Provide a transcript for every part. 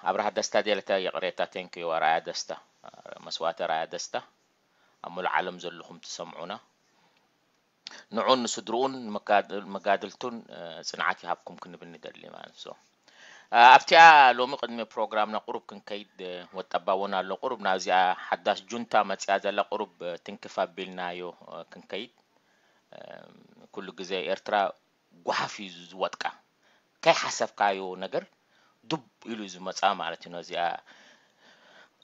ኣብርሃ ደስታ ዴለታ ይቕሬታ። Thank you ኣርኣያ ደስታ፣ መስዋእቲ ኣርኣያ ደስታ። ኣብ ሙሉእ ዓለም ዘለኹም ትሰምዑና፣ ንዑን ንስድርኡን መጋድልቱን ጽንዓት ይሃብኩም ክንብል ንደሊ ማለት ነው። ኣብቲኣ ሎሚ ቅድሚ ፕሮግራምና ቁሩብ ክንከይድ ወጠባ እውን ኣሎ። ቁሩብ ናብዚኣ ሓዳሽ ጁንታ መፅያ ዘላ ቁሩብ ትንክፍ ኣቢልናዮ ክንከይድ። ኩሉ ግዜ ኤርትራ ጓሓፍ እዩ ዝወጥቃ። ከይሓሰብካዮ ነገር ዱብ ኢሉ ዝመፃ ማለት እዩ። ነዚኣ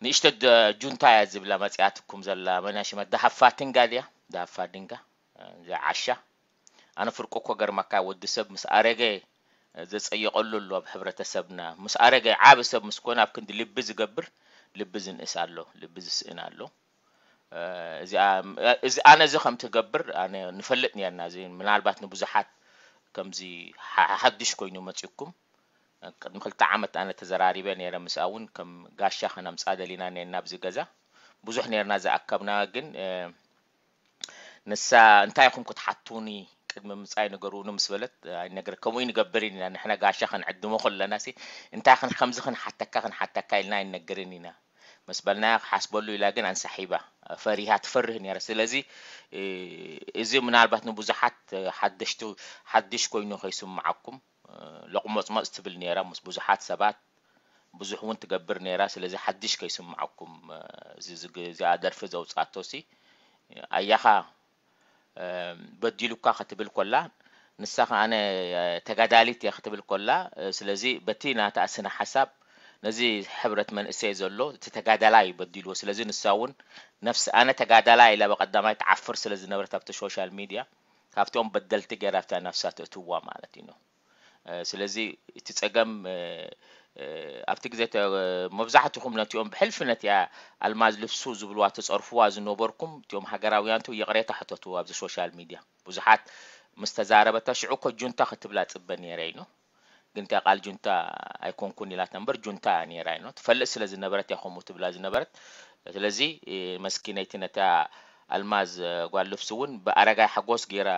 ንእሽተ ጁንታ እያ ዝብላ መፅያትኩም ዘላ መናሽመት ዳሃፋ ትንጋ ድያ? ዳሃፋ ድንጋ፣ እዚኣ ዓሻ። ኣነ ፍርቁ እኮ ገርመካ፣ ወዲ ሰብ ምስ ኣረገ ዘጸየቐሉ ኣሎ ኣብ ሕብረተሰብና። ምስ ኣረገ ዓቢ ሰብ ምስ ኮነ ኣብ ክንዲ ልቢ ዝገብር ልቢ ዝንእስ ኣሎ፣ ልቢ ዝስእን ኣሎ። እዚ ኣነ እዚ ከም ትገብር ኣነ ንፈልጥ ነርና። እዚ ምናልባት ንብዙሓት ከምዚ ሓድሽ ኮይኑ መጺኩም። ቅድሚ ክልተ ዓመት ኣነ ተዘራሪበ ነረ ምስኣ እውን ከም ጋሻ ከነምጻ ደሊና ነርና ኣብዚ ገዛ። ብዙሕ ነርና ዝኣከብና ግን ንሳ እንታይ ኢኹም ክትሓቱኒ ቅድሚ ምጻይ ንገሩኒ ምስ በለት ኣይነገር ከምኡ ንገብር ኢና ንሕና ጋሻ ክንዕድሞ ከለና ሲ እንታይ ክን ከምዚ ክንሓተካ ክንሓተካ ኢልና ኣይነገርን ኢና ምስ በልናያ ክሓስበሉ ኢላ ግን ኣንሳሒባ ፈሪሃ ትፈርህ ነይራ ስለዚ እዚ ምናልባት ንብዙሓት ሓደሽቲ ሓድሽ ኮይኑ ከይስምዓኩም ለቁመጽመጽ ትብል ነይራ ምስ ብዙሓት ሰባት ብዙሕ እውን ትገብር ነይራ ስለዚ ሓድሽ ከይስምዓኩም እዚኣ ደርፊ ዘውፅኣቶ ሲ ኣያኻ በዲሉካ ክትብል ኮላ ንሳ ከኣነ ተጋዳሊት እየ ክትብል ኮላ ስለዚ በቲ ናታ ስነ ሓሳብ ነዚ ሕብረት መንእሰይ ዘሎ እቲ ተጋዳላይ እዩ በዲልዎ ስለዚ ንሳ እውን ነፍሲ ኣነ ተጋዳላይ ኢላ በቀዳማይ ትዓፍር ስለ ዝነበረት ኣብቲ ሶሻል ሚድያ ካብቶም በደልቲ ገይራ ኣብታ ነፍሳ ተእትዋ ማለት እዩ ስለዚ እቲ ጸገም ኣብቲ ግዜ መብዛሕትኹም ነቲኦም ብሕልፊ ነቲኣ ኣልማዝ ልብሱ ዝብልዋ ትጸርፍዋ ዝነበርኩም እቲኦም ሃገራውያንቱ ይቕሬታ ሕተቱ ኣብዚ ሶሻል ሚድያ ብዙሓት ምስ ተዛረበታ ሽዑ እኮ ጁንታ ክትብላ ጽበ ነይረ ኢኖ ግን እቲኣ ቃል ጁንታ ኣይኮንኩን ኢላታ እምበር ጁንታ እያ ነይራ ኢኖ ትፈልጥ ስለ ዝነበረት እያ ከምኡ ትብላ ዝነበረት ስለዚ መስኪነይቲ ነታ ኣልማዝ ጓል ልብሱ እውን ብኣረጋይ ሓጎስ ገይራ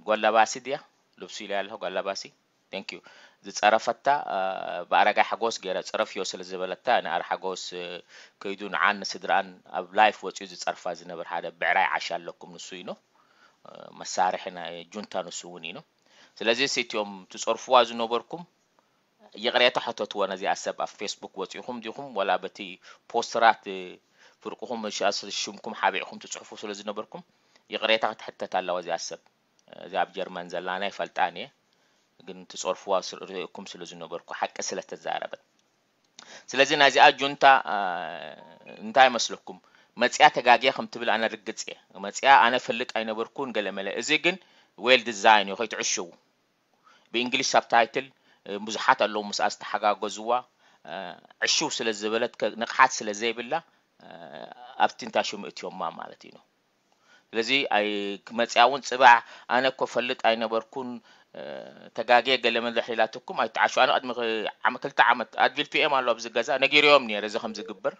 ጓል ለባሲ ድያ ልብሱ ኢላ ኣለኹ ጓል ለባሲ thank you ዝፀረፈታ ብኣረጋይ ሓጎስ ገይረ ፅረፍዮ ስለ ዝበለታ ንኣር ሓጎስ ከይዱ ንዓን ንስድራኣን ኣብ ላይፍ ወፂኡ ዝፀርፋ ዝነበር ሓደ ብዕራይ ዓሻ ኣለኩም ንሱ ኢኖ መሳርሒ ናይ ጁንታ ንሱ እውን ኢኖ ስለዚ እቲኦም ትፀርፍዋ ዝነበርኩም ይቕሬታ ሕተትዎ ነዚኣ ሰብ ኣብ ፌስቡክ ወፂኹም ዲኹም ወላ በቲ ፖስተራት ፍርቅኹም ሽምኩም ሓቢዕኩም ትፅሕፉ ስለ ዝነበርኩም ይቕሬታ ክትሕተት ኣለዋ እዚኣ ሰብ እዚ ኣብ ጀርመን ዘላ ናይ ፈልጣን እየ ግን ትፀርፍዋ ርእኩም ስለ ዝነበርኩ ሓቂ ስለ ተዛረበት ስለዚ ናዚኣ ጁንታ እንታይ መስለኩም መፅያ ተጋግየ ከም ትብል ኣነ ርግፅ እየ መፅያ ኣነ ፈልጥ ኣይነበርኩን ገለመለ እዚ ግን ዌል ዲዛይን እዩ ከይትዕሽው ብእንግሊሽ ሳብታይትል ብዙሓት ኣለዉ ምስኣ ዝተሓጋገዝዋ ዕሽው ስለ ዝበለት ንቕሓት ስለ ዘይብላ ኣብቲ እንታይ ሽሙ እትዮማ ማለት እዩ ስለዚ ክመፅያ እውን ፅባሕ ኣነ እኮ ፈልጥ ኣይነበርኩን ተጋግየ ገለ መድረሕ ኢላትኩም ኣይተዓሹ ኣነ ቅድሚ ክልተ ዓመት ኣድቪል ፒኤም ኣሎ ኣብዚ ገዛ ነጊርዮም ነይረ እዚ ከም ዝግበር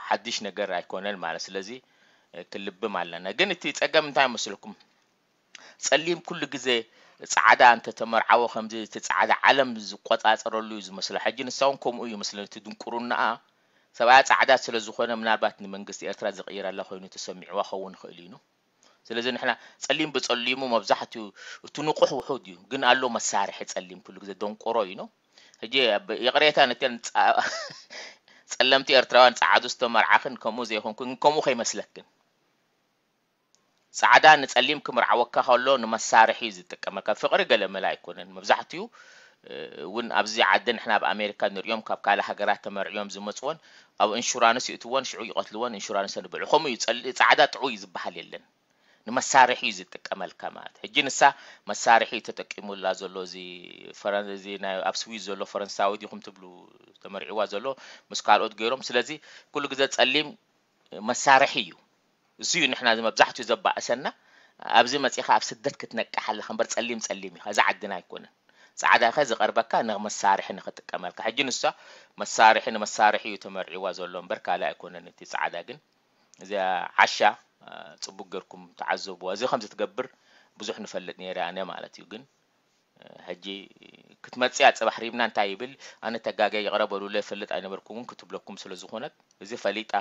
ሓድሽ ነገር ኣይኮነን ማለት ስለዚ ክልብም ኣለና ግን እቲ ፀገም እንታይ መስልኩም ፀሊም ኩሉ ግዜ ፃዕዳ እንተተመርዓወ ከምዚ እቲ ፃዕዳ ዓለም ዝቆፃፀረሉ እዩ ዝመስሎ ሕጂ ንሳ እውን ከምኡ እዩ መስለኒ እቲ ድንቁርናኣ ሰብኣያ ፃዕዳ ስለ ዝኾነ ምናልባት ንመንግስቲ ኤርትራ ዝቕይረላ ኮይኑ ተሰሚዕዋ ኸውን ይኽእል እዩ ስለዚ ንሕና ፀሊም ብፀሊሙ መብዛሕትኡ እቲ ንቑሕ ውሑድ እዩ ግን ኣሎ መሳርሒ ፀሊም ኩሉ ግዜ ደንቆሮ እዩ ሕጂ ይቕሬታ ነተን ፀለምቲ ኤርትራውያን ፀዓዱ ዝተመርዓኽን ከምኡ ዘይኮንኩን ከምኡ ከይመስለክን ጻዕዳ ንጸሊም ክምርዓወካ ከሎ ንመሳርሒ እዩ ዝጥቀመካ። ፍቕሪ ገለ መለ ኣይኮነን። መብዛሕትኡ እውን ኣብዚ ዓዲ ንሕና ኣብ ኣሜሪካ ንሪኦም ካብ ካልእ ሃገራት ተመርዕዮም ዝመፅወን ኣብ ኢንሹራንስ ይእትወን ሽዑ ይቐትልወን ኢንሹራንስ ንብልዑ ከምኡ እዩ ጸሊ- ጻዕዳ ጥዑይ ዝበሃል የለን ንመሳርሒ እዩ ዝጥቀመልካ ማለት ሕጂ ንሳ መሳርሒ እዩ ተጠቂሙላ ዘሎ እዚ ፈረን- እዚ ናይ ኣብ ስዊዝ ዘሎ ፈረንሳዊ ዲኹም ትብሉ ተመርዕዋ ዘሎ ምስ ካልኦት ገይሮም ስለዚ ኩሉ ግዜ ጸሊም መሳርሒ እዩ። እሱ እዩ ንሕና መብዛሕትኡ ዘባእሰና። ኣብዚ መፂኻ ኣብ ስደት ክትነቅሕ ኣለኻ እምበር ፀሊም ፀሊም እዩ። እዚ ዓድና ኣይኮነን። ፃዕዳ ከ ዝቐርበካ ንመሳርሒ ንክጥቀመልካ። ሕጂ ንሳ መሳርሒ ንመሳርሒ እዩ ተመርዒዋ ዘሎ እምበር ካልእ ኣይኮነን። እቲ ፃዕዳ ግን እዚኣ ዓሻ ፅቡቅ ገርኩም ተዓዘብዋ። እዚ ከምዚ ትገብር ብዙሕ ንፈልጥ ነይረ ኣነ ማለት እዩ ግን ሕጂ ክትመጽእ እያ ጽባሕ ሪብና እንታይ ይብል? ኣነ ተጋግየ ይቕረ በሉለይ፣ እፈልጥ ኣይነበርኩምን ክትብለኩም ስለ ዝኾነት፣ እዚ ፈሊጣ፣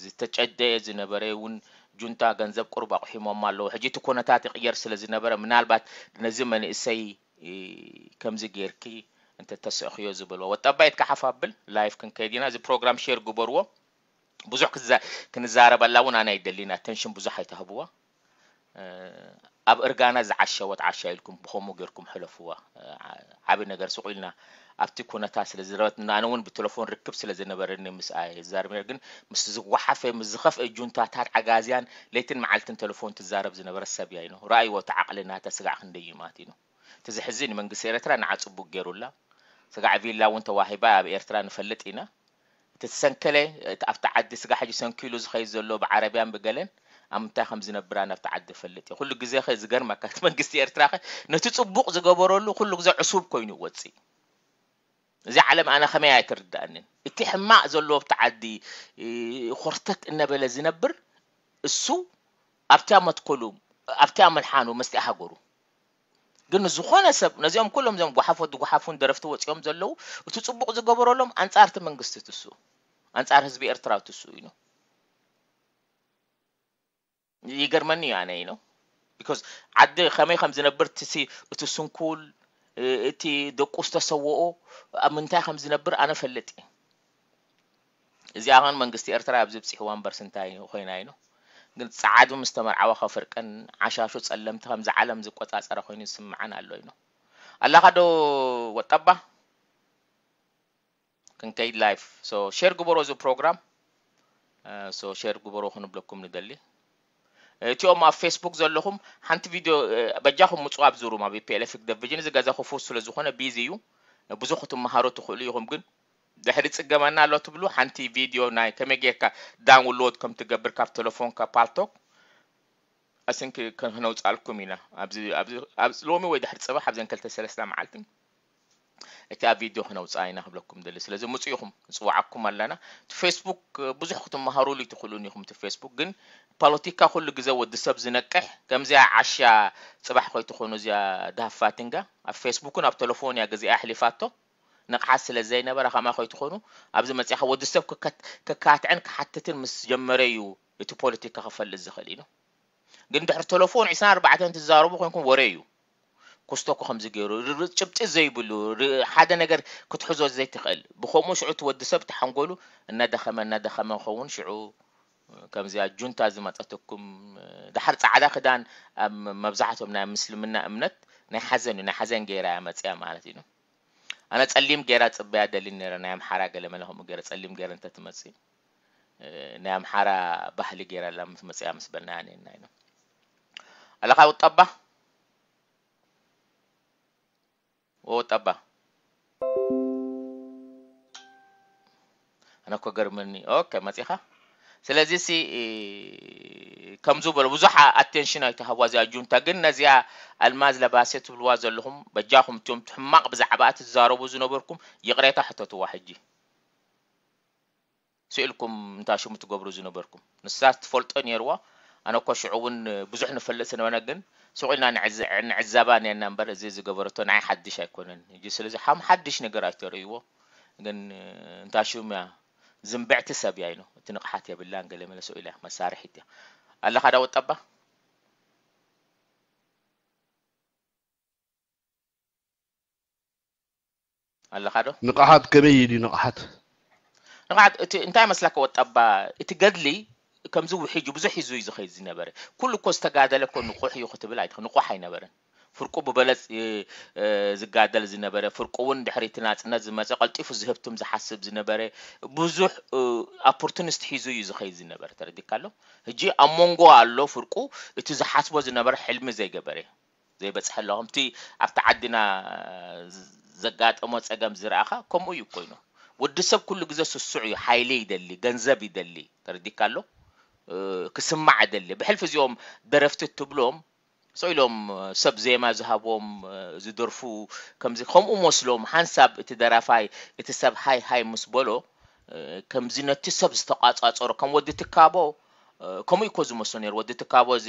ዝተጨደየ ዝነበረ እውን ጁንታ ገንዘብ ቁሩብ ኣቑሒሞማ ኣለዉ። ሕጂ እቲ ኩነታት ይቕየር ስለ ዝነበረ፣ ምናልባት ነዚ መንእሰይ ከምዚ ጌርኪ እንተተስእኽዮ ዝበልዋ። ወጣባይት ካሓፍ ኣብል ላይፍ ክንከይድ ኢና። እዚ ፕሮግራም ሼር ግበርዎ። ብዙሕ ክዛ-፣ ክንዛረበላ እውን ኣነ ኣይደልን። ኣተንሽን ብዙሕ ኣይትህብዋ። ኣብ እርጋና ዝዓሸወት ዓሻ ኢልኩም ብኸምኡ ጌርኩም ሕለፍዋ። ዓቢ ነገር ስቕ ኢልና ኣብቲ ኩነታት ስለ ዝረበትና፣ ኣነ እውን ብቴሌፎን ርክብ ስለ ዝነበረኒ ምስኣ እየ ዝዛረብ ነይረ። ግን ምስ ዝጓሓፈ፣ ምስ ዝኸፍአ ጁንታታት ዓጋዝያን ለይትን መዓልትን ቴሌፎን ትዛረብ ዝነበረት ሰብ እያ ኢኖ። ረኣይዎ እቲ ዓቕሊ ናታ ስጋዕ ክንደይ እዩ ማለት ኢኖ። እቲ ዘሕዝን መንግስቲ ኤርትራ ንዓ ጽቡቕ ገይሩላ። ስጋዕ ቪላ እውን ተዋሂባ ኣብ ኤርትራ ንፈልጥ ኢና። እቲ ዝሰንከለ፣ እቲ ኣብቲ ዓዲ ስጋ ሕጂ ሰንኪሉ ዝኸይድ ዘሎ ብዓረብያን ብገለን ኣብ ምንታይ ከም ዝነብር ኣነ ኣብቲ ዓዲ እፈልጥ እየ። ኩሉ ግዜ ኸ ዝገርመካ እቲ መንግስቲ ኤርትራ ኸ ነቲ ጽቡቕ ዝገበረሉ ኩሉ ግዜ ዕሱብ ኮይኑ ይወጽእ። እዚ ዓለም ኣነ ከመይ ኣይትርድኣንን። እቲ ሕማቕ ዘለዎ ኣብቲ ዓዲ፣ እ፣ ኾርተት እናበለ ዝነብር እሱ ኣብቲያ መትከሉ፣ ኣብቲያ መልሓኑ፣ መስቲያ ሃገሩ። ግን ዝኾነ ሰብ ነዚኦም ኩሎም እዚኦም ጓሓፎት ዝጓሓፉን ደረፍቲ ወጺኦም ዘለዉ እቲ ጽቡቕ ዝገበረሎም ኣንጻር እቲ መንግስቲ ትሱ፣ ኣንጻር ህዝቢ ኤርትራ ትሱ እዩ። ይገርመኒ እዩ ኣነ ኢኖ። ቢኮዝ ዓዲ ከመይ ከም ዝነብር ትሲ እቲ ስንኩል፣ እ-፣ እቲ ደቁ ዝተሰወኦ ኣብ ምንታይ ከም ዝነብር ኣነ ፈልጥ እየ። እዚኣ ኸን መንግስቲ ኤርትራ ኣብዚ ብጽሕዋ እምበርስ እንታይ ኮይና ኢኖ። ግን ጸዓዱ ምስ ተመርዓወ ከፍርቀን ዓሻሹ ጸለምቲ ከምዚ ዓለም ዝቆጻጸረ ኮይኑ ዝስምዓን ኣሎ ኢኖ። ኣላኻ ዶ ወጠባ? ክንከይድ ላይፍ። ሶ ሼር ግበሮ እዚ ፕሮግራም። እ፣ ሶ ሼር ግበሮ ክንብለኩም ንደሊ። እቲኦም ኣብ ፌስቡክ ዘለኹም ሓንቲ ቪድዮ፣ እ፣ በጃኹም ምጽኡ ኣብዚ ሩም ኣብ ፒኤልኤፍ ዲቪዥን። እዚ ገዛ ክፉት ስለ ዝኾነ ቢዚ እዩ። ብዙሕ ክትመሃሩ ትኽእሉ ኢኹም፣ ግን ድሕሪ ጽገመና ኣሎ ትብሉ ሓንቲ ቪድዮ ናይ ከመይ ጌርካ ዳውንሎድ ከም ትገብር ካብ ቴሌፎንካ ፓልቶክ ኣስንክ ከነውጻልኩም ኢና። ኣብዚ፣ ኣብዚ፣ ኣብዚ ሎሚ ወይ ድሕሪ ጽባሕ ኣብዘን ክልተ ሰለስተ መዓልትን እቲ ኣብ ቪድዮ ከነውጽኣ ኢና ክብለኩም ደሊ። ስለዚ ምጹ ኢኹም፣ ንጽውዓኩም ኣለና። እቲ ፌስቡክ ብዙሕ ክትመሃሩሉ ኣይትኽእሉን ኢኹም። እቲ ፌስቡክ ግን ፖለቲካ ኩሉ ግዜ ወዲ ሰብ ዝነቅሕ፣ ከምዚኣ ዓሻ ጽባሕ ኮይትኾኑ እዚኣ ዳሃብ ፋቲንጋ ኣብ ፌስቡክን ኣብ ቴሌፎን እያ ግዜኣ ኣሕሊፋቶ። ንቕሓት ስለ ዘይነበራ ከምኣ ኮይትኾኑ ኣብዚ መጺኻ ወዲ ሰብ ክከት-፣ ክካትዕን ክሓትትን ምስ ጀመረ እዩ እቲ ፖለቲካ ክፈልጥ ዝኽእል እዩ። ግን ድሕሪ ቴሌፎን ዒስራን ኣርባዕተን ትዛረቡ ኮንኩም ወረ እዩ። ኩስቶኮ ከምዚ ገይሩ፣ ር-፣ ር-፣ ጭብጢ ዘይብሉ፣ ር-፣ ሓደ ነገር ክትሕዞ ዘይትኽእል። ብኸምኡ ሽዑ እቲ ወዲ ሰብ ተሓንጎሉ እናደኸመ፣ እናደኸመ ኸውን ሽዑ ከምዚኣ ጁንታ ዝመጸትኩም፣ ድሓር ጻዕዳ ክዳን ኣብ መብዛሕትኦም ናይ ምስልምና እምነት ናይ ሓዘን እዩ፣ ናይ ሓዘን ገይራ እያ መጺኣ ማለት እዩ። ኣነ ጸሊም ገይራ ጽበያ ደሊ ነይረ፣ ናይ ኣምሓራ ገለ መለ ከምኡ ገይረ ጸሊም ገይረ እንተ ትመጽእ፣ እ፣ ናይ ኣምሓራ ባህሊ ገይራ ኣላ ምስ መጽኣ ምስ በልና ነና ኢና። ኣለኻ ወጣባ? ወጣባ? ኣነ እኮ ገርመኒ። ኦኬ፣ መጺኻ? ስለዚ ሲ፣ እ፣ ከምዚ በሉ፣ ብዙሕ ኣቴንሽን ኣይትሃብዋ እዚኣ ጁንታ። ግን ነዚኣ ኣልማዝ ለባሴ ትብልዋ ዘለኹም፣ በጃኹም እትዮም ሕማቕ ብዛዕባኣ ትዛረቡ ዝነበርኩም ይቕሬታ ሕተትዋ ሕጂ። ስኢልኩም እንታ ሽሙ ትገብሩ ዝነበርኩም። ንሳ ትፈልጦ ነይርዋ። ኣነ እኮ ሽዑ እውን ብዙሕ ንፈልጥ ስነበረ፣ ግን ስቕ ኢልና ንዕዘ-፣ ንዕዘባ ነርና እምበር፣ እዚ ዝገበረቶ ንዓይ ሓድሽ ኣይኮነን። ሕጂ ስለዚ ሓም ሓድሽ ነገር ኣይተርእይዎ። ግን እንታ ሽሙ እያ፣ ዝንብዕቲ ሰብ እያ ኢኖ። እቲ ንቕሓት የብላን፣ ገለ መለ ስቕ ኢላ እያ፣ መሳርሒት እያ። ኣለኻ ዳ ወጣባ? ኣለኻ ዶ? ንቕሓት ከመይ እዩ ድዩ ንቕሓት? ንቕሓት እቲ እንታይ መስለካ ወጣባ፣ እቲ ገድሊ ከምዚ ውሒጁ ብዙሕ ሒዙ እዩ ዝኸይድ ዝነበረ። ኩሉ እኮ ዝተጋደለ እኮ ንቑሕ እዩ ክትብል ኣይትኽ-፣ ንቑሕ ኣይነበረን። ፍርቁ ብበለጽ፣ እ፣ እ፣ ዝጋደል ዝነበረ፣ ፍርቁ እውን ድሕሪ እቲ ናጽነት ዝመጸ ቀልጢፉ ዝህብትም ዝሓስብ ዝነበረ፣ ብዙሕ፣ እ፣ ኦፖርቱኒስት ሒዙ እዩ ዝኸይድ ዝነበረ። ተረዲካ ኣሎ? ሕጂ ኣብ መንጎ ኣሎ ፍርቁ፣ እቲ ዝሓስቦ ዝነበረ ሕልሚ ዘይገበረ። ዘይበጽሐ ኣሎ። ከምቲ ኣብቲ ዓድና ዘጋጠሞ ጸገም ዝረኣኻ፣ ከምኡ እዩ ኮይኑ። ወዲ ሰብ ኩሉ ግዜ ስሱዕ እዩ። ሓይሊ ይደሊ፣ ገንዘብ ይደሊ። ተረዲካ ኣሎ? እ፣ ክስማዕ ይደሊ። ብሕልፊ እዚኦም ደረፍቲ እትብሎም፣ ስቕ ኢሎም ሰብ ዜማ ዝሃቦም፣ እ፣ ዝደርፉ፣ ከምዚ፣ ከምኡ መስሎም፣ ሓንሳብ እቲ ደራፋይ፣ እቲ ሰብ ሃይ ሃይ ምስ በሎ፣ እ፣ ከምዚ ነቲ ሰብ ዝተቋጻጸሮ፣ ከም ወዲ ትካቦ፣ ከምኡ እኮ ዝመስሎ ነይሩ። ወዲ ትካቦ እዚ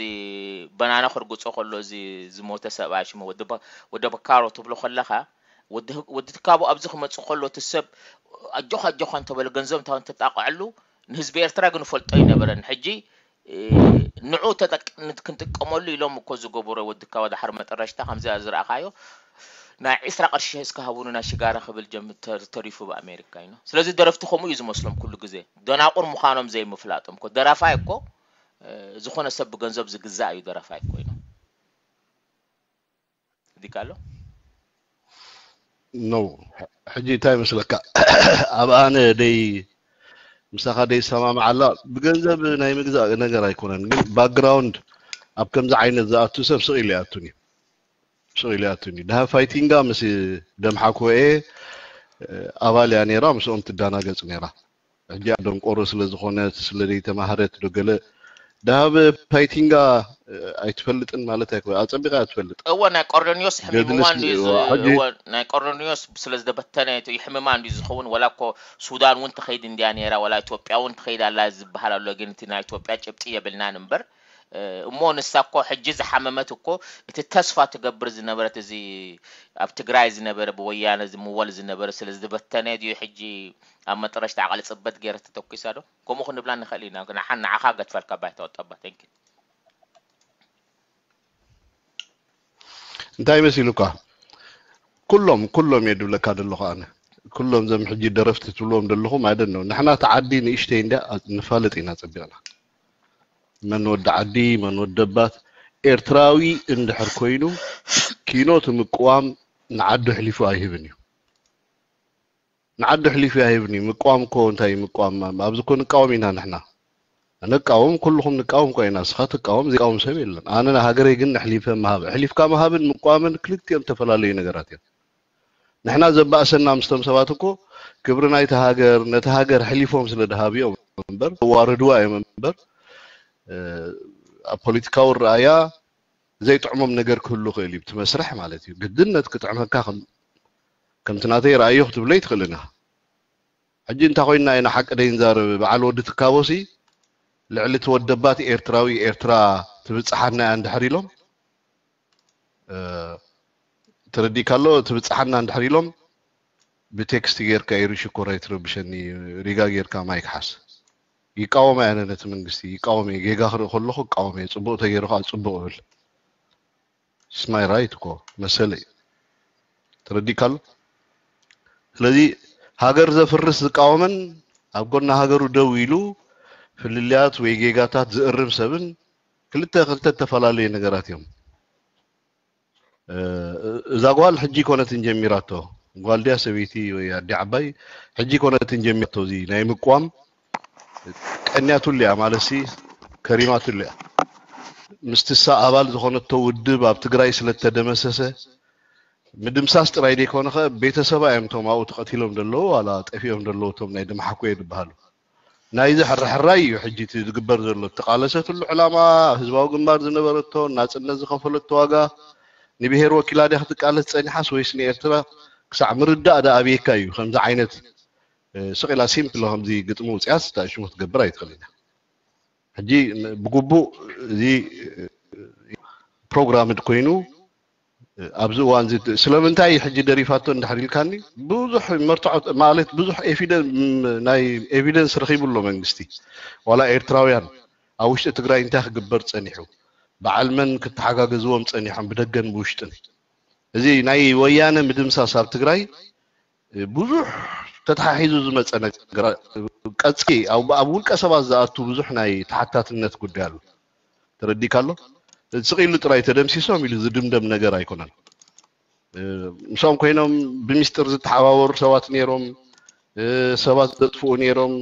በናና ክርግጾ ከሎ፣ እዚ ዝሞተ ሰብኣይ ሽሙ ወዲ በ-፣ ወዲ በካሮ ትብሎ ከለኻ፣ ወዲ፣ ወዲ ትካቦ ኣብዚ ክመጽእ ከሎ፣ እቲ ሰብ ኣጆኻ፣ ኣጆኻ እንተበለ፣ ገንዘብ እንተ-፣ እንተጣቕዐሉ፣ ንህዝቢ ኤርትራ ግን ፈልጦ ኣይነበረን። ሕጂ፣ እ፣ ንዑ ተጠቅ-፣ ክንጥቀመሉ ኢሎም እኮ ዝገበሮ፣ ወዲ ትካቦ፣ ድሓር መጠረሽታ ከምዚ ዝረኣኻዮ፣ ናይ ዒስራ ቅርሺ እስከ ሃቡኒ ናይ ሽጋራ ክብል ጀም-፣ ተር-፣ ተሪፉ ብኣሜሪካ እዩ። ስለዚ ደረፍቲ ከምኡ እዩ ዝመስሎም ኩሉ ግዜ። ደናቁር ምዃኖም ዘይምፍላጦም እኮ። ደራፋይ እኮ፣ እ፣ ዝኾነ ሰብ ብገንዘብ ዝግዛእ እዩ ደራፋይ እኮ ኢሎም። ዲካ ኣሎ? ኖ፣ ሕጂ እንታይ ይመስለካ? ኣብ ኣነ ደይ፣ ምሳኻ ደይ ሰማምዓላ፣ ብገንዘብ ናይ ምግዛእ ነገር ኣይኮነን፣ ግን ባክግራውንድ ኣብ ከምዚ ዓይነት ዝኣቱ ሰብ ስቕ ኢሉ ይኣቱን እዩ። ስቕ ኢሉ ይኣቱን እዩ። ድሃ ፋይቲንጋ ምስ ደምሓኩኤ ኣባል እያ ነይራ፣ ምስኦም ትዳናገጽ ነይራ። ሕጂ ደንቆሮ ስለ ዝኾነት፣ ስለ ዘይተማህረት ዶ ገለ፣ ድሃብ ፋይቲንጋ ኣይትፈልጥን ማለት ኣይኮ፣ ኣጸቢቓ እያ ትፈልጥ። እወ፣ ናይ ቆርዶኒዮስ ሕሚምዋ ገድልስ እንድዩ ዝ-፣ እዋ፣ ሕጂ እወ፣ ናይ ቆርዶኒዮስ ስለ ዝተበተነ እቲ ይሕምማ እንድዩ ዝኸውን። ወላ እኮ ሱዳን እውን ትኸይድ እንድያ ነይራ፣ ወላ ኢትዮጵያ እውን ትኸይድ ኣላ ዝበሃል ኣሎ። ግን እቲ ናይ ኢትዮጵያ ጭብጢ የብልናን እምበር፣ እ፣ እሞ ንሳ እኮ ሕጂ ዝሓመመት እኮ፣ እቲ ተስፋ ትገብር ዝነበረት፣ እዚ ኣብ ትግራይ ዝነበረ፣ ብወያነ ዝምወል ዝነበረ ስለ ዝተበተነ ድዩ ሕጂ ኣብ መጠረሽታ ዓቐሊ ጽበት ገይረ ተተኲሳ ዶ? ከምኡ ክንብላ ንኽእል ኢና። ንሓ-፣ ንዓኻ ገድፈልካ ባይታ ወጣባ። Thank you። እንታይ መሲሉካ? ኩሎም፣ ኩሎም እየ ድብለካ ዘለኹ ኣነ። ኩሎም ዘም ሕጂ ደረፍቲ ትብልዎም ዘለኹም፣ I don't know። ንሕና እቲ ዓዲ ንእሽተይ እንድያ፣ ንፋለጥ ኢና ጸቢቕና። መን ወዲ ዓዲ፣ መን ወዲ ኣባት። ኤርትራዊ እንድሕር ኮይኑ፣ ኪኖ እቲ ምቅዋም ንዓዱ ኣሕሊፉ ኣይህብን እዩ። ንዓዱ ኣሕሊፉ ኣይህብን እዩ። ምቅዋም እኮ እንታይ እዩ ምቅዋም? ኣብዚ እኮ ንቃወም ኢና ንሕና። ንቃወም፣ ኩልኹም ንቃወም እኮ ኢና። ንስኻ ትቃወም፣ ዘይቃወም ሰብ የለን። ኣነ ንሃገረይ ግን ኣሕሊፈ ምሃብ፣ ኣሕሊፍካ ምሃብን ምቅዋምን ክልቲኦም ዝተፈላለዩ ነገራት እዮም። ንሕና ዘባእሰና ምስቶም ሰባት እኮ ክብሪ ናይቲ ሃገር፣ ነቲ ሃገር ኣሕሊፎም ስለ ድሃብዮም እምበር፣ ዘዋርድዋ እዮም እምበር፣ እ፣ ኣብ ፖለቲካዊ ረኣያ ዘይጥዕሞም ነገር ክህሉ ይኽእል እዩ። እቲ መስርሕ ማለት እዩ። ግድነት ክጥዕመካ ከም፣ ከምቲ ናተይ ረኣዮ ክትብሎ ኣይትኽእልን ኢኻ። ሕጂ እንታይ ኮይንና ኢና ሓቂ ደይንዛረብ? በዓል ወዲ ትካቦሲ ልዕሊ እቲ ወደባት ኤርትራዊ ኤርትራ ትብጽሓና እያ እንድሕር ኢሎም፣ እ፣ ተረዲእካ ኣሎ? ትብጽሓና እንድሕር ኢሎም ብቴክስት ጌርካ ኢሩ ሽኮር ኣይትረብሸኒ፣ ሪጋ ጌርካ ማይክ ሓዝ። ይቃወም ኣነ ነቲ መንግስቲ፣ ይቃወም እየ። ጌጋ ክርኢ ከለኹ እቃወም እየ። ጽቡቕ ተገይሩ ከኣ ጽቡቕ እብል። It's my right እኮ፣ መሰለይ እዩ። ተረዲእካ ኣሎ? ስለዚ ሃገር ዘፍርስ ዝቃወምን ኣብ ጎና ሃገሩ ደው ኢሉ ፍልልያት ወይ ጌጋታት ዝእርም ሰብን ክልተ፣ ክልተ ዝተፈላለዩ ነገራት እዮም። እ፣ እዛ ጓል ሕጂ ኮነትን ጀሚራቶ። ጓል ድያ ሰበይቲ ወይ ኣዲ ዓባይ ሕጂ ኮነትን ጀሚራቶ። እዚ ናይ ምቋም ቀንያትሉ እያ ማለትሲ ከሪማትሉ እያ። ምስቲ እሳ ኣባል ዝኾነቶ ውድብ ኣብ ትግራይ ስለ እተደመሰሰ፣ ምድምሳስ ጥራይ ዘይኮነ ኸ ቤተሰባ እዮም እቶም ኣብኡ ተቐቲሎም ዘለዉ ዋላ ጠፊኦም ዘለዉ እቶም ናይ ደምሓኩየ ዝበሃሉ። ናይዚ ሕራሕራይ እዩ ሕጂ እቲ ዝግበር ዘሎ። እተቓለሰትሉ ዕላማ፣ ህዝባዊ ግንባር ዝነበረቶ፣ ናጽነት ዝኸፈለቶ ዋጋ፣ ንብሄር ወኪላ ድያ ክትቃለስ ጸኒሓስ ወይስ ንኤርትራ ክሳዕ ምርዳእ ደኣ ኣብየካ እዩ ከምዚ ዓይነት፣ እ፣ ስቕ ኢላ ሲምፕል ከምዚ ግጥሚ ውጽያስ እንታይ ሽሙ ክትገብር ኣይትኽእልን እያ። ሕጂ ን-፣ ብግቡእ እዚ፣ እ፣ ፕሮግራምድ ኮይኑ፣ እ፣ ኣብዚ እዋን እዚ ት-፣ ስለምንታይ ሕጂ ደሪፋቶ እንድሕር ኢልካኒ፣ ብዙሕ መርትዖ ማለት ብዙሕ ኤፊደ-፣ ም-፣ ናይ ኤቪደንስ ረኺቡ ኣሎ መንግስቲ። ዋላ ኤርትራውያን ኣብ ውሽጢ ትግራይ እንታይ ክግበር ጸኒሑ፣ በዓል መን ክተሓጋገዝዎም ጸኒሖም ብደገን ብውሽጥን። እዚ ናይ ወያነ ምድምሳስ ኣብ ትግራይ ብዙሕ ተተሓሒዙ ዝመፀ ነገር፣ ቀፅሊ ኣብ፣ ኣብ ውልቀ ሰባት ዝኣቱ ብዙሕ ናይ ተሓታትነት ጉዳይ ኣሎ። ተረዲእካ ኣሎ? ስቕ ኢሉ ጥራይ ተደምሲሶም ኢሉ ዝድምደም ነገር ኣይኮነን። እ፣ ምስኦም ኮይኖም ብሚስጥር ዝተሓባበሩ ሰባት ነይሮም፣ እ፣ ሰባት ዘጥፍኡ ነይሮም፣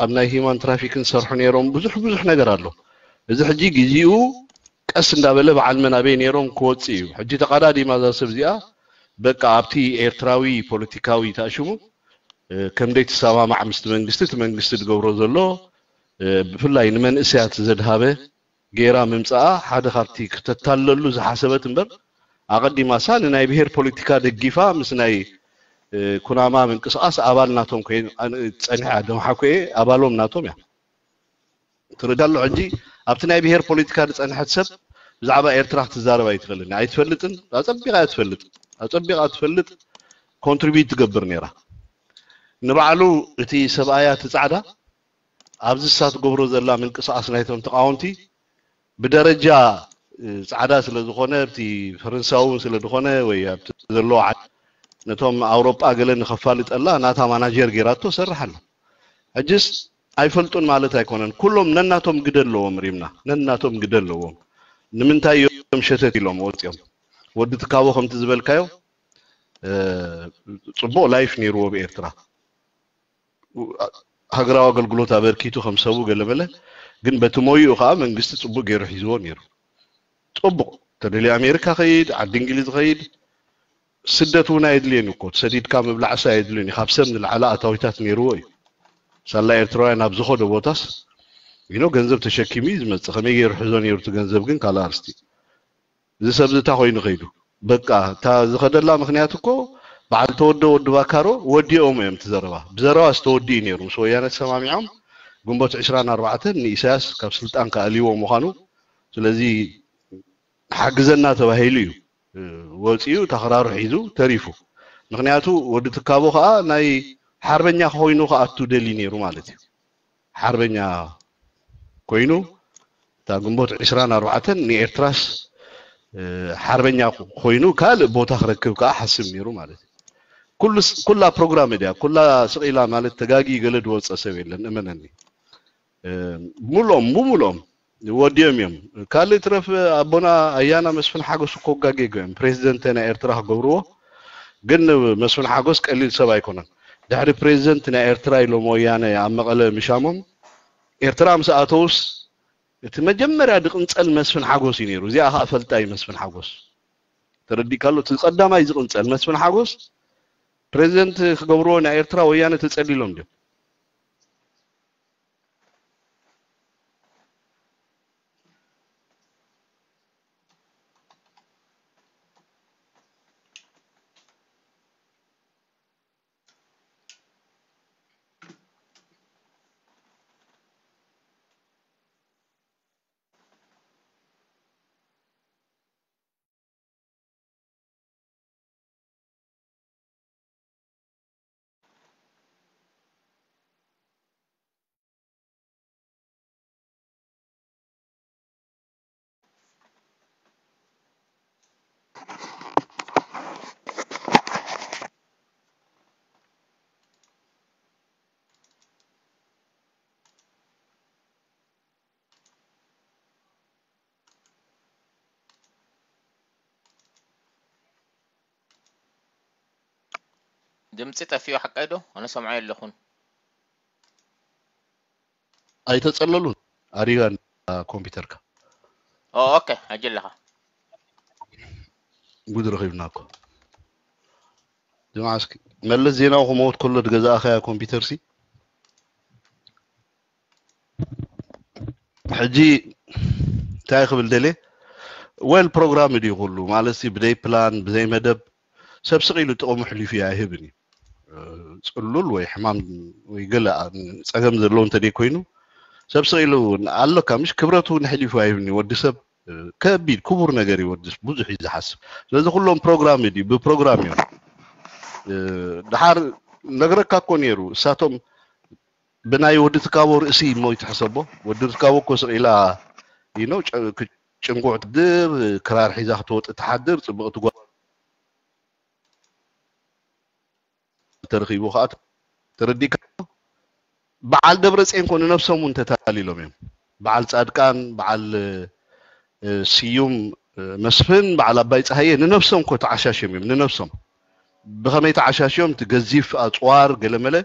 ኣብ ናይ ሂማን ትራፊክን ዝሰርሑ ነይሮም፣ ብዙሕ ብዙሕ ነገር ኣሎ። እዚ ሕጂ ግዜኡ ቀስ እንዳበለ በዓል መን ኣበይ ነይሮም ክወፅእ እዩ። ሕጂ ተቓዳዲማ እዛ ሰብ እዚኣ በቃ ኣብቲ ኤርትራዊ ፖለቲካዊ ተኣሽሙ፣ እ፣ ከም ደይትሰማማዕ ምስቲ መንግስቲ፣ እቲ መንግስቲ ዝገብሮ ዘሎ፣ እ፣ ብፍላይ ንመንእሰያት ዘድሃበ ጌራ ምምጻኣ ሓደ ካብቲ ክተታልለሉ ዝሓሰበት እምበር፣ ኣቐዲማሳ ንናይ ብሄር ፖለቲካ ደጊፋ ምስ ናይ፣ እ፣ ኩናማ ምንቅስቓስ ኣባል ናቶም ኮይን-፣ ኣን-፣ ጸኒሓ፣ ደምሓኩኤ ኣባሎም ናቶም እያ። ትርዳሎ። ሕጂ ኣብቲ ናይ ብሄር ፖለቲካ ዝፀንሐት ሰብ ብዛዕባ ኤርትራ ክትዛረብ ኣይትኽእልን፣ ኣይትፈልጥን። ኣፀቢቓ እያ ትፈልጥ፣ ኣፀቢቓ ትፈልጥ። ኮንትሪቢዩት ትገብር ነይራ። ንባዕሉ እቲ ሰብኣያ እቲ ፃዕዳ ኣብዚ እሳ ትገብሮ ዘላ ምንቅስቃስ ናይቶም ተቃወምቲ ብደረጃ እ፣ ፃዕዳ ስለ ዝኾነ፣ ኣብቲ ፈረንሳዊ እውን ስለ ዝኾነ ወይ ኣብቲ ዘለዎ ዓዲ ነቶም ኣውሮጳ ገለ ንኸፋልጠላ ናታ ማናጀር ገይራቶ ሰርሕ ኣላ። ሕጅስ ኣይፈልጡን ማለት ኣይኮነን። ኩሎም ነናቶም ግደ ኣለዎም ሪምና፣ ነናቶም ግደ ኣለዎም። ንምንታይ እዮም ሸተት ኢሎም ወፂኦም? ወዲ ትካቦ ከምቲ ዝበልካዮ እ፣ ፅቡቕ ላይፍ ነይርዎ ብኤርትራ። ሃገራዊ ኣገልግሎት ኣበርኪቱ ከም ሰቡ ገለመለ፣ ግን በቲ ሞይኡ ከዓ መንግስቲ ፅቡቅ ገይሩ ሒዝዎ ነይሩ። ፅቡቅ ተደልዩ ኣሜሪካ ኸይድ፣ ዓዲ እንግሊዝ ኸይድ፣ ስደት እውን ኣየድልየን እኮ። ተሰዲድካ ምብላዕስ ኣየድልየን እዩ። ካብ ሰብ ንላዕሊ ኣታዊታት ነይርዎ እዩ። ሳላ ኤርትራውያን ኣብ ዝኸዶ ቦታስ ይኖ ገንዘብ ተሸኪሙ እዩ ዝመፅእ። ከመይ ገይሩ ሕዞ ነይሩ እቲ ገንዘብ ግን ካልእ ኣርስቲ። እዚ ሰብ እዚ እንታይ ኮይኑ ከይዱ? በቃ እታ ዝኸደላ ምክንያት እኮ በዓል ተወደ ወዲ ባካሮ ወዲኦም እዮም። እቲ ዘረባ ብዘረባ ዝተወዲ እዩ ነይሩ። ምስ ወያነ ተሰማሚዖም ግንቦት ዕስራን ኣርባዕተን ንኢሳያስ ካብ ስልጣን ከኣልይዎ ምዃኑ፣ ስለዚ ሓግዘና ተባሂሉ እዩ ወፂኡ፣ ተኸራሩ ሒዙ ተሪፉ። ምክንያቱ ወዲ ትካቦ ከዓ ናይ ሓርበኛ ኮይኑ ክኣቱ ደልዩ ነይሩ ማለት እዩ። ሓርበኛ ኮይኑ እታ ግንቦት ዕስራን ኣርባዕተን ንኤርትራስ ሓርበኛ ኮይኑ ካልእ ቦታ ክረክብ ከዓ ሓስብ ነይሩ ማለት እዩ። ኩላ ፕሮግራም እያ፣ ኩላ ስቕ ኢላ ማለት ተጋጊ ገለ ዝወፀ ሰብ የለን፣ እመነኒ። ሙሉኦም ብሙሉኦም ወዲኦም እዮም። ካልእ ትረፍ ኣቦና ኣያና መስፍን ሓጎስ እኮ ጋጌጎ እዮም ፕሬዚደንት ናይ ኤርትራ ክገብርዎ። ግን መስፍን ሓጎስ ቀሊል ሰብ ኣይኮነን። ድሕሪ ፕሬዚደንት ናይ ኤርትራ ኢሎም ወያነ ኣብ መቐለ ምሻሞም ኤርትራ ምስ ኣተውስ እቲ መጀመርያ ዝቕንፀል መስፍን ሓጎስ እዩ ነይሩ። እዚኣ ከዓ ፈልጣ እዩ መስፍን ሓጎስ። ተረዲእካሎ? እቲ ቀዳማይ ዝቕንፀል መስፍን ሓጎስ ፕሬዚደንት ክገብርዎ ናይ ኤርትራ ወያነ ተፀሊሎም ድዮም? ድምፂ ጠፊኡ ሓቀይ ዶ? ኣነ ሰምዖ የለኹን። ኣይተፀለሉን ኣሪጋ ኮምፒውተርካ። ኦ፣ ኦኬ፣ ሕጂ ኣለኻ። ጉድ ረኺብና እኮ። ጅምዓ እስኪ መለስ ዜናዊ ክመውት ከሎ ዝገዛእኻያ ኮምፒውተር ሲ ሕጂ እንታይ ክብል ደልየ? ዌል ፕሮግራም ድዩ ኩሉ ማለት ሲ ብዘይ ፕላን ብዘይ መደብ ሰብ ስቕ ኢሉ ጥቕሙ ሕሊፉ እዩ ኣይህብን እዩ። እ፣ ፅሉል ወይ ሕማም ወይ ገለ ኣ-፣ ፀገም ዘለዎ እንተደይ ኮይኑ ሰብ ስቕ ኢሉ ኣለካ ምሽ ክብረቱ ንሕሊፉ ኣይህብን እዩ። ወዲ ሰብ እ፣ ከቢድ ክቡር ነገር እዩ። ወዲ ብዙሕ እዩ ዝሓስብ። ስለዚ ኩሎም ፕሮግራም ድዩ ብፕሮግራም እዮም። እ፣ ድሓር ነግረካ እኮ ነይሩ እሳቶም ብናይ ወዲ ትካቦ ርእሲ እሞ ይትሕሰቦ። ወዲ ትካቦ እኮ ስቕ ኢላ ይኖ ጭንቁዕ ትድር ክራር ሒዛ ክትወጥ ትሓድር ፅብቕቲ ጓል ተረኺቡ ከዓ ተረዲእካ። በዓል ደብረፅዮን ኮ ንነብሶም እውን ተታሊሎም እዮም። በዓል ፃድቃን፣ በዓል እ፣ ስዩም እ፣ መስፍን፣ በዓል ኣባይ ፀሃየ ንነብሶም ኮ ተዓሻሽዮም እዮም። ንነብሶም ብኸመይ ተዓሻሽዮም? እቲ ገዚፍ ኣፅዋር ገለመለ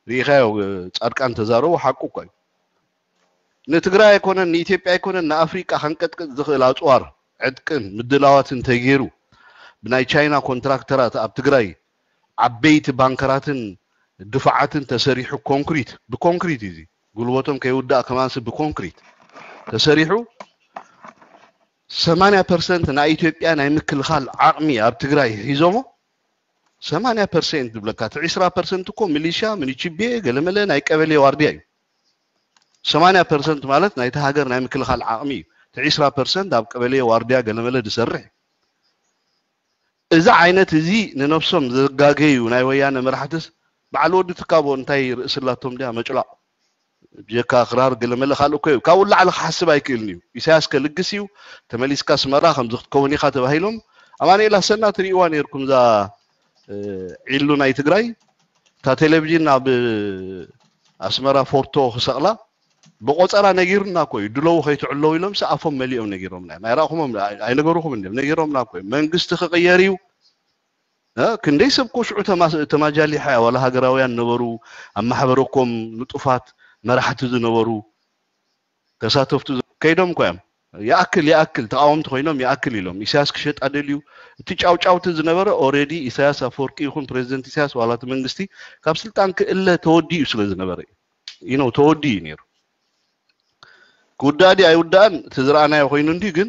ርኢኻዮ። እ፣ ፃድቃን ተዛረቡ ሓቁ እኮ እዩ። ንትግራይ ኣይኮነን ንኢትዮጵያ ኣይኮነን ንኣፍሪቃ ከንቀጥቅጥ ዝኽእል ኣፅዋር ዕጥቅን ምድላዋትን ተገይሩ ብናይ ቻይና ኮንትራክተራት ኣብ ትግራይ ዓበይቲ ባንከራትን ድፋዓትን ተሰሪሑ ኮንክሪት ብኮንክሪት እዩ። ጉልበቶም ከይውዳእ ከማንስ ብኮንክሪት ተሰሪሑ ሰማንያ ፐርሰንት ናይ ኢትዮጵያ ናይ ምክልኻል ዓቕሚ ኣብ ትግራይ ሒዞሞ። ሰማንያ ፐርሰንት ዝብለካ እቲ ዕስራ ፐርሰንት እኮ ሚሊሻ ምንችቤ ገለመለ ናይ ቀበሌ ዋርድያ እዩ። ሰማንያ ፐርሰንት ማለት ናይቲ ሃገር ናይ ምክልኻል ዓቕሚ እዩ። እቲ ዒስራ ፐርሰንት ኣብ ቀበሌ ዋርድያ ገለመለ ዝሰርሕ እዩ። እዚ ዓይነት እዚ ንነብሶም ዘጋገዩ ናይ ወያነ መራሕትስ በዓል ወዲ ትካቦ እንታይ ርእሲ ኣላቶም ድያ መጭላቕ? ብጀካ ክራር ገለመለ ካልእ እኮ እዩ። ካብኡ ንላዕሊ ክሓስብ ኣይክእልን እዩ። ኢሳያስ ከልግስ እዩ፣ ተመሊስካ ኣስመራ ከምዚ ክትከውን ኢኻ ተባሂሎም። ኣማኑኤል ኣሰና ትርእይዋ ነይርኩም እዛ ዒሉ ናይ ትግራይ እታ ቴሌቪዥን ኣብ ኣስመራ ፎቶ ክሰቕላ ብቆፀራ ነጊሩና እኮ እዩ። ድለው ከይትዕለው ኢሎም ሲ ኣፎም መሊኦም ነጊሮምና እዮም። ኣይረእኹሞም ኣይነገሩኹም እንዲም ነጊሮምና እኮ እዮም። መንግስቲ ክቕየር እዩ። ክንደይ ሰብ እኮ ሽዑ ተማጃሊሓ ዋላ ሃገራውያን ነበሩ ኣብ ማሕበረኮም ንጡፋት መራሕቲ ዝነበሩ ተሳተፍቱ ከይዶም እኮ እዮም። ይኣክል ይኣክል ተቃወምቲ ኮይኖም ይኣክል ኢሎም ኢሳያስ ክሸጣ ደልዩ። እቲ ጫውጫውቲ ዝነበረ ኦሬዲ ኢሳያስ ኣፈወርቂ ይኹን ፕሬዚደንት ኢሳያስ ዋላ እቲ መንግስቲ ካብ ስልጣን ክእለ ተወዲኡ ስለ ዝነበረ እዩ። ተወዲኡ እዩ ነይሩ። ክውዳእ ድዩ ኣይውዳእን እቲ ዝረኣናዮ ኮይኑ እንዲ ግን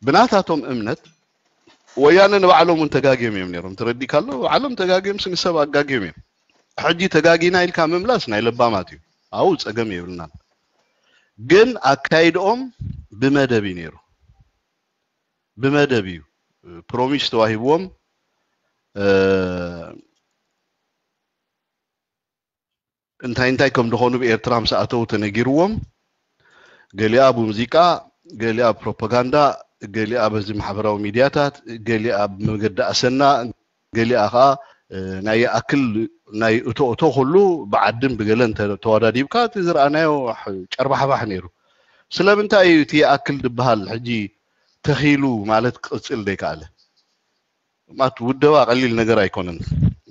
ብናታቶም እምነት ወያነ ንባዕሎም እውን ተጋግዮም እዮም ነይሮም። ትረዲካ ኣሎ ባዕሎም ተጋግዮም ስንሰብ ኣጋግዮም እዮም። ሕጂ ተጋጊና ኢልካ ምምላስ ናይ ለባማት እዩ። ኣው ጸገም የብልናን። ግን ኣካይድኦም ብመደብ እዩ ነይሩ። ብመደብ እዩ ፕሮሚስ ተዋሂብዎም። እንታይ እንታይ ከም ዝኾኑ ብኤርትራ ምስ ኣተው ተነጊርዎም፣ ገሊኣ ብሙዚቃ፣ ገሊኣ ብፕሮፓጋንዳ፣ ገሊኣ በዚ ማሕበራዊ ሚድያታት፣ ገሊኣ ብመገዲ ኣሰና፣ ገሊኣ ኸዓ ናይ ይኣክል ናይ እቶ እቶ ኩሉ ብዓድን ብገለን ተወዳዲብካ እቲ ዝረኣናዮ ጨርባሕባሕ ነይሩ። ስለምንታይ እዩ እቲ ይኣክል ዝበሃል ሕጂ ተኺሉ ማለት ክቕፅል ዘይከኣለ? ማለት ውደባ ቀሊል ነገር ኣይኮነን።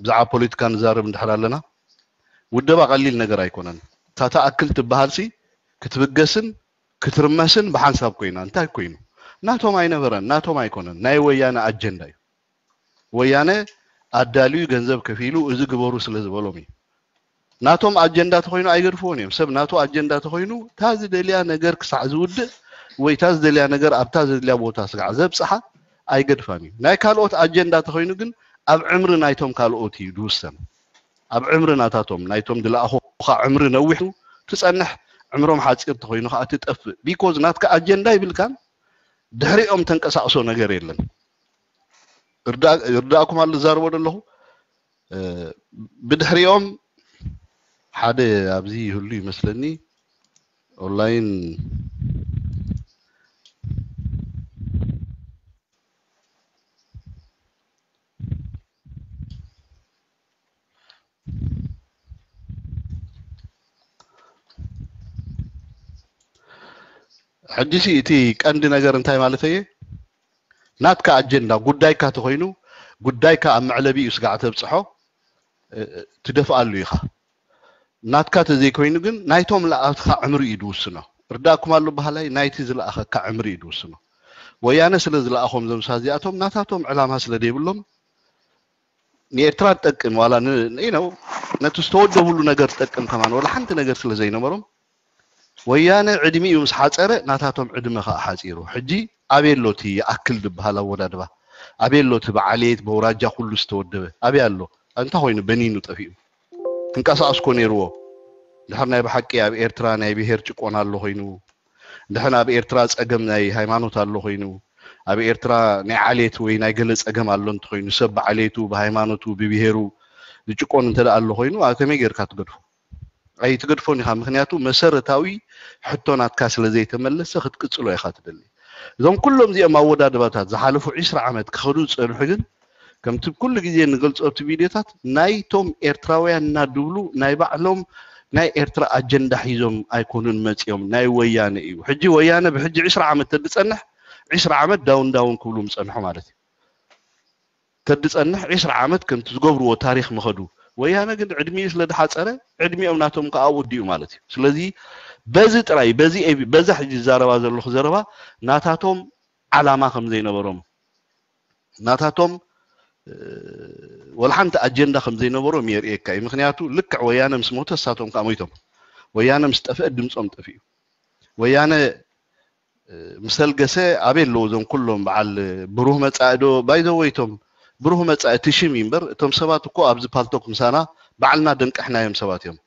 ብዛዕባ ፖለቲካ ንዛረብ እንድሕር ኣለና ውደባ ቀሊል ነገር ኣይኮነን። እታ ትኣክል ትበሃልሲ ክትብገስን ክትርመስን ብሓንሳብ ኮይና እንታይ ኮይኑ ናቶም ኣይነበረን፣ ናቶም ኣይኮነን፣ ናይ ወያነ ኣጀንዳ እዩ። ወያነ ኣዳልዩ ገንዘብ ከፊሉ እዚ ግበሩ ስለ ዝበሎም እዩ። ናቶም ኣጀንዳ ተኮይኑ ኣይገድፍዎን እዮም። ሰብ ናቱ ኣጀንዳ ተኮይኑ እታ ዝደልያ ነገር ክሳዕ ዝውድእ ወይ እታ ዝደልያ ነገር ኣብታ ዘድልያ ቦታ ስጋዕ ዘብፅሓ ኣይገድፋን እዩ። ናይ ካልኦት ኣጀንዳ ተኮይኑ ግን ኣብ ዕምሪ ናይቶም ካልኦት እዩ ዝውሰን። ኣብ ዕምሪ ናታቶም ናይቶም ዝለኣኹኻ ዕምሪ ነዊሑ ትፀንሕ፣ ዕምሮም ሓፂር ተኮይኑ ከዓ ትጠፍእ። ቢኮዝ ናትካ ኣጀንዳ ይብልካን ድሕሪኦም ተንቀሳቅሶ ነገር የለን። ይርዳእኩም ኣሎ ዝዛረቦ ዘለኹ። ብድሕሪኦም ሓደ ኣብዚ ይህሉ ይመስለኒ ኦንላይን ሕጂ እቲ ቀንዲ ነገር እንታይ ማለት እየ? ናትካ ኣጀንዳ ጉዳይካ ተኮይኑ ጉዳይካ ኣብ መዕለቢኡ ስጋዕ ተብፅሖ ትደፍኣሉ ኢኻ። ናትካ ተዘይኮይኑ ግን ናይቶም ለኣትካ ዕምሪ እዩ ዝውስኖ። ርዳእኩም ኣሎ በሃላይ ናይቲ ዝለኣኸካ ዕምሪ እዩ ዝውስኖ። ወያነ ስለ ዝለኣኾም ዘምሳ እዚኣቶም ናታቶም ዕላማ ስለ ዘይብሎም ንኤርትራ ትጠቅም ዋላ ነው ነቲ ዝተወደብሉ ነገር ትጠቅም ከማን ወላ ሓንቲ ነገር ስለ ዘይነበሮም ወያነ ዕድሚኡ ምስ ሓፀረ ናታቶም ዕድመ ከዓ ሓፂሩ። ሕጂ ኣበይ ኣሎ እቲ ይኣክል ዝበሃል ኣወዳድባ? ኣበይ ኣሎ እቲ ብዓሌት በውራጃ ኩሉ ዝተወደበ ኣበይ ኣሎ? እንታይ ኮይኑ በኒኑ ጠፊኡ? ክንቀሳቀስ ኮ ነይርዎ። ድሕር ናይ ብሓቂ ኣብ ኤርትራ ናይ ብሄር ጭቆና ኣሎ ኮይኑ ድሕን ኣብ ኤርትራ ጸገም ናይ ሃይማኖት ኣሎ ኮይኑ ኣብ ኤርትራ ናይ ዓሌት ወይ ናይ ገለ ጸገም ኣሎ እንተኮይኑ ሰብ ብዓሌቱ ብሃይማኖቱ ብብሄሩ ዝጭቆን እንተ ኣሎ ኮይኑ ኣብ ከመይ ጌርካ ትገድፎ? ኣይትገድፎን ኢኻ። ምክንያቱ መሰረታዊ ሕቶ ናትካ ስለ ዘይተመለሰ ክትቅጽሎ ኢኻ ትደሊ። እዞም ኩሎም እዚኦም ኣወዳድባታት ዝሓለፉ ዒስራ ዓመት ክኸዱ ዝጸንሑ ግን ከምቲ ኩሉ ግዜ ንገልጾ ኣብቲ ቪድዮታት ናይቶም ኤርትራውያን እናድብሉ ናይ ባዕሎም ናይ ኤርትራ ኣጀንዳ ሒዞም ኣይኮኑን መጺኦም ናይ ወያነ እዩ። ሕጂ ወያነ ብሕጂ ዒስራ ዓመት ተድጸንሕ ዒስራ ዓመት ዳውን ዳውን ክብሉ ምጸንሑ ማለት እዩ። ተድጸንሕ ዒስራ ዓመት ከምቲ ዝገብርዎ ታሪኽ ምኸዱ። ወያነ ግን ዕድሚኡ ስለ ድሓጸረ ዕድሚኦም ናቶም ከዓ ወዲኡ ማለት እዩ። ስለዚ በዚ ጥራይ በዚ በዛ ሕጂ ዝዛረባ ዘለኹ ዘረባ ናታቶም ዓላማ ከም ዘይነበሮም ናታቶም ወላ ሓንቲ ኣጀንዳ ከም ዘይነበሮም የርእየካ እዩ። ምክንያቱ ልክዕ ወያነ ምስ ሞተ እሳቶም ከዓ ሞይቶም። ወያነ ምስ ጠፍአ ድምፆም ጠፊኡ። ወያነ ምስ ተልገሰ ኣበይ ኣለዉ እዞም ኩሎም በዓል ብሩህ መፃኢ ዶ ባይዘወይቶም ብሩህ መፃኢ እቲ ሽም እዩ እምበር እቶም ሰባት እኮ ኣብዚ ፓልቶክ ምሳና ባዕልና ደንቀሕናዮም ሰባት እዮም።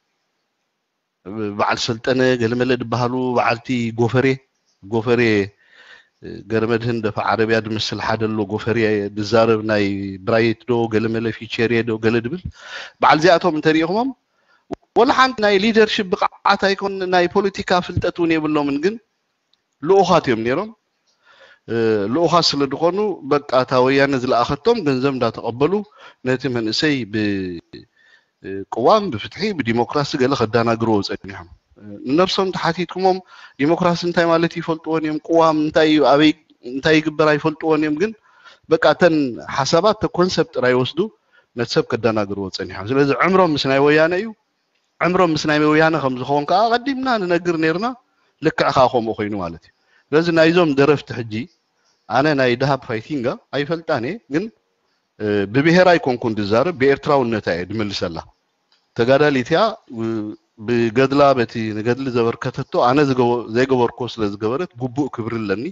በዓል ሰልጠነ ገለመለ ዝበሃሉ በዓልቲ ጎፈሬ ጎፈሬ ገረመድህን ደፋ ዓረብያ ዝመስል ሓደ ኣሎ ጎፈሬ ዝዛረብ ናይ ብራይት ዶ ገለመለ ፊቸሬ ዶ ገለ ድብል በዓል እዚኣቶም እንተሪኢኹሞም ወላ ሓንቲ ናይ ሊደርሽፕ ብቕዓት ኣይኮን ናይ ፖለቲካ ፍልጠት እውን የብሎምን ግን ልኡኻት እዮም ነይሮም። ልኡኻት ስለ ዝኾኑ በቃ እታ ወያነ ዝለኣኸቶም ገንዘብ እንዳተቐበሉ ነቲ መንእሰይ ብቅዋም ብፍትሒ ብዲሞክራሲ ገለ ከዳናግርዎ ጸኒሖም። ንነብሶም ተሓቲትኩሞም ዲሞክራሲ እንታይ ማለት ይፈልጥዎን እዮም፣ ቅዋም እንታይ እዩ፣ ኣበይ እንታይ ይግበር ኣይፈልጥዎን እዮም። ግን በቃ እተን ሓሳባት ተ ኮንሰፕት ጥራይ ወስዱ ነቲ ሰብ ከዳናግርዎ ጸኒሖም። ስለዚ ዕምሮም ምስ ናይ ወያነ እዩ። ዕምሮም ምስ ናይ ወያነ ከም ዝኸውን ከዓ ኣቐዲምና ንነግር ነርና። ልክዕ ከዓ ከምኡ ኮይኑ ማለት እዩ። ስለዚ ናይዞም ደረፍቲ ሕጂ ኣነ ናይ ደሃብ ፋይቲንጋ ኣይፈልጣን እየ፣ ግን ብብሄር ኣይኮንኩን ድዛረብ ብኤርትራውነታ እየ ድመልሰላ። ተጋዳሊት እያ። ብገድላ በቲ ንገድሊ ዘበርከተቶ ኣነ ዘይገበርኮ ስለ ዝገበረት ግቡእ ክብሪ ኣለኒ።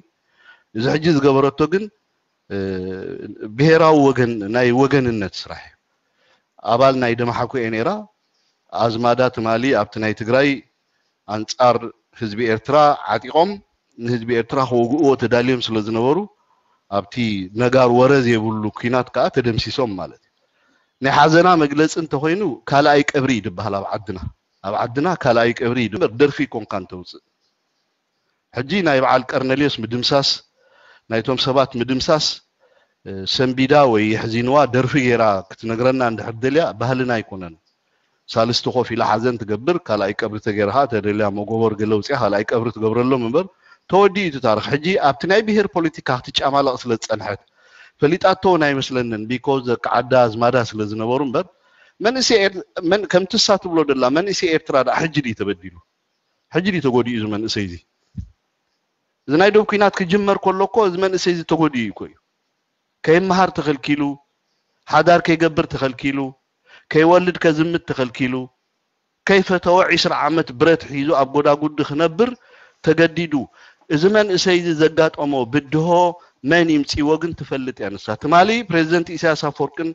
እዚ ሕጂ ዝገበረቶ ግን ብሄራዊ ወገን ናይ ወገንነት ስራሕ እዩ። ኣባል ናይ ደማሓኩ እየ ነይራ። ኣዝማዳ ትማሊ ኣብቲ ናይ ትግራይ ኣንጻር ህዝቢ ኤርትራ ዓጢቖም ንህዝቢ ኤርትራ ክወግእዎ ተዳልዮም ስለ ዝነበሩ ኣብቲ ነጋር ወረ ዘይብሉ ኲናት ከዓ ተደምሲሶም ማለት እዩ። ናይ ሓዘና መግለፂ እንተኮይኑ ካልኣይ ቀብሪ እዩ ዝበሃል ኣብ ዓድና። ኣብ ዓድና ካልኣይ ቀብሪ እዩ እምበር ደርፊ ኮንካ እንተውፅእ ሕጂ ናይ በዓል ቀርነልዮስ ምድምሳስ ናይቶም ሰባት ምድምሳስ ሰንቢዳ ወይ የሕዚንዋ ደርፊ ገይራ ክትነግረና እንድሕር ደልያ ባህልና ኣይኮነን። ሳልስቲ ኮፍ ኢላ ሓዘን ትገብር ካልኣይ ቀብሪ ተገይርካ ተደልያ መጎበር ገለ ውፅያ ካልኣይ ቀብሪ ትገብረሎም እምበር ተወዲኡ እቲ ታሪክ ሕጂ ኣብቲ ናይ ብሄር ፖለቲካ ክትጫማለቕ ስለ ዝፀንሐት ፈሊጣቶ እውን ኣይመስለንን because ደቂ ዓዳ ኣዝማዳ ስለ ዝነበሩ እምበር መንእሰይ ከምቲ እሳ ትብሎ ደላ መንእሰይ ኤርትራ ደኣ ሕጂ ድዩ ተበዲሉ ሕጂ ድዩ ተጎዲኡ እዚ መንእሰይ እዚ እዚ ናይ ዶብ ኲናት ክጅመር ከሎ እኮ እዚ መንእሰይ እዚ ተጎዲኡ እኮ እዩ ከይመሃር ተኸልኪሉ ሓዳር ከይገብር ተኸልኪሉ ከይወልድ ከዝምት ተኸልኪሉ ከይፈተወ ዒስራ ዓመት ብረት ሒዙ ኣብ ጎዳጉዲ ክነብር ተገዲዱ እዚ መንእሰይ እዚ ዘጋጠሞ ብድሆ መን ይምፅዎ ግን ትፈልጥ እያ ንሳ ትማሊ ፕሬዚደንት ኢሳያስ ኣፈወርቅን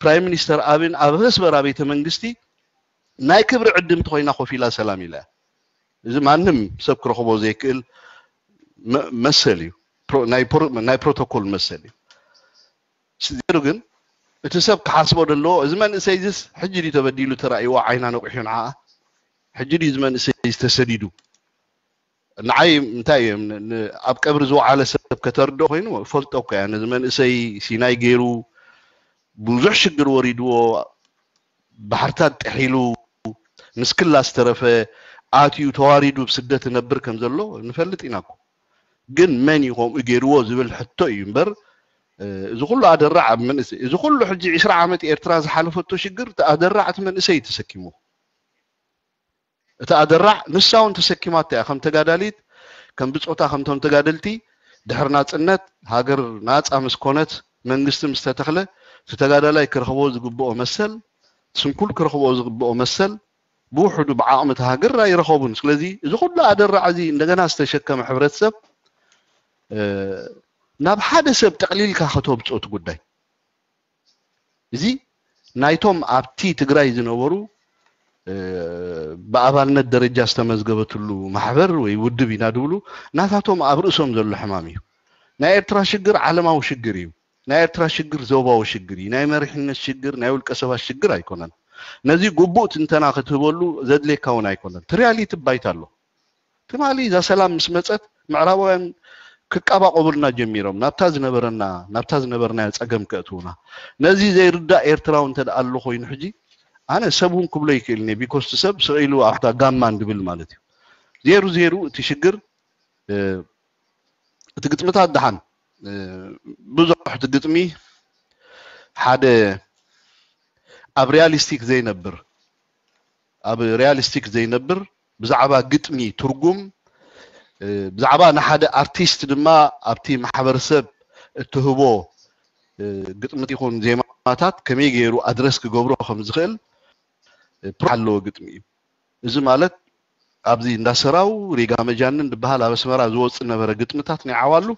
ፕራይም ሚኒስተር ኣብን ኣብ ኣስመራ ቤተ መንግስቲ ናይ ክብሪ ዕድምቲ ኮይና ኮፍ ኢላ ሰላም ኢላ እያ እዚ ማንም ሰብ ክረኽቦ ዘይክእል መሰል እዩ ናይ ፕሮቶኮል መሰል እዩ ዜሩ ግን እቲ ሰብ ክሓስቦ ዘለዎ እዚ መንእሰይ ዚስ ሕጂ ድዩ ተበዲሉ ተራእይዎ ዓይና ነቑሑ ንዓ ሕጂ ድዩ እዚ መንእሰይ ዝተሰዲዱ ንዓይ እንታይ እዮም ኣብ ቀብሪ ዝወዓለ ሰብ ከተርድኦ ኮይኑ ፈልጦ እኮ እያ ነዚ መንእሰይ ሲናይ ገይሩ ብዙሕ ሽግር ወሪድዎ ባሕርታት ጥሒሉ ምስ ክላ ዝተረፈ ኣትዩ ተዋሪዱ ብስደት ነብር ከም ዘሎ ንፈልጥ ኢና እኮ ግን መን እዩ ከምኡ ገይርዎ ዝብል ሕቶ እዩ እምበር እዚ ኩሉ ኣደራዕ ኣብ መንእሰይ እዚ ኩሉ ሕጂ ዒስራ ዓመት ኤርትራ ዝሓለፈቶ ሽግር ኣደራዕ እቲ መንእሰይ ተሰኪሙ እቲ ኣደራዕ ንሳ እውን ተሰኪማታ እያ ከም ተጋዳሊት ከም ብፆታ ከምቶም ተጋደልቲ ድሕሪ ናፅነት ሃገር ናፃ ምስ ኮነት መንግስቲ ምስ ተተኽለ እቲ ተጋዳላይ ክረኽቦ ዝግብኦ መሰል ስንኩል ክረኽቦ ዝግብኦ መሰል ብውሕዱ ብዓቕሚ እቲ ሃገር ኣይረኸቡን ስለዚ እዚ ኩሉ ኣደራዕ እዚ እንደገና ዝተሸከመ ሕብረተሰብ ናብ ሓደ ሰብ ጠቕሊልካ ከተብፅኦ እቲ ጉዳይ እዚ ናይቶም ኣብቲ ትግራይ ዝነበሩ ብኣባልነት ደረጃ ዝተመዝገበትሉ ማሕበር ወይ ውድብ ኢና ድብሉ ናታቶም ኣብ ርእሶም ዘሎ ሕማም እዩ ናይ ኤርትራ ሽግር ዓለማዊ ሽግር እዩ ናይ ኤርትራ ሽግር ዞባዊ ሽግር እዩ ናይ መሪሕነት ሽግር ናይ ውልቀ ሰባት ሽግር ኣይኮነን ነዚ ግቡእ ትንተና ክትህበሉ ዘድልየካ እውን ኣይኮነን ትሪያሊቲ ባይታ ኣሎ ትማሊ እዛ ሰላም ምስ መፀት ምዕራባውያን ክቃባቆቡልና ጀሚሮም ናብታ ዝነበረና ናብታ ዝነበርናዮ ፀገም ከእትውና ነዚ ዘይርዳእ ኤርትራዊ እንተ ኣሎ ኮይኑ ሕጂ ኣነ ሰብ እውን ክብሎ ይክእል ኒ ቢኮስቲ ሰብ ስቕ ኢሉ ኣብታ ጋማ እንድብል ማለት እዩ ዜሩ ዜሩ እቲ ሽግር እቲ ግጥምታት ደሓን ብዙሕ እቲ ግጥሚ ሓደ ኣብ ሪያሊስቲክ ዘይነብር ኣብ ሪያሊስቲክ ዘይነብር ብዛዕባ ግጥሚ ትርጉም ብዛዕባ ንሓደ ኣርቲስት ድማ ኣብቲ ማሕበረሰብ እትህቦ ግጥምት ይኹን ዜማታት ከመይ ገይሩ ኣድረስ ክገብሮ ከም ዝኽእል ኣለዎ ግጥሚ እዩ እዚ ማለት ኣብዚ እንዳሰራው ሪጋ መጃንን ዝበሃል ኣብ ኣስመራ ዝወፅእ ነበረ ግጥምታት ናይ ዓዋሉ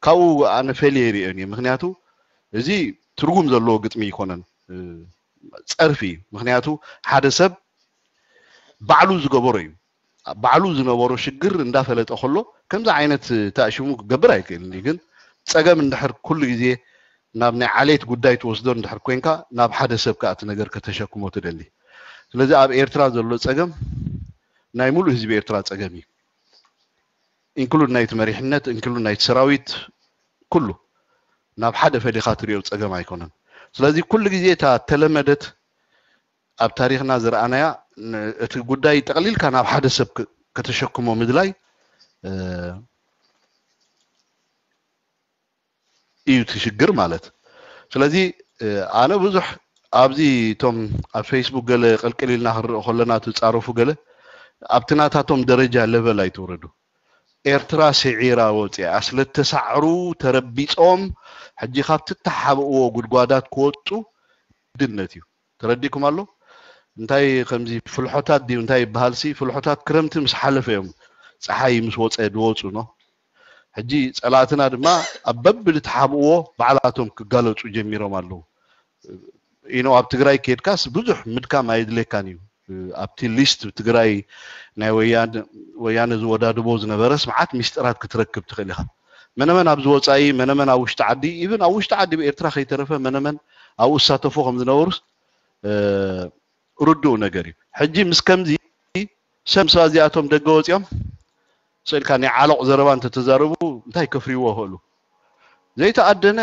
ካብኡ ኣነ ፈልየ ይሪኦን እየ ምክንያቱ እዚ ትርጉም ዘለዎ ግጥሚ ይኮነን ፀርፊ እዩ ምክንያቱ ሓደ ሰብ ባዕሉ ዝገበሮ እዩ። ባዕሉ ዝነበሮ ሽግር እንዳፈለጠ ከሎ ከምዚ ዓይነት ተኣሽሙ ክገብር ኣይክእልን እዩ። ግን ጸገም እንድሕር ኩሉ ግዜ ናብ ናይ ዓሌት ጉዳይ ትወስዶ እንድሕር ኮንካ ናብ ሓደ ሰብ ከኣ እቲ ነገር ከተሸክሞ ትደሊ። ስለዚ ኣብ ኤርትራ ዘሎ ጸገም ናይ ሙሉእ ህዝቢ ኤርትራ ጸገም እዩ። ኢንክሉድ ናይቲ መሪሕነት፣ ኢንክሉድ ናይቲ ሰራዊት፣ ኩሉ ናብ ሓደ ፈሊኻ ትሪኦ ጸገም ኣይኮነን። ስለዚ ኩሉ ግዜ እታ ተለመደት ኣብ ታሪኽና ዝረኣናያ እቲ ጉዳይ ጠቕሊልካ ናብ ሓደ ሰብ ከተሸክሞ ምድላይ እዩ እቲ ሽግር ማለት። ስለዚ ኣነ ብዙሕ ኣብዚ እቶም ኣብ ፌስቡክ ገለ ቅልቅል ኢልና ክንርኢ ከለና ትፃረፉ ገለ ኣብቲ ናታቶም ደረጃ ለቨል ኣይትውረዱ። ኤርትራ ስዒራ ወፂኣ ስለተሳዕሩ ተረቢፆም ሕጂ ካብቲ ተሓብእዎ ጉድጓዳት ክወፁ ግድነት እዩ። ተረዲኩም ኣሎ? እንታይ ከምዚ ፍልሖታት ድዩ እንታይ ይበሃል ሲ ፍልሖታት ክረምቲ ምስ ሓለፈ እዮም ፀሓይ ምስ ወፀ ድወፁ ኖ። ሕጂ ፀላእትና ድማ ኣብ በብልትሓብእዎ ባዕላቶም ክጋለፁ ጀሚሮም ኣለዉ። ኢኖ ኣብ ትግራይ ከድካስ ብዙሕ ምድካም ኣየድልየካን እዩ። ኣብቲ ሊስት ትግራይ ናይ ወያነ ዝወዳድቦ ዝነበረስ መዓት ሚስጥራት ክትረክብ ትኽእል ኢኻ። መነመን ኣብዚ ወፃኢ መነመን ኣብ ውሽጢ ዓዲ ኢብን ኣብ ውሽጢ ዓዲ ብኤርትራ ከይተረፈ መነመን ኣብኡ ዝሳተፎ ከም ዝነበሩስ ርዱእ ነገር እዩ። ሕጂ ምስ ከምዚ ሰብ ምስ እዚኣቶም ደገ ወፂኦም ስእልካ ናይ ዓለቕ ዘረባ እንተተዛረቡ እንታይ ከፍርይዎ ይኽእሉ? ዘይተኣደነ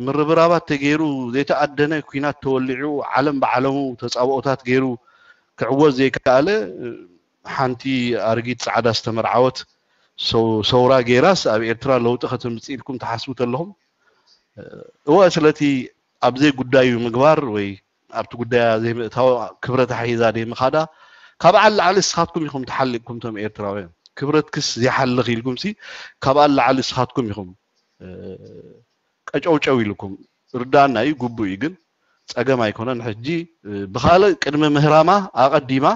ምርብራባት ተገይሩ ዘይተኣደነ ኩናት ተወሊዑ ዓለም ብዓለሙ ተፃብኦታት ገይሩ ክዕወት ዘይከኣለ ሓንቲ ኣርጊት ፃዕዳ ዝተመርዓወት ሰውራ ገይራስ ኣብ ኤርትራ ለውጢ ከተምፅእ ኢልኩም ትሓስቡ ተለኹም እወ ስለቲ ኣብዘይ ጉዳዩ ምግባር ወይ ኣብቲ ጉዳያ ዘይምእታው ክብረት ኣሒዛ ደይ ምኻዳ ካብ ዓል ላዕሊ እስኻትኩም ኢኹም ተሓሊቅኩም ቶም ኤርትራውያን ክብረትክስ ዘይሓልኽ ኢልኩም ሲ ካብ ዓል ላዕሊ እስኻትኩም ኢኹም ቀጨውጨው ኢልኩም ርዳና እዩ ግቡእ እዩ ግን ጸገም ኣይኮነን ሕጂ ብኻልእ ቅድሚ ምህራማ ኣቐዲማ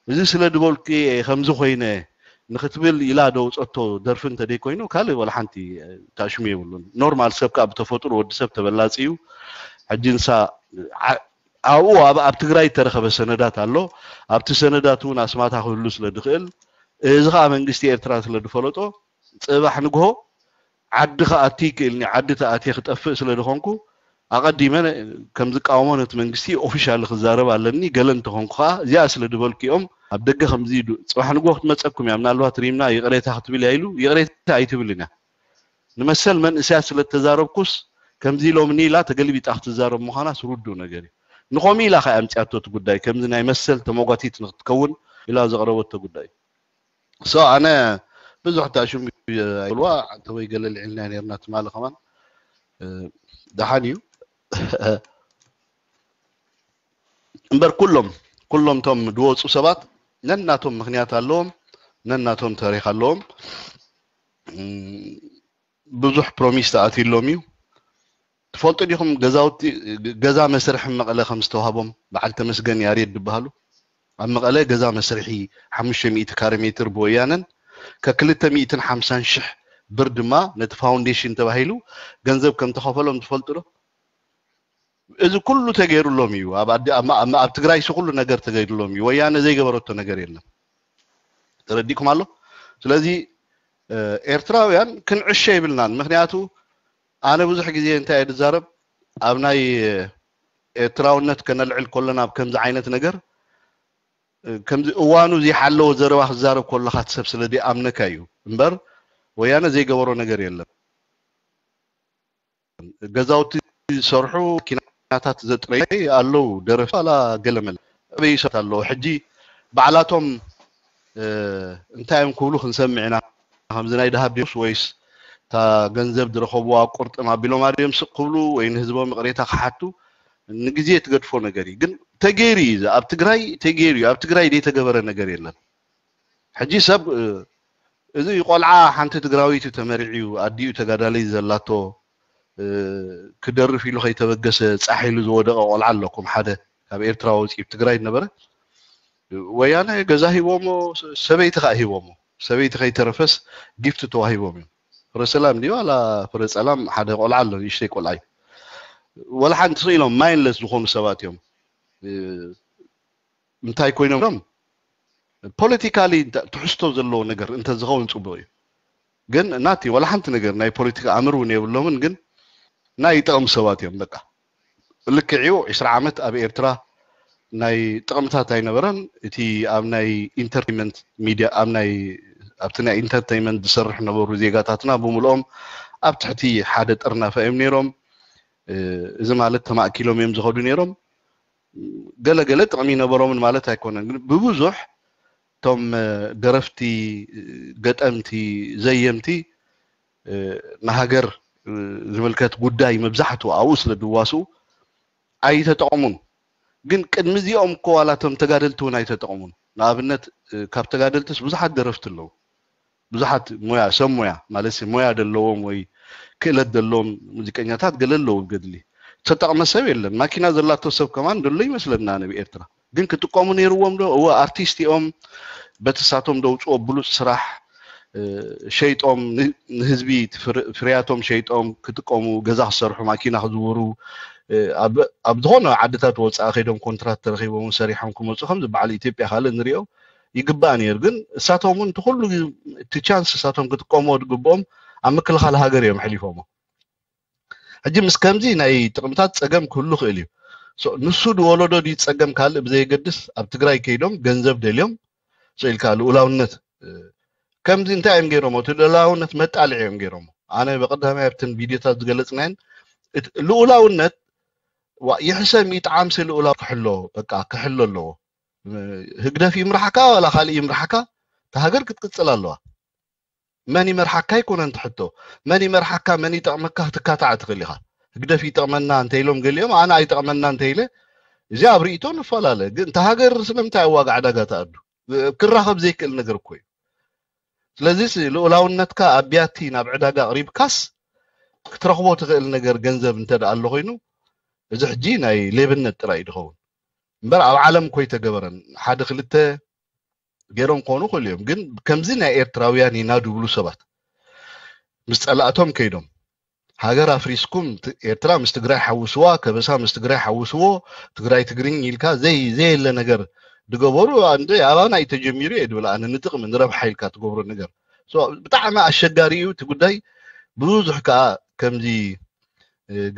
እዚ ስለ ድበልኩ እየ ከምዚ ኮይነ ንክትብል ኢላ ደውፀቶ ደርፊ እንተደይኮይኑ ካልእ ወላ ሓንቲ ታሽሙ የብሉን ኖርማል ሰብ ከዓ ብተፈጥሮ ወዲ ሰብ ተበላፂ እዩ ሕጂ ንሳ ኣብኡ ኣብ ትግራይ እተረኸበ ሰነዳት ኣሎ ኣብቲ ሰነዳት እውን ኣስማታ ክህሉ ስለ ድኽእል እዚ ከዓ መንግስቲ ኤርትራ ስለ ድፈለጦ ፅባሕ ንግሆ ዓዲ ክኣቲ ይክእልኒ ዓዲ ተኣትየ ክጠፍእ ስለ ድኾንኩ ኣቐዲመ ከም ዝቃወሞ ነቲ መንግስቲ ኦፊሻሊ ክዛረብ ኣለኒ ገለ እንተኾንኩ ከዓ እዚኣ ስለ ድበልኩ እዮም ኣብ ደገ ከምዚ ጽባሕ ንግሆ ክትመፀኩም እያ ምናልባት ሪምና ይቕሬታ ክትብል እያ ኢሉ ይቕሬታ ኣይትብልን እያ ንመሰል መንእሰያት ስለ እተዛረብኩስ ከምዚ ኢሎምኒ ኢላ ተገልቢጣ ክትዛረብ ምዃናስ ርዱእ ነገር እዩ ንኸምኡ ኢላ ከ ኣምፅያቶ እቲ ጉዳይ ከምዚ ናይ መሰል ተመጓቲት ንክትከውን ኢላ ዘቕረበቶ ጉዳይ so ኣነ ብዙሕ እታ ሽም ኣይልዋ እንተ ወይ ገለ ልዕልና ነርና ትማሊ ከማን ደሓን እዩ እምበር ኩሎም ኩሎም ቶም ድወፁ ሰባት ነናቶም ምክንያት ኣለዎም ነናቶም ታሪክ ኣለዎም ብዙሕ ፕሮሚስ ተኣትዩሎም እዩ ትፈልጡ ዲኹም ገዛውቲ ገዛ መስርሒ መቐለ ከም ዝተዋህቦም በዓል ተመስገን ያሬድ ዝበሃሉ ኣብ መቐለ ገዛ መስርሒ ሓሙሽተ ሚእቲ ካሬ ሜትር ብወያነን ከክልተ ሚእትን ሓምሳን ሽሕ ብር ድማ ነቲ ፋውንዴሽን ተባሂሉ ገንዘብ ከም ተኸፈሎም ትፈልጡ ዶ እዚ ኩሉ ተገይሩሎም እዩ ኣብ ትግራይ ሲ ኩሉ ነገር ተገይሩሎም እዩ ወያነ ዘይገበረቶ ነገር የለን ተረዲእኩም ኣሎ ስለዚ ኤርትራውያን ክንዕሸ ይብልናን ምክንያቱ ኣነ ብዙሕ ግዜ እንታይ እየ ዝዛረብ ኣብ ናይ ኤርትራውነት ከነልዕል ከሎና ኣብ ከምዚ ዓይነት ነገር ከምዚ እዋኑ ዘይሓለወ ዘረባ ክዛረብ ከለካ ሰብ ስለ ኣምነካ እዩ እምበር ወያነ ዘይገበሮ ነገር የለን ገዛውቲ ዝሰርሑ ኪናታት ዘጥረዩ ኣለዉ ደረፍቲ ዋላ ገለመለ ኣበይ ሰባት ኣለዉ ሕጂ ባዕላቶም እንታይ እዮም ክብሉ ክንሰምዕ ኢና ከምዚ ናይ ደሃብ ድዮስ ወይስ እታ ገንዘብ ዝረኸብዋ ቁርጥም ኣቢሎም ኣድዮም ስቅ ክብሉ ወይ ንህዝቦም ይቕሬታ ክሓቱ ንግዜ ትገድፎ ነገር እዩ ግን ተገይሩ እዩ ኣብ ትግራይ ተገይሩ እዩ ኣብ ትግራይ ዘይተገበረ ነገር የለን ሕጂ ሰብ እዚ ቆልዓ ሓንቲ ትግራዊት እዩ ተመሪዕ እዩ ኣዲኡ ተጋዳለይ ዘላቶ ክደርፍ ኢሉ ከይተበገሰ ፃሕ ኢሉ ዝወደቀ ቆልዓ ኣለኩም ሓደ ካብ ኤርትራ ወፂኡ ትግራይ ነበረ ወያነ ገዛ ሂቦሞ ሰበይቲ ከዓ ሂቦሞ ሰበይቲ ከይተረፈስ ጊፍት ተዋሂቦም እዮም ፍረ ሰላም ድዩ ዋላ ፍረ ፀላም ሓደ ቆልዓ ኣሎ ንእሽተይ ቆልዓ እዩ ወላ ሓንቲ ስኢሎም ማይንለስ ዝኾኑ ሰባት እዮም እንታይ ኮይኖም ፖለቲካሊ ትሕዝቶ ዘለዎ ነገር እንተዝኸውን ፅቡቅ እዩ። ግን ናቲ ዋላ ሓንቲ ነገር ናይ ፖለቲካ ኣምር እውን የብሎምን። ግን ናይ ጠቕሚ ሰባት እዮም። በቃ ልክዕዩ ዕስራ ዓመት ኣብ ኤርትራ ናይ ጥቕምታት ኣይነበረን። እቲ ኣብ ናይ ኢንተርቴንመንት ሚድያ ኣብ ናይ ኣብቲ ናይ ኢንተርቴንመንት ዝሰርሕ ነበሩ ዜጋታትና ብምልኦም ኣብ ትሕቲ ሓደ ጥርናፈ እዮም ነይሮም። እዚ ማለት ተማእኪሎም እዮም ዝኸዱ ነይሮም። ገለገለ ጥቕሚ ይነበሮምን ማለት ኣይኮነን። ግን ብብዙሕ እቶም ደረፍቲ፣ ገጠምቲ፣ ዘየምቲ ንሃገር ዝምልከት ጉዳይ መብዛሕትኡ ኣብኡ ስለ ዝዋስኡ ኣይተጠቕሙን። ግን ቅድሚ እዚኦም እኮ ዋላ እቶም ተጋደልቲ እውን ኣይተጠቕሙን። ንኣብነት ካብ ተጋደልትስ ብዙሓት ደረፍቲ ኣለዉ። ብዙሓት ሞያ ሰብ ሞያ ማለት ሞያ ዘለዎም ወይ ክእለት ዘለዎም ሙዚቀኛታት ገለ ኣለዉ ገድሊ ተጠቕመ ሰብ የለን። ማኪና ዘላቶ ሰብ ከማን ደሎ ይመስለና ነብ ኤርትራ። ግን ክጥቀሙ ነይርዎም ዶ? እወ፣ ኣርቲስት እዮም። በቲ ሳቶም ደውፅኦ ብሉፅ ስራሕ ሸይጦም ንህዝቢ ፍርያቶም ሸይጦም ክጥቀሙ፣ ገዛ ክሰርሑ፣ ማኪና ክዝውሩ፣ ኣብ ዝኾነ ዓድታት ወፃኢ ከይዶም ኮንትራት ተረኪቦም ሰሪሖም ክመፁ ከም ዝበዓል ኢትዮጵያ ካልእ ንሪኦ ይግባእ ነይሩ። ግን እሳቶም እውን እቲ ኩሉ እቲ ቻንስ እሳቶም ክጥቀምዎ ዝግብኦም ኣብ ምክልኻል ሃገር እዮም ኣሕሊፎሞ። ሕጂ ምስ ከምዚ ናይ ጥቕምታት ፀገም ክህሉ ክእል እዩ። ንሱ ዝወለዶ ድዩ ፀገም ካልእ ብዘየገድስ ኣብ ትግራይ ከይዶም ገንዘብ ደልዮም ኢልካ ልኡላውነት ከምዚ እንታይ እዮም ገይሮሞ? እቲ ልኡላውነት መጣልዒ እዮም ገይሮሞ። ኣነ ብቀዳማይ ኣብተን ቪድዮታት ዝገለፅናየን ልኡላውነት ይሕሰም ይጥዓምሲ ልኡላው ክሕሎ በቃ ክሕሎ ኣለዎ። ህግደፍ ይምርሓካ ዋላ ካልእ ይምርሓካ እታ ሃገር ክትቅፅል ኣለዋ። መን ይመርሓካ ኣይኮነን ትሕቶ። መን ይመርሓካ መን ይጠቕመካ ክትካታዕ ትኽእል ኢኻ። ህግደፍ ይጠቕመና እንተኢሎም ገሊኦም ኣነ ኣይጠቕመና እንተኢለ እዚ ኣብ ርእይቶ ንፈላለ። ግን እታ ሃገር ስለምንታይ ኣብ ዋጋ ዕዳጋ ትኣዱ? ክራኸብ ዘይክእል ነገር እኮ እዩ። ስለዚ ልኡላውነትካ ኣብ ቢያቲ ናብ ዕዳጋ ኣቕሪብካስ ክትረኽቦ ትኽእል ነገር ገንዘብ እንተ ደኣ ኣሎ ኮይኑ እዚ ሕጂ ናይ ሌብነት ጥራይ እዩ ዝኸውን እምበር ኣብ ዓለም እኮ ኣይተገበረን። ሓደ ክልተ ገይሮም ክኾኑ ይኽእሉ እዮም። ግን ከምዚ ናይ ኤርትራውያን ኢና ድብሉ ሰባት ምስ ጸላእቶም ከይዶም ሃገር ኣፍሪስኩም ኤርትራ ምስ ትግራይ ሓውስዋ፣ ከበሳ ምስ ትግራይ ሓውስዎ፣ ትግራይ ትግርኝ ኢልካ ዘይ ዘየለ ነገር ድገበሩ። እንደ ኣባና እዩ ተጀሚሩ እየ ድብል ኣነ ንጥቕሚ ንረብሓ ኢልካ ትገብሮ ነገር ብጣዕሚ ኣሸጋሪ እዩ እቲ ጉዳይ። ብዙሕ ከዓ ከምዚ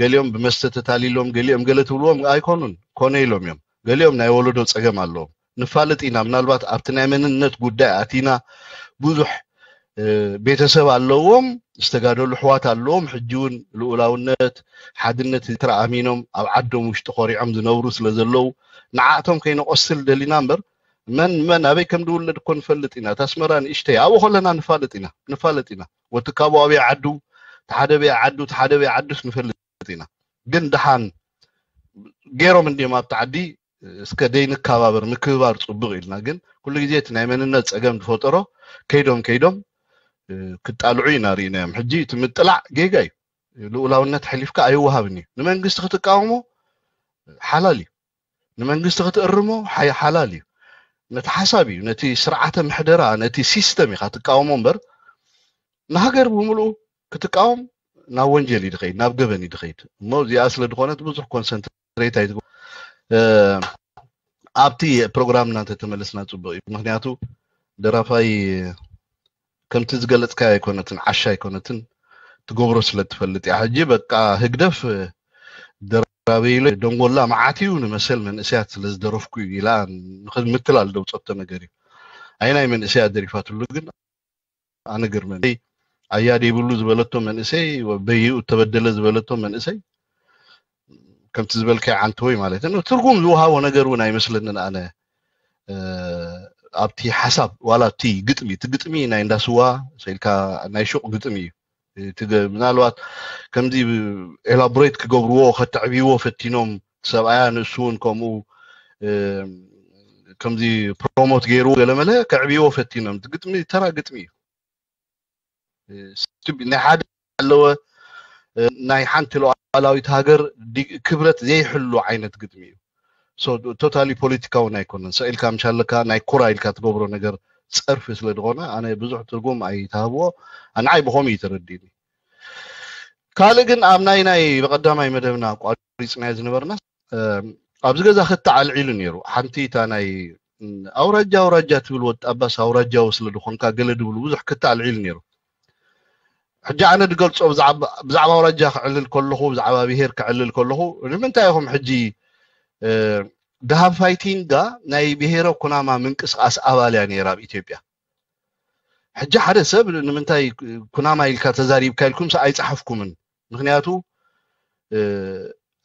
ገሊኦም ብመስተ ተታሊሎም ገሊኦም ገለ ትብልዎም ኣይኮኑን ኮነ ኢሎም እዮም። ገሊኦም ናይ ወለዶ ፀገም ኣለዎም ንፋልጥ ኢና። ምናልባት ኣብቲ ናይ መንነት ጉዳይ ኣቲና ብዙሕ ቤተሰብ ኣለዎም፣ ዝተጋደሉ ኣሕዋት ኣለዎም። ሕጂ እውን ልኡላውነት ሓድነት ኤርትራ ኣሚኖም ኣብ ዓዶም ውሽጢ ኮሪዖም ዝነብሩ ስለ ዘለዉ ንዓእቶም ከይነቆስል ደሊና እምበር መን መን ኣበይ ከም ዝውለድ እኮ ንፈልጥ ኢና። እታ ኣስመራ ንእሽተይ ኣብኡ ከለና ንፋልጥ ኢና ንፋልጥ ኢና። ወቲ ካብኡ ኣበይ ዓዱ ተሓደ በይ ዓዱ ተሓደ በይ ዓዱስ ንፈልጥ ኢና። ግን ደሓን ገይሮም እንዲዮም ኣብቲ ዓዲ እስከ ደይንከባበር ምክብባር ፅቡቕ ኢልና ግን ኩሉ ግዜ እቲ ናይ መንነት ፀገም ዝፈጠሮ ከይዶም ከይዶም ክጣልዑ ኢና ርኢናዮም። ሕጂ እቲ ምጥላዕ ጌጋ እዩ። ልኡላውነት ሓሊፍካ ኣይወሃብን እዩ። ንመንግስቲ ክትቃወሞ ሓላል እዩ። ንመንግስቲ ክትእርሞ ሓላል እዩ። ነቲ ሓሳብ እዩ ነቲ ስርዓተ ምሕደራ ነቲ ሲስተም ኢኻ ትቃወሞ እምበር ንሃገር ብምልኡ ክትቃወም ናብ ወንጀል እዩ ድኸይድ ናብ ገበን እዩ ድኸይድ። እሞ እዚኣ ስለ ዝኾነት ብዙሕ ኮንሰንት ሬት ኣይትግበ ኣብቲ ፕሮግራምና እንተተመለስና ፅቡቅ እዩ። ምክንያቱ ደራፋይ ከምቲ ዝገለፅካ ኣይኮነትን ዓሻ ኣይኮነትን ትገብሮ ስለ ትፈልጥ እያ። ሕጂ በቃ ህግደፍ ደራበይሎ ደንጎላ መዓት እዩ ንመሰል መንእሰያት ስለ ዝደረፍኩ እዩ ኢላ ምትላል ደውፀቶ ነገር እዩ። ኣይናይ መንእሰያት ደሪፋትሉ ግን ኣነ ገርመኒ ኣያ ደይብሉ ዝበለቶ መንእሰይ በይኡ እተበደለ ዝበለቶ መንእሰይ ከምቲ ዝበልካይ ዓንተወይ ማለት ነው። ትርጉም ዝወሃቦ ነገር እውን ኣይመስለንን። ኣነ ኣብቲ ሓሳብ ዋላ ኣብቲ ግጥሚ እቲ ግጥሚ ናይ እንዳስዋ ሰልካ ናይ ሹቅ ግጥሚ እዩ። ምናልባት ከምዚ ኤላቦሬት ክገብርዎ ከተዕብይዎ ፈቲኖም ሰብኣያ ንእሱ እውን ከምኡ ከምዚ ፕሮሞት ገይርዎ ገለመለ ከዕብይዎ ፈቲኖም። ግጥሚ ተራ ግጥሚ እዩ። ናይ ሓደ ኣለወ ናይ ሓንቲ ሉዓላዊት ሃገር ክብረት ዘይሕሉ ዓይነት ግጥሚ እዩ። ቶታሊ ፖለቲካውን ኣይኮነን። ሰኢልካ ምሻለካ ናይ ኩራ ኢልካ ትገብሮ ነገር ፀርፊ ስለ ዝኾነ ኣነ ብዙሕ ትርጉም ኣይተሃብዎ። ኣንዓይ ብኸምኡ እዩ ተረዲእኒ። ካልእ ግን ኣብ ናይ ናይ ብቐዳማይ መደብና ቋሪፅናዮ ዝነበርና ኣብዚ ገዛ ክተ ኣልዒሉ ነይሩ። ሓንቲ እታ ናይ ኣውራጃ ኣውራጃ ትብል ወጣባስ ኣውራጃዊ ስለ ዝኾንካ ገለ ድብሉ ብዙሕ ክታዕ ልዒሉ ነይሩ። ሕጂ ኣነ ድገልጾ ብዛዕባ ኣውራጃ ክዕልል ከለኹ፣ ብዛዕባ ብሄር ክዕልል ከለኹ፣ ንምንታይ ኢኹም ሕጂ ደሃብ ፋይቲንጋ ናይ ብሄረ ኩናማ ምንቅስቃስ ኣባል እያ ነይራ ኣብ ኢትዮጵያ። ሕጂ ሓደ ሰብ ንምንታይ ኩናማ ኢልካ ተዛሪብካ ኢልኩም ኣይፀሓፍኩምን። ምክንያቱ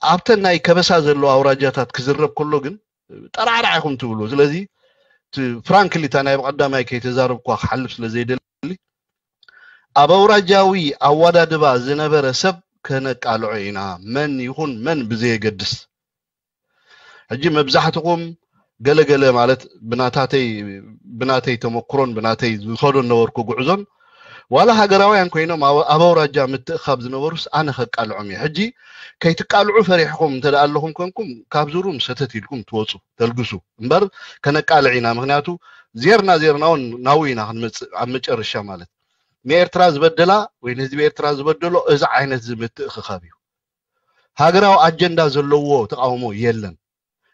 ኣብተን ናይ ከበሳ ዘለዎ ኣውራጃታት ክዝረብ ከሎ ግን ጠራዕራዕ ኢኹም ትብሉ። ስለዚ ፍራንክሊ እታ ናይ ብቐዳማይ ከይተዛረብኳ ክሓልፍ ስለ ዘይደሊ ኣብ ኣውራጃዊ ኣወዳድባ ዝነበረ ሰብ ከነቃልዖ ኢና። መን ይኹን መን ብዘየገድስ ሕጂ መብዛሕትኹም ገለገለ ማለት ብናታተይ ብናተይ ተመክሮን ብናተይ ዝኸዶ ነበርኩ ጉዕዞን ዋላ ሃገራውያን ኮይኖም ኣብ ኣውራጃ ምትእኻብ ዝነበሩስ ኣነ ከቃልዖም እየ። ሕጂ ከይትቃልዑ ፈሪሕኹም እንተ ኣለኹም ኮንኩም ካብዚ ሩም ሰተት ኢልኩም ትወፁ ተልግሱ እምበር ከነቃልዕ ኢና። ምክንያቱ ዜርና ዜርናውን ናው ኢና ክንመፅእ ኣብ መጨረሻ ማለት ንኤርትራ ዝበደላ ወይ ንህዝቢ ኤርትራ ዝበደሎ እዚ ዓይነት ዝምትእኽኻብ እዩ። ሃገራዊ ኣጀንዳ ዘለዎ ተቃውሞ የለን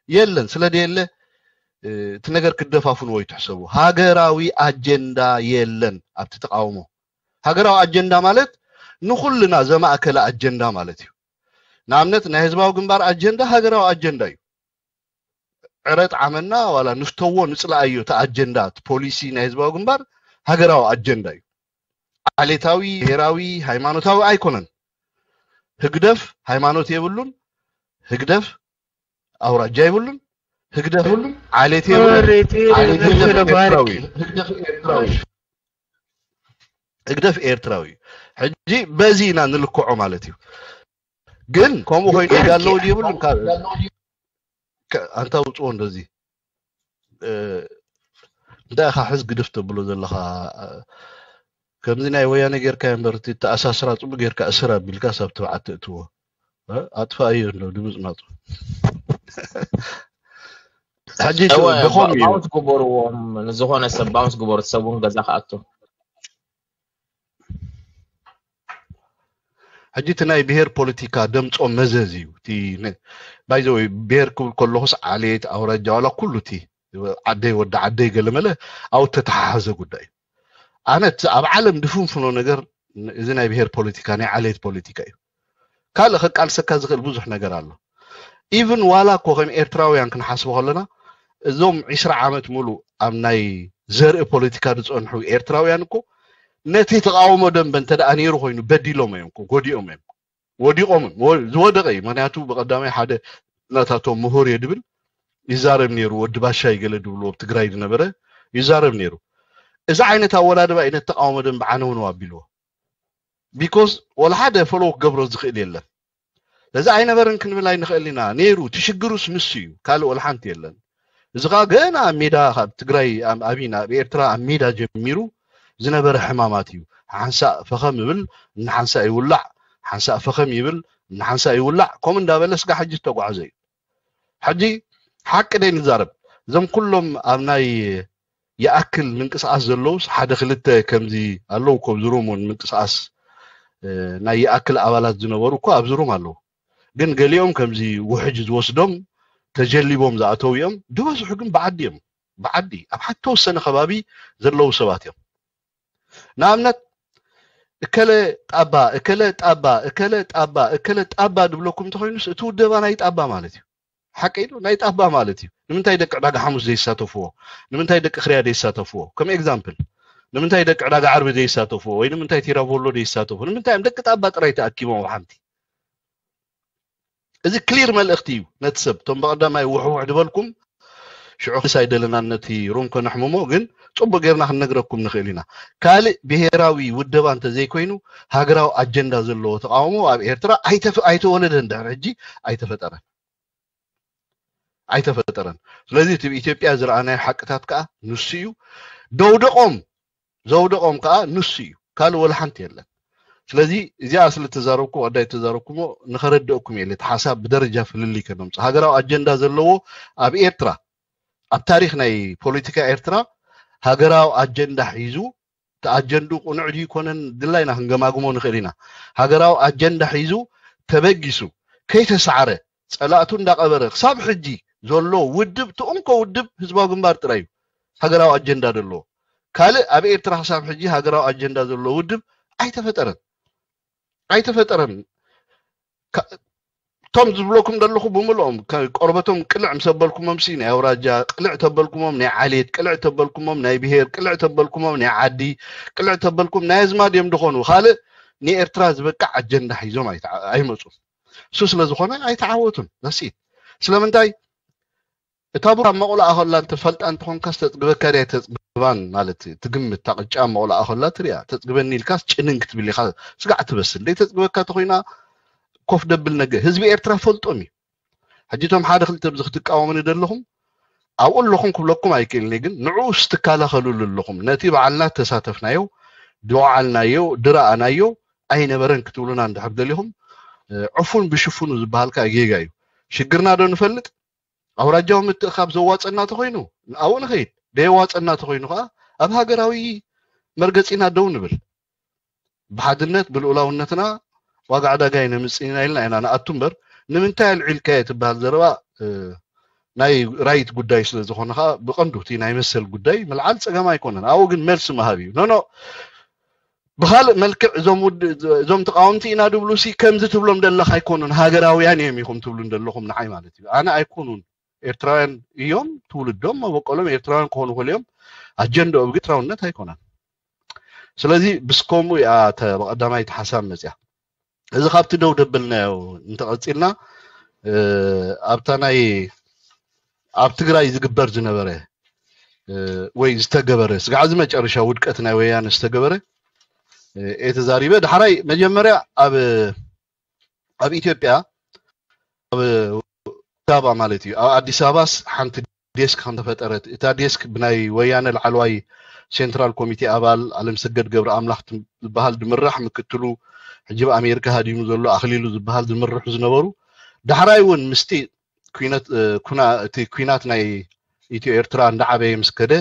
የለን። ስለ ደየለ እቲ ነገር ክደፋፍንዎ ይትሕሰቡ። ሃገራዊ ኣጀንዳ የለን ኣብቲ ተቃውሞ። ሃገራዊ ኣጀንዳ ማለት ንኩልና ዘማእከለ ኣጀንዳ ማለት እዩ። ንኣብነት ናይ ህዝባዊ ግንባር ኣጀንዳ ሃገራዊ ኣጀንዳ እዩ። ዕረ ጣዕመና ዋላ ንፍተዎ ንፅላኣዮ እቲ ኣጀንዳ እቲ ፖሊሲ ናይ ህዝባዊ ግንባር ሃገራዊ ኣጀንዳ እዩ። ዓሌታዊ፣ ብሄራዊ፣ ሃይማኖታዊ ኣይኮነን። ህግደፍ ሃይማኖት የብሉን። ህግደፍ ኣውራጃ የብሉን። ህግደፍ ዓሌት የብሉን። ህግደፍ ኤርትራዊ እዩ። ሕጂ በዚ ኢና ንልክዖ ማለት እዩ። ግን ከምኡ ኮይኑ ይዳለው የብሉን። ኣንታ ውፅዎ እንደዚ እንታይ ኢኻ ሕዝ ግድፍ ተብሎ ዘለኻ? ከምዚ ናይ ወያነ ጌርካ እምበር እቲ ተኣሳስራ ፅቡቅ ጌርካ እስር ኣቢልካ ሳብ ትብዓት ትእትዎ ኣጥፋእዮ እንዶ ድምፅ ናፁ። ሕጂ ደኾም እዩ። ባውንስ ግበርዎም፣ ንዝኾነ ሰብ ባውንስ ግበሩ፣ ሰብ እውን ገዛ ክኣቱ። ሕጂ እቲ ናይ ብሄር ፖለቲካ ደምፆ መዘዝ እዩ። ባይዘወይ ብሄር ክብል ከለኹስ ዓሌት ኣውራጃ ዋላ ኩሉ እቲ ዓደይ ወዲ ዓደይ ገለመለ ኣብ ተተሓሓዘ ጉዳይ እዩ። ኣነ እቲ ኣብ ዓለም ድፍንፍኖ ነገር እዚ ናይ ብሄር ፖለቲካ ናይ ዓሌት ፖለቲካ እዩ። ካልእ ከቃልሰካ ዝኽእል ብዙሕ ነገር ኣሎ። ኢቭን ዋላ እኮ ከም ኤርትራውያን ክንሓስቦ ከለና እዞም ዒስራ ዓመት ሙሉእ ኣብ ናይ ዘርኢ ፖለቲካ ዝፀንሑ ኤርትራውያን እኮ ነቲ ተቃውሞ ደንበ እንተ ደኣ ነይሩ ኮይኑ በዲሎም እዮም እኮ ጎዲኦም እዮም ወዲቖም ዝወደቐ እዩ። ምክንያቱ ብቀዳማይ ሓደ ናታቶም ምሁር እየ ድብል ይዛረብ ነይሩ። ወዲ ባሻይ ገለ ድብልዎ ኣብ ትግራይ ዝነበረ ይዛረብ ነይሩ። እዚ ዓይነት ኣወዳድባ እዩ ነቲ ተቃውሞ ደንበ ዓነውነው ኣቢልዎ። ቢኮዝ ወላ ሓደ ፎሎው ክገብሮ ዝኽእል የለን። እዚ ኣይነበረን ክንብል ኣይንኽእል ኢና። ነይሩ እቲ ሽግሩስ ንሱ እዩ፣ ካልእ ወላ ሓንቲ የለን። እዚ ከዓ ገና ኣብ ሜዳ ካብ ትግራይ ኣቢና ኣብ ኤርትራ ኣብ ሜዳ ጀሚሩ ዝነበረ ሕማማት እዩ። ሓንሳእ ፈኸም ይብል፣ ንሓንሳእ ይውላዕ፣ ሓንሳእ ፈኸም ይብል፣ ንሓንሳእ ይውላዕ፣ ከምኡ እንዳበለ ስጋ ሕጂ ዝተጓዕዘ እዩ። ሕጂ ሓቂ ደይ ንዛረብ፣ እዞም ኩሎም ኣብ ናይ ይኣክል ምንቅስቃስ ዘለውስ ሓደ ክልተ ከምዚ ኣለዉ እኮ ኣብዚ ሩም እውን ምንቅስቃስ ናይ ይኣክል ኣባላት ዝነበሩ እኮ ኣብዚ ሩም ኣለዉ። ግን ገሊኦም ከምዚ ውሕጅ ዝወስዶም ተጀሊቦም ዝኣተው እዮም። ዝበዝሑ ግን ብዓዲ እዮም። ብዓዲ ኣብ ሓደ ተወሰነ ከባቢ ዘለዉ ሰባት እዮም። ንኣብነት እከለ ጣባ እከለ ጣባ እከለ ጣባ እከለ ጣባ ድብለኩም እንተኮይኑስ እቲ ውደባ ናይ ጣባ ማለት እዩ። ሓቂ ኢሉ ናይ ጣባ ማለት እዩ። ንምንታይ ደቂ ዕዳጋ ሓሙስ ዘይሳተፍዎ? ንምንታይ ደቂ ክርያ ዘይሳተፍዎ? ከም ኤግዛምፕል ንምንታይ ደቂ ዕዳጋ ዓርቢ ዘይሳተፍዎ ወይ ንምንታይ ቲራቮሎ ዘይሳተፍዎ? ንምንታይ እዮም ደቂ ጣባ ጥራይ ተኣኪቦም ኣብ ሓንቲ? እዚ ክሊር መልእኽቲ እዩ ነቲ ሰብ። እቶም ብቐዳማይ ውሕውሕ ዝበልኩም ሽዑ ክስ ኣይደለናን ነቲ ሩም ከነሕምሞ፣ ግን ጽቡቅ ጌርና ክንነግረኩም ንኽእል ኢና። ካልእ ብሄራዊ ውደባ እንተዘይኮይኑ ሃገራዊ ኣጀንዳ ዘለዎ ተቃውሞ ኣብ ኤርትራ ኣይተወለደን፣ ድሕሪ ሕጂ ኣይተፈጠረን ኣይተፈጠረን። ስለዚ እቲ ኢትዮጵያ ዝረኣናዮ ሓቅታት ከዓ ንሱ እዩ። ደውደቆም ዘውደቆም ከዓ ንሱ እዩ፣ ካልእ ወላ ሓንቲ የለን። ስለዚ እዚኣ ስለ ተዛረብኩ ቀዳይ ተዛረብኩሞ ንኸረድአኩም የለ እቲ ሓሳብ ብደረጃ ፍልልይ ከነምፅእ። ሃገራዊ ኣጀንዳ ዘለዎ ኣብ ኤርትራ ኣብ ታሪክ ናይ ፖለቲካ ኤርትራ ሃገራዊ ኣጀንዳ ሒዙ እቲ ኣጀንድኡ ቅኑዕ ድዩ ኮነን ድላይና ክንገማግሞ ንኽእል ኢና። ሃገራዊ ኣጀንዳ ሒዙ ተበጊሱ ከይተሳዕረ ጸላእቱ እንዳቐበረ ክሳብ ሕጂ ዘሎ ውድብ፣ እቲ እንኮ ውድብ ህዝባዊ ግንባር ጥራይ እዩ ሃገራዊ ኣጀንዳ ዘለዎ። ካልእ ኣብ ኤርትራ ክሳብ ሕጂ ሃገራዊ ኣጀንዳ ዘለዎ ውድብ ኣይተፈጠረን፣ ኣይተፈጠረን። እቶም ዝብለኩም ዘለኹ ብምልኦም፣ ቆርበቶም ቅልዕ ምስ ኣበልኩሞም ሲ ናይ ኣውራጃ ቅልዕ ተበልኩሞም፣ ናይ ዓሌት ቅልዕ ተበልኩሞም፣ ናይ ብሄር ቅልዕ ተበልኩሞም፣ ናይ ዓዲ ቅልዕ ተበልኩም፣ ናይ ኣዝማድ እዮም ድኾኑ። ካልእ ንኤርትራ ዝበቅዕ ኣጀንዳ ሒዞም ኣይመፁን። እሱ ስለ ዝኾነ ኣይተዓወቱን። ዛሲት ስለምንታይ እታ ቡር ኣብ መቑላኣ ከላ እንተፈልጣ እንተኾንካስ ተጽግበካ ድያ ተጽግባን ማለት ትግምት። እታ ቅጫ ኣብ መቑላኣ ከላ ትሪኣ። ተጽግበኒ ኢልካስ ጭንን ክትብል ኢኻ። ስጋዕ ትበስል ደይ ተጽግበካ ተኾይና ኮፍ ደብል ነገ ህዝቢ ኤርትራ ፈልጦም እዩ። ሕጂ እቶም ሓደ ክልተ ብዚ ክትቃወሙኒ ደለኹም ኣብኡ ኣለኹም ክብለኩም ኣይክእልኒ፣ ግን ንዕኡ ስትከላኸሉሉ ኣለኹም። ነቲ በዓልና ተሳተፍናዮ፣ ድወዓልናዮ፣ ድረኣናዮ ኣይነበረን ክትብሉና እንድሕር ደሊኹም ዕፉን ብሽፉኑ ዝበሃልካ ጌጋ እዩ። ሽግርና ዶ ንፈልጥ? ኣውራጃዊ ምትእኻብ ዘዋፀና ተኮይኑ ኣብኡ ንኸይድ፣ ደየዋፀና ተኮይኑ ከዓ ኣብ ሃገራዊ መርገፂና ደው ንብል። ብሓድነት ብልኡላውነትና ዋጋ ዕዳጋ ይነምፅእና ኢልና ኢና ንኣቱ እምበር ንምንታይ ኣልዒልካዮ ትበሃል ዘረባ ናይ ራይት ጉዳይ ስለ ዝኾነ ከዓ ብቐንዱ እቲ ናይ መሰል ጉዳይ ምልዓል ፀገም ኣይኮነን። ኣብኡ ግን መልሲ ምሃብ እዩ። ኖኖ ብካልእ መልክዕ እዞም ውድ እዞም ተቃወምቲ ኢና ድብሉ ሲ ከምዚ ትብሎም ደለካ ኣይኮኑን ሃገራውያን እዮም ኢኹም ትብሉ እንደለኹም ንዓይ ማለት እዩ። ኣነ ኣይኮኑን ኤርትራውያን እዮም ትውልዶም መበቆሎም ኤርትራውያን ክኾኑ ክእል እዮም። ኣጀንዳኦም ግን ኤርትራውነት ኣይኮነን። ስለዚ ብስከሙ እያ ብቀዳማይ ሓሳብ መፅያ። እዚ ካብቲ ደው ደብልናዮ እንተቐፂልና ኣብታ ናይ ኣብ ትግራይ ዝግበር ዝነበረ ወይ ዝተገበረ ስጋዕ እዚ መጨረሻ ውድቀት ናይ ወያነ ዝተገበረ እየ ተዛሪበ። ዳሕራይ መጀመርያ ኣብ ኣብ ኢትዮጵያ ኣብ ዳባ ማለት እዩ ኣብ ኣዲስ ኣበባስ ሓንቲ ዴስክ ከም ተፈጠረት እታ ዴስክ ብናይ ወያነ ላዕለዋይ ሴንትራል ኮሚቴ ኣባል ኣለምሰገድ ገብረ ኣምላኽ ዝበሃል ድምራሕ ምክትሉ ሕጂ ብኣሜሪካ ሃዲሙ ዘሎ ኣኽሊሉ ዝበሃል ዝምርሑ ዝነበሩ ዳሕራይ እውን ምስቲ እቲ ኩናት ናይ ኢትዮ ኤርትራ እንዳዓበየ ምስ ከደ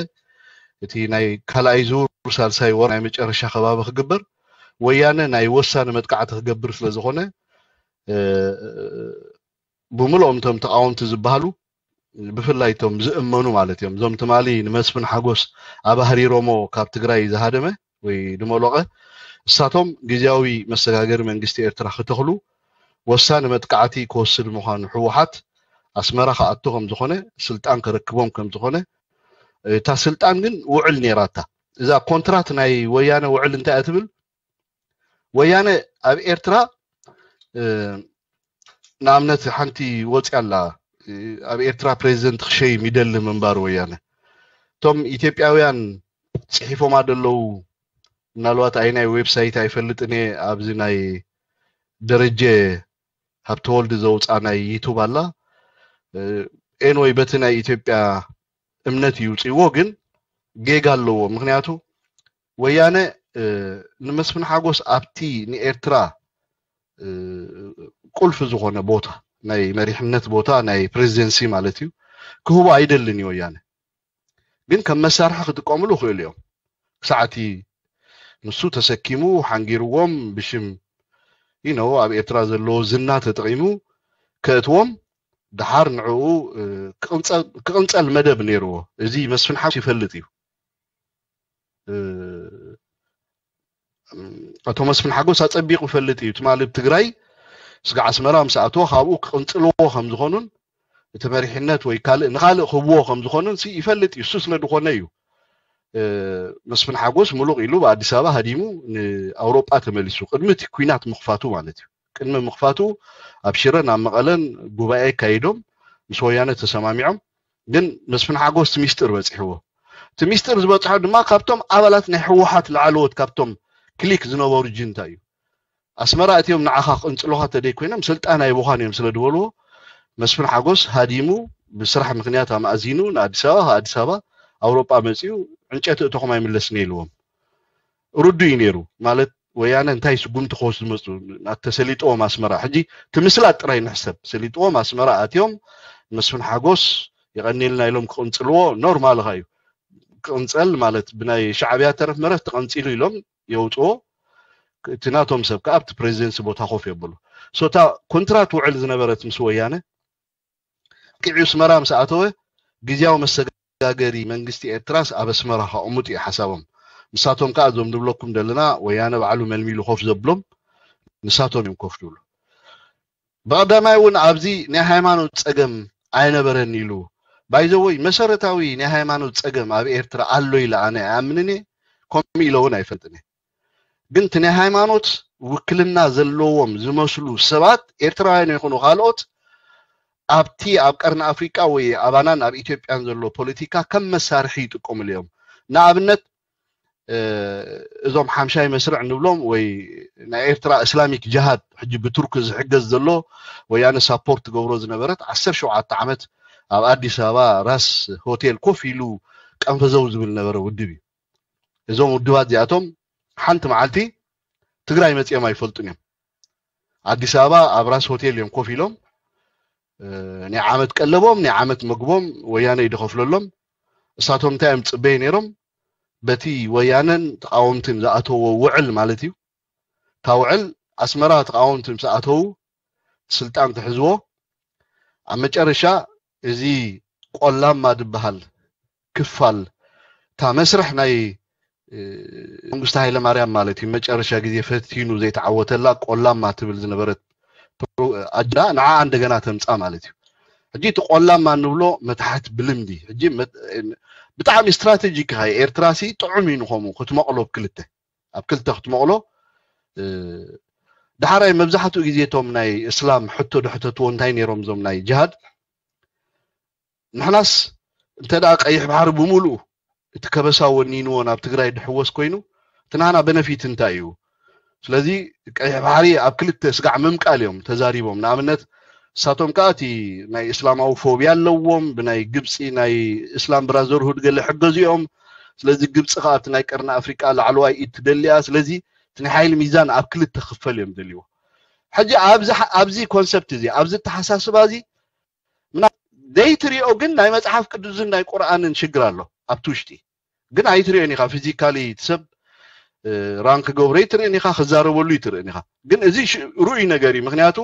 እቲ ናይ ካልኣይ ዙር ሳልሳይ ወር ናይ መጨረሻ ከባቢ ክግበር ወያነ ናይ ወሳኒ መጥቃዕቲ ክገብር ስለ ዝኾነ ብምልኦም እቶም ተቃወምቲ ዝበሃሉ ብፍላይ እቶም ዝእመኑ ማለት እዮም። እዞም ትማሊ ንመስፍን ሓጎስ ኣባህሪሮሞ ካብ ትግራይ ዝሃደመ ወይ ድመሎቐ እሳቶም ግዜያዊ መሰጋገሪ መንግስቲ ኤርትራ ክተኽሉ ወሳኒ መጥቃዕቲ ክወስድ ምዃኑ ህወሓት ኣስመራ ክኣቱ ከም ዝኾነ ስልጣን ከረክቦም ከም ዝኾነ እታ ስልጣን ግን ውዕል ነይራታ። እዛ ኮንትራት ናይ ወያነ ውዕል እንታይ እያ ትብል? ወያነ ኣብ ኤርትራ ንኣብነት ሓንቲ ወፅያ ኣላ ኣብ ኤርትራ ፕሬዚደንት ክሸይም ይደሊ ምንባር ወያነ እቶም ኢትዮጵያውያን ፅሒፎማ ደለዉ ምናልባት ኣይ ናይ ዌብሳይት ኣይፈልጥን እየ ኣብዚ ናይ ደረጀ ሃብተወልድ ዘውፃ ናይ ዩቱብ ኣላ ኤንወይ በቲ ናይ ኢትዮጵያ እምነት ይውፅዎ ግን ጌጋ ኣለዎ ምክንያቱ ወያነ ንመስፍን ሓጎስ ኣብቲ ንኤርትራ ቁልፊ ዝኾነ ቦታ ናይ መሪሕነት ቦታ ናይ ፕሬዚደንሲ ማለት እዩ ክህቦ ኣይደልን እዩ ወያነ ግን ከም መሳርሒ ክጥቀምሉ ይኽእሉ እዮም ክሳዕቲ ንሱ ተሰኪሙ ሓንጊርዎም ብሽም you know ኣብ ኤርትራ ዘለዎ ዝና ተጠቒሙ ከእትዎም ደሓር ንዕኡ ክቕንፀል መደብ ነይርዎ እዚ መስፍን ሓጎስ ይፈልጥ እዩ ኣቶ መስፍን ሓጎስ ኣፀቢቑ ይፈልጥ እዩ ትማሊ ብ ትግራይ ስጋ ኣስመራ ምስ ኣተወ ካብኡ ክቕንፅልዎ ከም ዝኾኑን እቲ መሪሕነት ወይ ካልእ ንኻልእ ክህብዎ ከም ዝኾኑን ይፈልጥ እዩ እሱ ስለ ዝኾነ እዩ መስፍን ሓጎስ ምሉቕ ኢሉ ብኣዲስ ኣበባ ሃዲሙ ንኣውሮጳ ተመሊሱ ቅድሚ እቲ ኩናት ምኽፋቱ ማለት እዩ ቅድሚ ምኽፋቱ ኣብ ሽረን ኣብ መቐለን ጉባኤ ኣካይዶም ምስ ወያነ ተሰማሚዖም ግን መስፍን ሓጎስ እቲ ሚስጥር በፂሕዎ እቲ ሚስጥር ዝበፅሖ ድማ ካብቶም ኣባላት ናይ ህወሓት ላዕለዎት ካብቶም ክሊክ ዝነበሩ ጅንታ እዩ ኣስመራ እትዮም ንዓኻ ክቕንፅሉኻ ተደይ ኮይኖም ስልጣን ኣይብዃን እዮም ስለ ዝበልዎ መስፍን ሓጎስ ሃዲሙ ብስራሕ ምክንያት ኣማእዚኑ ንኣዲስ ኣበባ ኣዲስ ኣበባ ኣውሮጳ መፅኡ ዕንጨቲ እተኹም ኣይምለስን ኢልዎም ርዱ እዩ ነይሩ ማለት ወያነ እንታይ ስጉምቲ ክወስዱ ዝመፁ ተሰሊጥዎም ኣስመራ ሕጂ ትምስላት ጥራይ ንሕሰብ ሰሊጥዎም ኣስመራ ኣትዮም መስፍን ሓጎስ የቐኒልና ኢሎም ክቕንፅልዎ ኖርማልኻ እዩ ክቕንፀል ማለት ብናይ ሻዕብያ ተረፍ መረፍ ተቐንፂሉ ኢሎም የውፅዎ እቲ ናቶም ሰብ ከዓ ኣብቲ ፕሬዚደንሲ ቦታ ኮፍ የብሉ እታ ኮንትራት ውዕል ዝነበረት ምስ ወያነ ቂዑ ኣስመራ ምስ ኣተወ ግዝያዊ መሰጋገሪ መንግስቲ ኤርትራስ ኣብ ኣስመራ ከቕምጡ እዩ ሓሳቦም። ንሳቶም ከኣ እዞም ንብለኩም ዘለና ወያነ ባዕሉ መልሚሉ ኮፍ ዘብሎም ንሳቶም እዮም ኮፍ ዝብሉ። ብቐዳማይ እውን ኣብዚ ናይ ሃይማኖት ጸገም ኣይነበረን ኢሉ ባይዘወይ መሰረታዊ ናይ ሃይማኖት ጸገም ኣብ ኤርትራ ኣሎ ኢለ ኣነ ኣይኣምንን እየ። ከምኡ ኢለ እውን ኣይፈልጥን እየ። ግን እቲ ናይ ሃይማኖት ውክልና ዘለዎም ዝመስሉ ሰባት ኤርትራውያን ይኹኑ ካልኦት ኣብቲ ኣብ ቀርኒ ኣፍሪቃ ወይ ኣባናን ኣብ ኢትዮጵያን ዘሎ ፖለቲካ ከም መሳርሒ ይጥቀምሉ እዮም። ንኣብነት እዞም ሓምሻይ መስርዕ ንብሎም ወይ ናይ ኤርትራ እስላሚክ ጅሃድ ሕጂ ብቱርክ ዝሕገዝ ዘሎ ወያነ ሳፖርት ትገብሮ ዝነበረት ዓሰርተ ሸውዓተ ዓመት ኣብ ኣዲስ ኣበባ ራስ ሆቴል ኮፍ ኢሉ ቀንፈዘው ዝብል ነበረ ውድብ እዩ። እዞም ውድባት እዚኣቶም ሓንቲ መዓልቲ ትግራይ መፂኦም ኣይፈልጡን እዮም። ኣዲስ ኣበባ ኣብ ራስ ሆቴል እዮም ኮፍ ኢሎም ናይ ዓመት ቀለቦም ናይ ዓመት መግቦም ወያነ ይደኸፍለሎም። እሳቶም እንታይ እዮም ፅበይ ነይሮም? በቲ ወያነን ተቃወምትን ዝኣተዎ ውዕል ማለት እዩ። እታ ውዕል ኣስመራ ተቃወምቲ ምስ ኣተዉ ስልጣን ትሕዝዎ። ኣብ መጨረሻ እዚ ቆላማ ዝበሃል ክፋል እታ መስርሕ ናይ መንግስቲ ሃይለ ማርያም ማለት እዩ መጨረሻ ግዜ ፈቲኑ ዘይተዓወተላ ቆላማ ትብል ዝነበረት ኣጅንዳ ንዓ እንደገና ተምፃ ማለት እዩ። ሕጂ እቲ ቆላማ እንብሎ መታሕት ብልምዲ ሕጂ ብጣዕሚ ስትራቴጂክ ካ ኤርትራ ሲ ጥዑም እዩ ንኸምኡ ክትመቕሎ ኣብ ክልተ ኣብ ክልተ ክትመቕሎ ዳሕራይ መብዛሕትኡ ግዜ እቶም ናይ እስላም ሕቶ ድሕተትዎ እንታይ ነይሮም እዞም ናይ ጅሃድ ንሕናስ እንተ ደኣ ቀይሕ ባሕሪ ብምሉኡ እቲ ከበሳ ወኒንዎ ናብ ትግራይ ድሕወስ ኮይኑ እቲ ናና በነፊት እንታይ እዩ? ስለዚ ቀይሕ ባሕሪ ኣብ ክልተ ስጋዕ ምምቃል እዮም ተዛሪቦም። ንኣብነት ንሳቶም ከዓ እቲ ናይ እስላማዊ ፎብያ ኣለዎም፣ ብናይ ግብፂ ናይ እስላም ብራዘርሁድ ገለ ሕገዙ እዮም። ስለዚ ግብፂ ከዓ ኣብቲ ናይ ቀርኒ ኣፍሪቃ ላዕለዋይ ኢድ ትደሊያ። ስለዚ እቲ ናይ ሓይሊ ሚዛን ኣብ ክልተ ክፈል እዮም ደልዎ። ሕጂ ኣብዚ ኮንሰፕት እዚ ኣብዚ ተሓሳስባ እዚ ዘይትሪኦ ግን ናይ መፅሓፍ ቅዱስን ናይ ቁርኣንን ሽግር ኣሎ ኣብቲ ውሽጢ ግን ኣይትሪኦን ኢኻ። ፊዚካሊ እቲ ሰብ ራን ክገብሮ ይትርእን ኢኻ፣ ክዛረበሉ ይትርእን ኢኻ። ግን እዚ ርኡይ ነገር እዩ። ምክንያቱ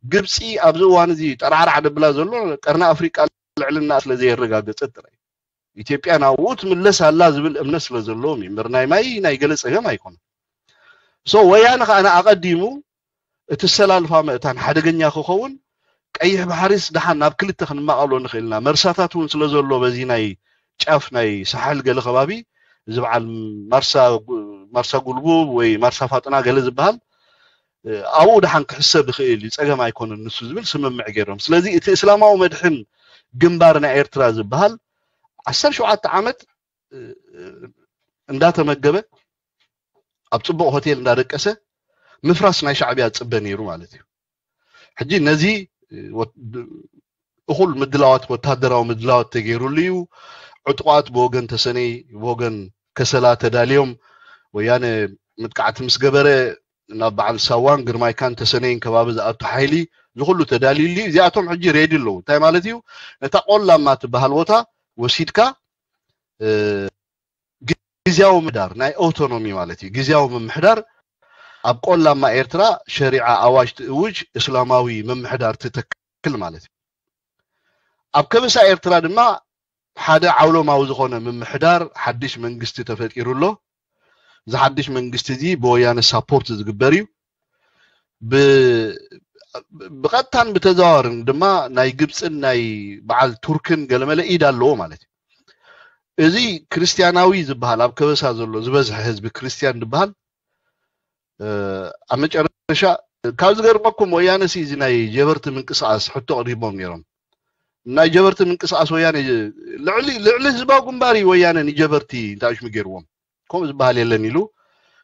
ግብፂ ኣብዚ እዋን እዚ ጠራዕራዕ ደብላ ዘሎ ቀርኒ ኣፍሪቃ ልዕልና ስለ ዘየረጋገፀት ጥራይ ኢትዮጵያ ናብኡ ትምለስ ኣላ ዝብል እምነት ስለ ዘለዎም እዩ እምበር ናይ ማይ ናይ ገለ ፀገም ኣይኮነን። ሶ ወያነ ከዓ ኣቐዲሙ እቲ ሰላልፋ መእታን ሓደገኛ ክኸውን ቀይሕ ባሕሪስ ደሓን ናብ ክልተ ክንማቐሎ ንኽእልና መርሳታት እውን ስለ ዘሎ በዚ ናይ ጫፍ ናይ ሳሕል ገለ ከባቢ እዚ በዓል ማርሳ ጉልቡብ ወይ ማርሳ ፋጥና ገለ ዝበሃል ኣብኡ ደሓን ክሕሰብ ይኽእል እዩ ፀገም ኣይኮነን ንሱ ዝብል ስምምዕ ገይሮም ስለዚ እቲ እስላማዊ መድሕን ግንባር ናይ ኤርትራ ዝበሃል ዓሰርተ ሸውዓተ ዓመት እንዳተመገበ ኣብ ፅቡቕ ሆቴል እንዳደቀሰ ምፍራስ ናይ ሻዕብያ ዝፅበ ነይሩ ማለት እዩ። ሕጂ ነዚ እኹል ምድላዋት ወታደራዊ ምድላዋት ተገይሩሉ እዩ። ዕጡቓት ብወገን ተሰነይ ብወገን ከሰላ ተዳልዮም ወያነ መጥቃዕቲ ምስ ገበረ ናብ በዓል ሳዋን ግርማይካን ተሰነይን ከባቢ ዝኣቱ ሓይሊ ዝኩሉ ተዳልዩሉ እዩ። እዚኣቶም ሕጂ ሬዲ ኣለዉ። እንታይ ማለት እዩ? ነታ ቆላማ ትበሃል ቦታ ወሲድካ ግዝያዊ ምምሕዳር ናይ ኦቶኖሚ ማለት እዩ። ግዝያዊ ምምሕዳር ኣብ ቆላማ ኤርትራ ሸሪዓ ኣዋጅ ትእውጅ፣ እስላማዊ ምምሕዳር ትተክል ማለት እዩ። ኣብ ከበሳ ኤርትራ ድማ ሓደ ዓውሎማዊ ዝኾነ ምምሕዳር ሓድሽ መንግስቲ ተፈጢሩ ኣሎ። እዚ ሓድሽ መንግስቲ እዚ ብወያነ ሳፖርት ዝግበር እዩ። ብቐጥታን ብተዘዋዋርን ድማ ናይ ግብፅን ናይ በዓል ቱርክን ገለመለ ኢድ ኣለዎ ማለት እዩ። እዚ ክርስትያናዊ ዝበሃል ኣብ ከበሳ ዘሎ ዝበዝሐ ህዝቢ ክርስትያን ዝበሃል ኣብ መጨረሻ ካብ ዝገርመኩም ወያነ ሲ እዚ ናይ ጀበርቲ ምንቅስቃስ ሕቶ ቀሪቦም ነይሮም። ናይ ጀበርቲ ምንቅስቃስ ወያነ ልዕሊ ልዕሊ ህዝባዊ ግንባር እዩ ወያነ ንጀበርቲ እንታይ ሽሙ ገይርዎም ከምኡ ዝበሃል የለን ኢሉ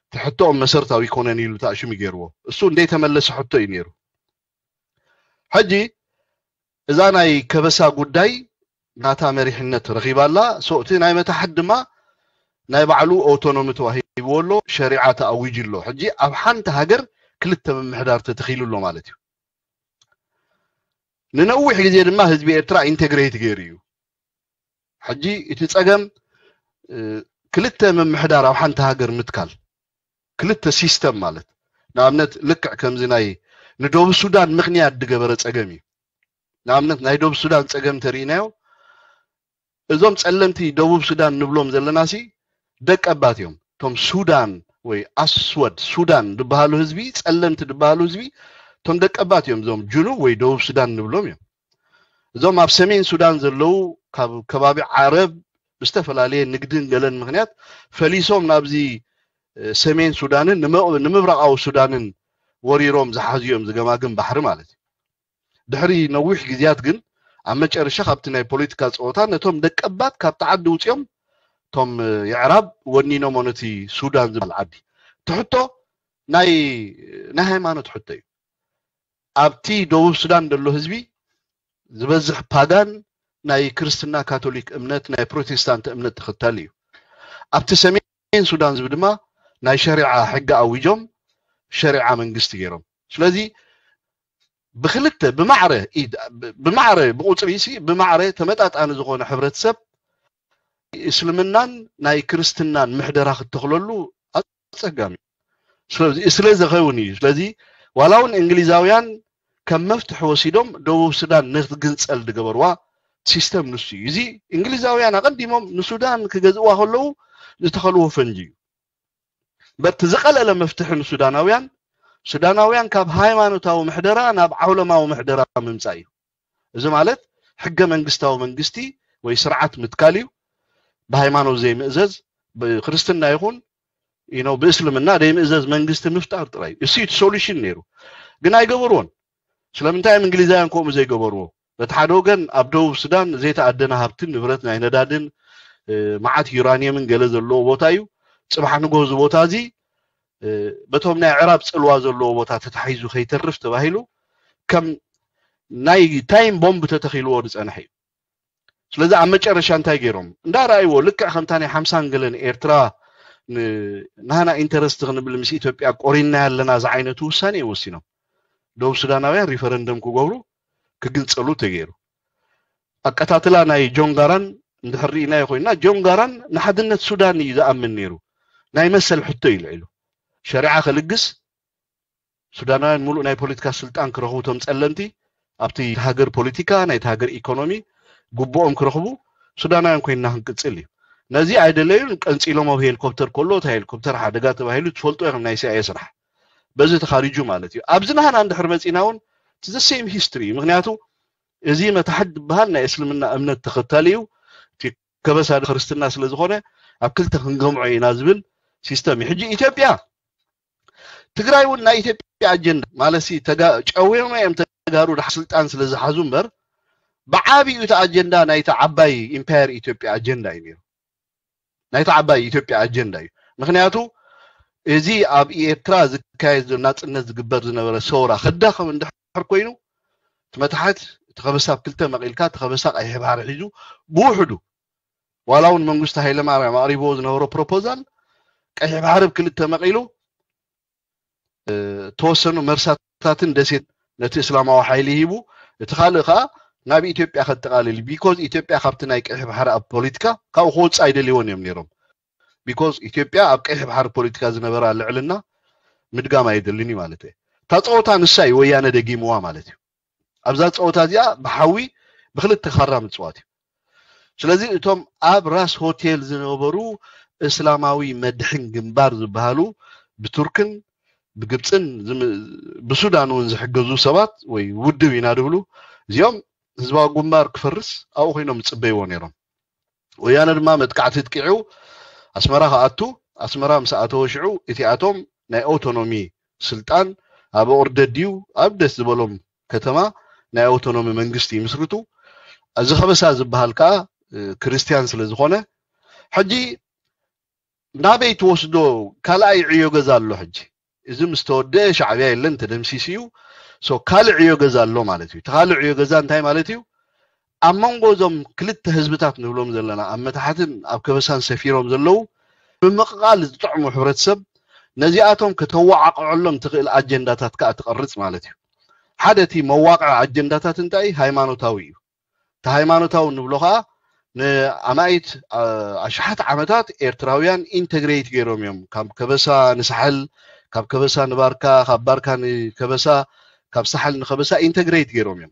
እቲ ሕቶኦም መሰረታዊ ይኮነን ኢሉ ተኣሽሙ ገይርዎ እሱ እንደይተመለሰ ሕቶ እዩ ነይሩ። ሕጂ እዛ ናይ ከበሳ ጉዳይ ናታ መሪሕነት ረኺባ ኣላ። ሶ እቲ ናይ መታሕት ድማ ናይ ባዕሉ ኦቶኖሚ ተዋሂብዎ ኣሎ፣ ሸሪዓ ተኣዊጁ ኣሎ። ሕጂ ኣብ ሓንቲ ሃገር ክልተ ምምሕዳር ተተኺሉ ኣሎ ማለት እዩ። ንነዊሕ ግዜ ድማ ህዝቢ ኤርትራ ኢንቴግሬት ገይሩ እዩ። ሕጂ እቲ ጸገም ክልተ ምምሕዳር ኣብ ሓንቲ ሃገር ምትካል ክልተ ሲስተም ማለት ንኣብነት ልክዕ ከምዚ ናይ ንደቡብ ሱዳን ምኽንያት ዝገበረ ጸገም እዩ። ንኣብነት ናይ ደቡብ ሱዳን ጸገም ተርእናዮ፣ እዞም ጸለምቲ ደቡብ ሱዳን ንብሎም ዘለና ሲ ደቀባት እዮም። እቶም ሱዳን ወይ ኣስወድ ሱዳን ዝበሃሉ ህዝቢ፣ ጸለምቲ ዝበሃሉ ህዝቢ፣ እቶም ደቀባት እዮም። እዞም ጅኑብ ወይ ደቡብ ሱዳን ንብሎም እዮም። እዞም ኣብ ሰሜን ሱዳን ዘለዉ፣ ካብ ከባቢ ዓረብ ብዝተፈላለየ ንግድን ገለን ምኽንያት ፈሊሶም ናብዚ ሰሜን ሱዳንን ንምብራቃዊ ሱዳንን ወሪሮም ዝሓዙ እዮም፣ ዝገማግም ባሕሪ ማለት እዩ። ድሕሪ ነዊሕ ግዜያት ግን ኣብ መጨረሻ ካብቲ ናይ ፖለቲካ ፀወታ ነቶም ደቀባት ካብቲ ዓዲ ውፅኦም፣ እቶም የዕራብ ወኒኖሞ ነቲ ሱዳን ዝበሃል ዓዲ። ትሕቶ ናይ ናይ ሃይማኖት ሕቶ እዩ። ኣብቲ ደቡብ ሱዳን ዘሎ ህዝቢ ዝበዝሕ ፓጋን ናይ ክርስትና ካቶሊክ እምነት ናይ ፕሮቴስታንት እምነት ተኸታሊ እዩ። ኣብቲ ሰሜን ሱዳን ዝብ ድማ ናይ ሸሪዓ ሕጊ ኣዊጆም ሸሪዓ መንግስቲ ገይሮም። ስለዚ ብክልተ ብማዕረ ኢድ- ብማዕረ ብቁፅሪ ሲ ብማዕረ ተመጣጣኒ ዝኾነ ሕብረተሰብ እስልምናን ናይ ክርስትናን ምሕደራ ክተኽለሉ ኣፀጋሚ ስለዚ ስለ ዝኸውን እዩ። ስለዚ ዋላ እውን እንግሊዛውያን ከም መፍትሒ ወሲዶም ደቡብ ሱዳን ንክትግንፀል ዝገበርዋ ሲስተም ንሱ እዩ። እዚ እንግሊዛውያን ኣቐዲሞም ንሱዳን ክገዝእዋ ከለዉ ዝተኸልዎ ፈንጂ እዩ። በቲ ዝቐለለ መፍትሒ ንሱዳናውያን ሱዳናውያን ካብ ሃይማኖታዊ ምሕደራ ናብ ዓውለማዊ ምሕደራ ምምፃእ እዩ። እዚ ማለት ሕገ መንግስታዊ መንግስቲ ወይ ስርዓት ምትካል እዩ። ብሃይማኖት ዘይምእዘዝ ብክርስትና ይኹን you know ብእስልምና ዘይምእዘዝ መንግስቲ ምፍጣር ጥራይ እዩ። እሱ እቲ ሶሉሽን ነይሩ፣ ግን ኣይገበርዎን። ስለምንታይ እዮም እንግሊዛውያን ከምኡ ዘይገበርዎ? በቲ ሓደ ወገን ኣብ ደቡብ ሱዳን ዘይተኣደነ ሃብትን ንብረት ናይ ነዳድን መዓት ዩራኒየምን ገለ ዘለዎ ቦታ እዩ። ፅባሕ ንጎ እዚ ቦታ እዚ በቶም ናይ ዕራብ ፅልዋ ዘለዎ ቦታ ተታሒዙ ከይተርፍ ተባሂሉ ከም ናይ ታይም ቦምብ ተተኺልዎ ዝፀንሐ እዩ። ስለዚ ኣብ መጨረሻ እንታይ ገይሮም እንዳረኣይዎ፣ ልክዕ ከምታ ናይ ሓምሳን ገለን ኤርትራ ናህና ኢንተረስት ክንብል ምስ ኢትዮጵያ ቆሪና ኣለና ዝዓይነቱ ውሳኔ እዮም ወሲኖም። ደቡብ ሱዳናውያን ሪፈረንደም ክገብሩ ክግንፀሉ ተገይሩ። ኣቀታትላ ናይ ጆንጋራን እንድሕር ርኢናዮ ኮይና ጆንጋራን ንሓድነት ሱዳን እዩ ዝኣምን ነይሩ። ናይ መሰል ሕቶ እዩ ልዒሉ። ሸሪዓ ከልግስ ሱዳናውያን ሙሉእ ናይ ፖለቲካ ስልጣን ክረኽቡ፣ እቶም ጸለምቲ ኣብቲ ሃገር ፖለቲካ ናይቲ ሃገር ኢኮኖሚ ግቡኦም ክረኽቡ ሱዳናውያን ኮይንና ክንቅጽል እዩ። ነዚ ኣይደለዩን። ቀንጺሎም ኣብ ሄሊኮፕተር ከሎ እቲ ሄሊኮፕተር ሓደጋ ተባሂሉ ትፈልጡ ኢኹም፣ ናይ ሲኣይኤ ስራሕ። በዚ ተኻሪጁ ማለት እዩ። ኣብዚ ናህና እንድሕር መጺና እውን the same history እዩ። ምክንያቱ እዚ መታሕት ዝበሃል ናይ እስልምና እምነት ተኸታሊ እዩ። እቲ ከበሳ ክርስትና ስለ ዝኾነ ኣብ ክልተ ክንገምዖ ኢና ዝብል ሲስተም እዩ። ሕጂ ኢትዮጵያ ትግራይ እውን ናይ ኢትዮጵያ ኣጀንዳ ማለት ጨዊሮም እዮም ተጋሩ ድሓ ስልጣን ስለ ዝሓዙ እምበር ብዓብዩ እቲ ኣጀንዳ ናይቲ ዓባይ ኢምፓየር ኢትዮጵያ ኣጀንዳ እዩ ነይሩ። ናይቲ ዓባይ ኢትዮጵያ ኣጀንዳ እዩ። ምክንያቱ እዚ ኣብ ኤርትራ ዝካየድ ዘሎ ናፅነት ዝግበር ዝነበረ ሰውራ ክዳኸም እንድሕር ኮይኑ እቲ መታሕት እቲ ከበሳ ኣብ ክልተ መቂልካ እቲ ከበሳ ቀይሕ ባሕሪ ሒዙ ብውሕዱ ዋላ እውን መንግስቱ ሃይለማርያም ኣቕሪብዎ ዝነበሮ ፕሮፖዛል ቀይሕ ባሕሪ ብክልተ መቒሉ ተወሰኑ መርሳታትን ደሴት ነቲ እስላማዊ ሓይሊ ሂቡ እቲ ካልእ ከዓ ናብ ኢትዮጵያ ከጠቃልል because ኢትዮጵያ ካብቲ ናይ ቀይሕ ባሕሪ ኣብ ፖለቲካ ካብኡ ክወፅእ ኣይደልይዎን እዮም ነይሮም። Because ኢትዮጵያ ኣብ ቀይሕ ባሕሪ ፖለቲካ ዝነበራ ልዕልና ምድጋም ኣየደልን እዩ ማለት እዩ። እታ ፀወታ ንሳ እዩ ወያነ ደጊምዋ ማለት እዩ። ኣብዛ ፀወታ እዚኣ ብሓዊ ብክልተ ካራ ምፅዋት እዩ። ስለዚ እቶም ኣብ ራስ ሆቴል ዝነበሩ እስላማዊ መድሕን ግንባር ዝበሃሉ ብቱርክን ብግብፅን ብሱዳን እውን ዝሕገዙ ሰባት ወይ ውድብ ኢና ዝብሉ እዚኦም ህዝባዊ ግንባር ክፈርስ ኣብኡ ኮይኖም ዝፅበይዎ ነይሮም። ወያነ ድማ መጥቃዕቲ ኣጥቂዑ ኣስመራ ክኣቱ ኣስመራ ምስ ኣተወ ሽዑ እቲኣቶም ናይ ኣውቶኖሚ ስልጣን ኣብ ኦርደድ ድዩ ኣብ ደስ ዝበሎም ከተማ ናይ ኣውቶኖሚ መንግስቲ ይምስርቱ። እዚ ከበሳ ዝበሃል ከዓ ክርስትያን ስለ ዝኾነ ሕጂ ናበይ ትወስዶ? ካልኣይ ዕዮ ገዛ ኣሎ። ሕጂ እዚ ምስ ተወደአ ሻዕብያ የለን ተደምሲሱ እዩ። ካልእ ዕዮ ገዛ ኣሎ ማለት እዩ። እቲ ካልእ ዕዮ ገዛ እንታይ ማለት እዩ? ኣብ መንጎ እዞም ክልተ ህዝብታት ንብሎም ዘለና ኣብ መታሕትን ኣብ ከበሳን ሰፊሮም ዘለዉ ምምቕቓል ዝጥዕሙ ሕብረተሰብ ነዚኣቶም ከተዋዓቕዖሎም ትኽእል ኣጀንዳታት ከዓ ትቐርፅ ማለት እዩ። ሓደ እቲ መዋቕዒ ኣጀንዳታት እንታይ ሃይማኖታዊ እዩ። እቲ ሃይማኖታዊ ንብሎ ከዓ ንኣማኢት ኣሽሓት ዓመታት ኤርትራውያን ኢንተግሬት ገይሮም እዮም። ካብ ከበሳ ንሳሕል፣ ካብ ከበሳ ንባርካ፣ ካብ ባርካ ንከበሳ፣ ካብ ሳሕል ንከበሳ ኢንተግሬት ገይሮም እዮም።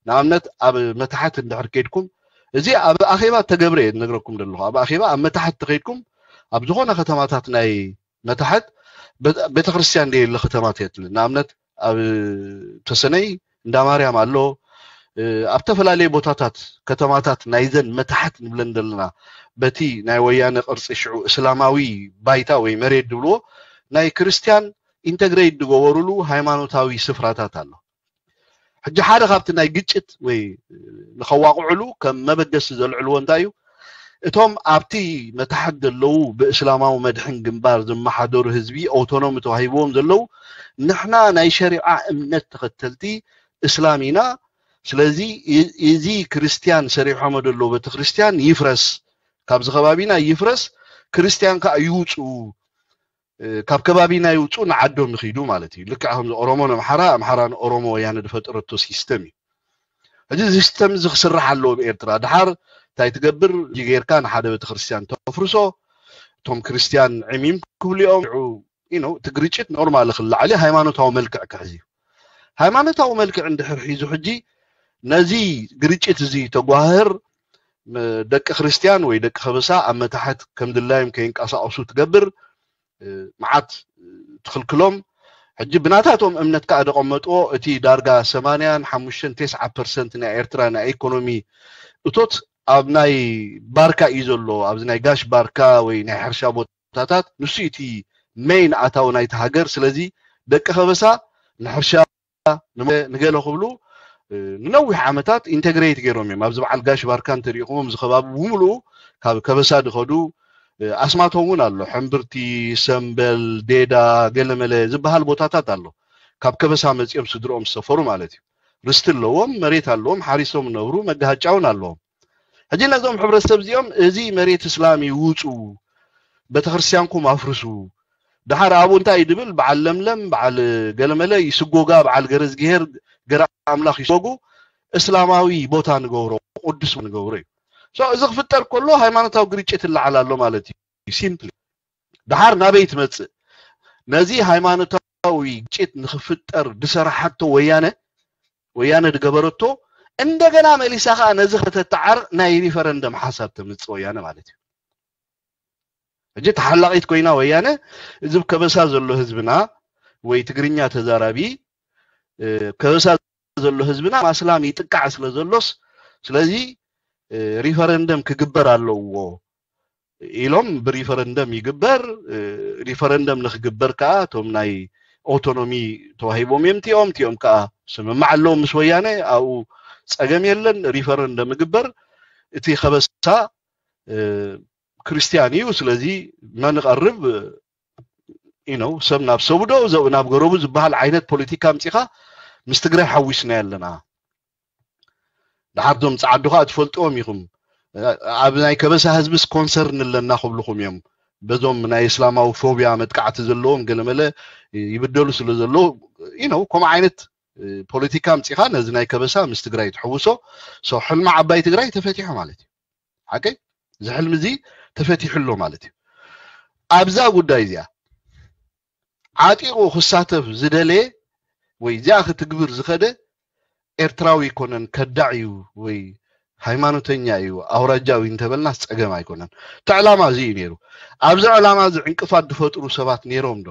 ንኣብነት ኣብ መታሕት እንድሕር ከይድኩም፣ እዚ ኣብ ኣኼባ ተገብረ እየ ዝነግረኩም ዘለኹ። ኣብ ኣኼባ ኣብ መታሕት ተኸይድኩም ኣብ ዝኾነ ከተማታት ናይ መታሕት ቤተክርስትያን ደየለ ከተማት የትልን። ንኣብነት ኣብ ተሰነይ እንዳ ማርያም ኣሎ። ኣብ ተፈላለየ ቦታታት ከተማታት ናይዘን መታሕት ንብለን ዘለና በቲ ናይ ወያነ ቅርፂ ሽዑ እስላማዊ ባይታ ወይ መሬት ድብልዎ ናይ ክርስቲያን ኢንተግሬት ዝገበሩሉ ሃይማኖታዊ ስፍራታት ኣሎ። ሕጂ ሓደ ካብቲ ናይ ግጭት ወይ ንኸዋቕዕሉ ከም መበገሲ ዘልዕልዎ እንታይ እዩ? እቶም ኣብቲ መታሕት ዘለዉ ብእስላማዊ መድሕን ግንባር ዝመሓደሩ ህዝቢ ኣውቶኖሚ ተዋሂብዎም ዘለዉ፣ ንሕና ናይ ሸሪዓ እምነት ተኸተልቲ እስላም ኢና፣ ስለዚ እዚ ክርስትያን ሰሪሖሞ ዘለዉ ቤተክርስትያን ይፍረስ፣ ካብዚ ከባቢና ይፍረስ፣ ክርስትያን ከዓ ይውፅኡ፣ ካብ ከባቢና ይውፁ ንዓዶም ይኺዱ ማለት እዩ። ልክዕ ከምዚ ኦሮሞ ንኣምሓራ፣ ኣምሓራ ንኦሮሞ ወያነ ዝፈጠረቶ ሲስተም እዩ። እዚ ሲስተም እዚ ክስራሕ ኣለዎ ብኤርትራ። ድሓር እንታይ ትገብር ጌርካ ንሓደ ቤተክርስትያን ተፍርሶ፣ እቶም ክርስትያን ዕሚም ክብልኦም እቲ ግርጭት ኖርማል ክላዓል ሃይማኖታዊ መልክዕ ክሕዝ እዩ። ሃይማኖታዊ መልክዕ እንድሕር ሒዙ ሕጂ ነዚ ግርጭት እዚ ተጓህር ደቂ ክርስትያን ወይ ደቂ ከበሳ ኣብ መታሕት ከም ድላዮም ከይንቀሳቀሱ ትገብር። መዓት ትኽልክሎም። ሕጂ ብናታቶም እምነት ከዓ ደቐመጥዎ እቲ ዳርጋ ሰማንያን ሓሙሽተን ተስዓ ፐርሰንት ናይ ኤርትራ ናይ ኢኮኖሚ እቶት ኣብ ናይ ባርካ እዩ ዘሎ። ኣብዚ ናይ ጋሽ ባርካ ወይ ናይ ሕርሻ ቦታታት ንሱ እቲ ሜይን ኣታዊ ናይቲ ሃገር። ስለዚ ደቂ ከበሳ ንሕርሻ ንገለ ክብሉ ንነዊሕ ዓመታት ኢንተግሬት ገይሮም እዮም። ኣብዚ በዓል ጋሽ ባርካ እንተሪኢኹሞም እዚ ከባቢ ብምሉኡ ካብ ከበሳ ድኸዱ ኣስማቶም እውን ኣሎ። ሕምብርቲ፣ ሰምበል፣ ዴዳ፣ ገለመለ ዝበሃል ቦታታት ኣሎ። ካብ ከበሳ መፂኦም ስድርኦም ዝሰፈሩ ማለት እዩ። ርስቲ ኣለዎም፣ መሬት ኣለዎም፣ ሓሪሶም ነብሩ፣ መጋሃጫ እውን ኣለዎም። ሕጂ ነዞም ሕብረተሰብ እዚኦም እዚ መሬት እስላም እዩ ውፁ፣ ቤተክርስትያንኩም ኣፍርሱ፣ ድሓር ኣብኡ እንታይ እዩ ድብል? በዓል ለምለም፣ በዓል ገለመለ ይስጎጋ፣ በዓል ገረዝግሄር፣ ገረ ኣምላኽ ይስጎጉ፣ እስላማዊ ቦታ ንገብሮ፣ ቅዱስ ንገብሮ እዩ። So እዚ ክፍጠር ከሎ ሃይማኖታዊ ግርጭት ይለዓል ኣሎ ማለት እዩ። ሲምፕሊ ድሓር ናበይ ትመፅእ? ነዚ ሃይማኖታዊ ግጭት ንክፍጠር ድሰራሓቶ ወያነ ወያነ ድገበረቶ እንደገና መሊሳ ከዓ ነዚ ከተተዓር ናይ ሪፈረንደም ሓሳብ ተምፅእ ወያነ ማለት እዩ። ሕጂ ተሓላቂት ኮይና ወያነ እዚ ከበሳ ዘሎ ህዝብና ወይ ትግርኛ ተዛራቢ ከበሳ ዘሎ ህዝብና ማስላም ይጥቃዕ ስለ ዘሎስ ስለዚ ሪፈረንደም ክግበር ኣለዎ ኢሎም ብሪፈረንደም ይግበር። ሪፈረንደም ንክግበር ከዓ እቶም ናይ ኦቶኖሚ ተዋሂቦም እዮም እቲኦም እቲኦም ከዓ ስምማዕ ኣለዎም ምስ ወያነ ኣብኡ ፀገም የለን። ሪፈረንደም ይግበር። እቲ ከበሳ ክርስትያን እዩ። ስለዚ መንቐርብ ነው ሰብ ናብ ሰቡዶ ናብ ገረቡ ዝበሃል ዓይነት ፖለቲካ ኣምፂኻ ምስ ትግራይ ሓዊስና ኣለና። ድሓር ዞም ፃዓዱ ከዓ ትፈልጥዎም ኢኹም። ኣብ ናይ ከበሳ ህዝቢ ስኮንሰር ንለና ክብልኹም እዮም። በዞም ናይ እስላማዊ ፎቢያ መጥቃዕቲ ዘለዎም ገለመለ ይብደሉ ስለ ዘለዉ ነው ከምኡ ዓይነት ፖለቲካ ኣምፂኻ ነዚ ናይ ከበሳ ምስ ትግራይ ትሕውሶ። ሕልሚ ዓባይ ትግራይ ተፈቲሑ ማለት እዩ። ሓቀይ እዚ ሕልሚ እዚ ተፈቲሑ ኣሎ ማለት እዩ። ኣብዛ ጉዳይ እዚኣ ዓጢቑ ክሳተፍ ዝደለየ ወይ እዚኣ ክትግብር ዝኸደ ኤርትራዊ ኣይኮነን፣ ከዳዕ እዩ ወይ ሃይማኖተኛ እዩ ኣውራጃዊ እንተበልናስ ፀገም ኣይኮነን። እቲ ዕላማ እዚ እዩ ነይሩ። ኣብዚ ዕላማ እዚ ዕንቅፋት ዝፈጥሩ ሰባት ነይሮም ዶ?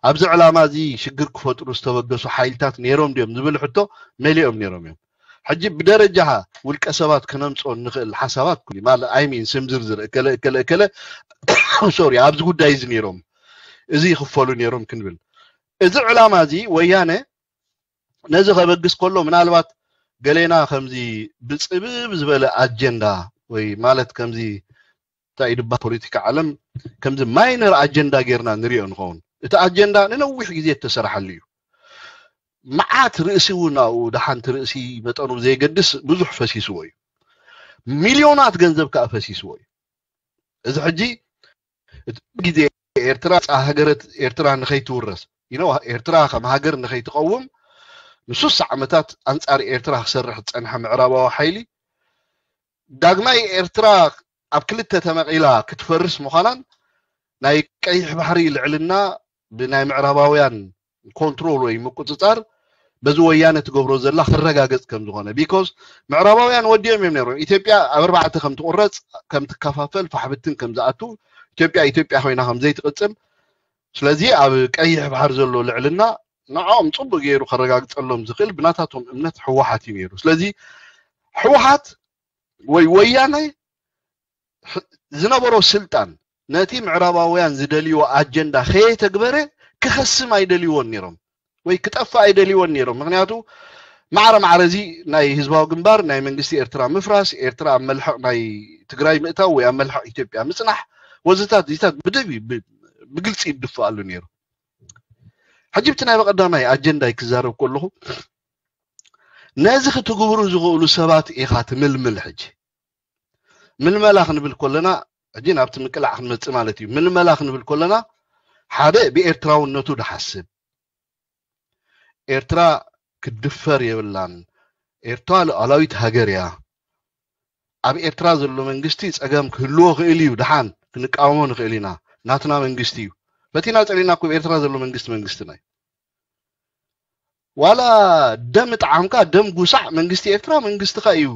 ኣብዚ ዕላማ እዚ ሽግር ክፈጥሩ ዝተበገሱ ሓይልታት ነይሮም ድዮም ዝብል ሕቶ መሊኦም ነይሮም እዮም። ሕጂ ብደረጃ ውልቀ ሰባት ክነምፅኦ እንኽእል ሓሳባት ማለት ኣይሚን ስም ዝርዝር እከለ እከለ እከለ ሶሪ ኣብዚ ጉዳይ እዚ ነይሮም እዚ ይኽፈሉ ነይሮም ክንብል እዚ ዕላማ እዚ ወያነ ነዚ ከበግስ ከሎ ምናልባት ገሌና ከምዚ ብፅብብ ዝበለ ኣጀንዳ ወይ ማለት ከምዚ እንታይ ድባ ፖለቲካ ዓለም ከምዚ ማይነር ኣጀንዳ ጌርና ንሪኦ ንኸውን። እቲ ኣጀንዳ ንነዊሕ ግዜ እተሰራሓሉ እዩ። መዓት ርእሲ እውን ኣብኡ ደሓንቲ ርእሲ መጠኑ ብዘየገድስ ብዙሕ ፈሲስዎ እዩ። ሚልዮናት ገንዘብ ከዓ ፈሲስዎ እዩ። እዚ ሕጂ እቲ ግዜ ኤርትራ ፃ ሃገረት ኤርትራ ንኸይትውረስ you know ኤርትራ ከም ሃገር ንኸይትቐውም ንሱሳ ዓመታት ኣንፃር ኤርትራ ክሰርሕ ዝፀንሐ ምዕራባዊ ሓይሊ ዳግማይ ኤርትራ ኣብ ክልተ ተመቒላ ክትፈርስ ምዃናን ናይ ቀይሕ ባሕሪ ልዕልና ብናይ ምዕራባውያን ኮንትሮል ወይ ምቁፅፃር በዚ ወያነ ትገብሮ ዘላ ክረጋገጽ ከም ዝኾነ። ቢኮዝ ምዕራባውያን ወዲኦም እዮም ነይሮም ኢትዮጵያ ኣብ ኣርባዕተ ከም ትቑረጽ፣ ከም ትከፋፈል፣ ፋሕብትን ከም ዝኣቱ፣ ኢትዮጵያ ኢትዮጵያ ኮይና ከም ዘይትቕጽል። ስለዚ ኣብ ቀይሕ ባሕር ዘሎ ልዕልና ንዕኦም ጽቡቅ ገይሩ ከረጋግጸሎም ዝኽእል ብናታቶም እምነት ህወሓት እዩ ነይሩ። ስለዚ ህወሓት ወይ ወያነ ዝነበሮ ስልጣን ነቲ ምዕራባውያን ዝደልይዎ ኣጀንዳ ከየተግበረ ክኸስም ኣይደልይዎን ነይሮም ወይ ክጠፍእ ኣይደልይዎን ነይሮም። ምክንያቱ ማዕረ ማዕረ እዚ ናይ ህዝባዊ ግንባር ናይ መንግስቲ ኤርትራ ምፍራስ፣ ኤርትራ ኣብ መልሕቕ ናይ ትግራይ ምእታው ወይ ኣብ መልሕቕ ኢትዮጵያ ምጽናሕ ወዘታት ዚታት ብደብ ብግልፂ ይድፍኣሉ ነይሩ። ሕጂ ብቲ ናይ በቀዳማይ ኣጀንዳይ ክዛረብ ከለኹ ነዚ ክትግብሩ ዝኽእሉ ሰባት ኢኻ ትምልምል። ሕጂ ምልመላ ክንብል ከለና ሕጂ ናብቲ ምቅላዕ ክንመጽእ ማለት እዩ። ምልመላ ክንብል ከለና ሓደ ብኤርትራውነቱ ድሓስብ፣ ኤርትራ ክትድፈር የብላን፣ ኤርትራ ሉዓላዊት ሃገር እያ። ኣብ ኤርትራ ዘሎ መንግስቲ ጸገም ክህልዎ ክእል እዩ፣ ድሓን ክንቃወሞ ንኽእል ኢና፣ ናትና መንግስቲ እዩ። ፈቲና ጸሊና እኮ ኤርትራ ዘሎ መንግስቲ መንግስትና እዩ። ዋላ ደም ጣዕምካ ደም ጉሳዕ መንግስቲ ኤርትራ መንግስትኻ እዩ።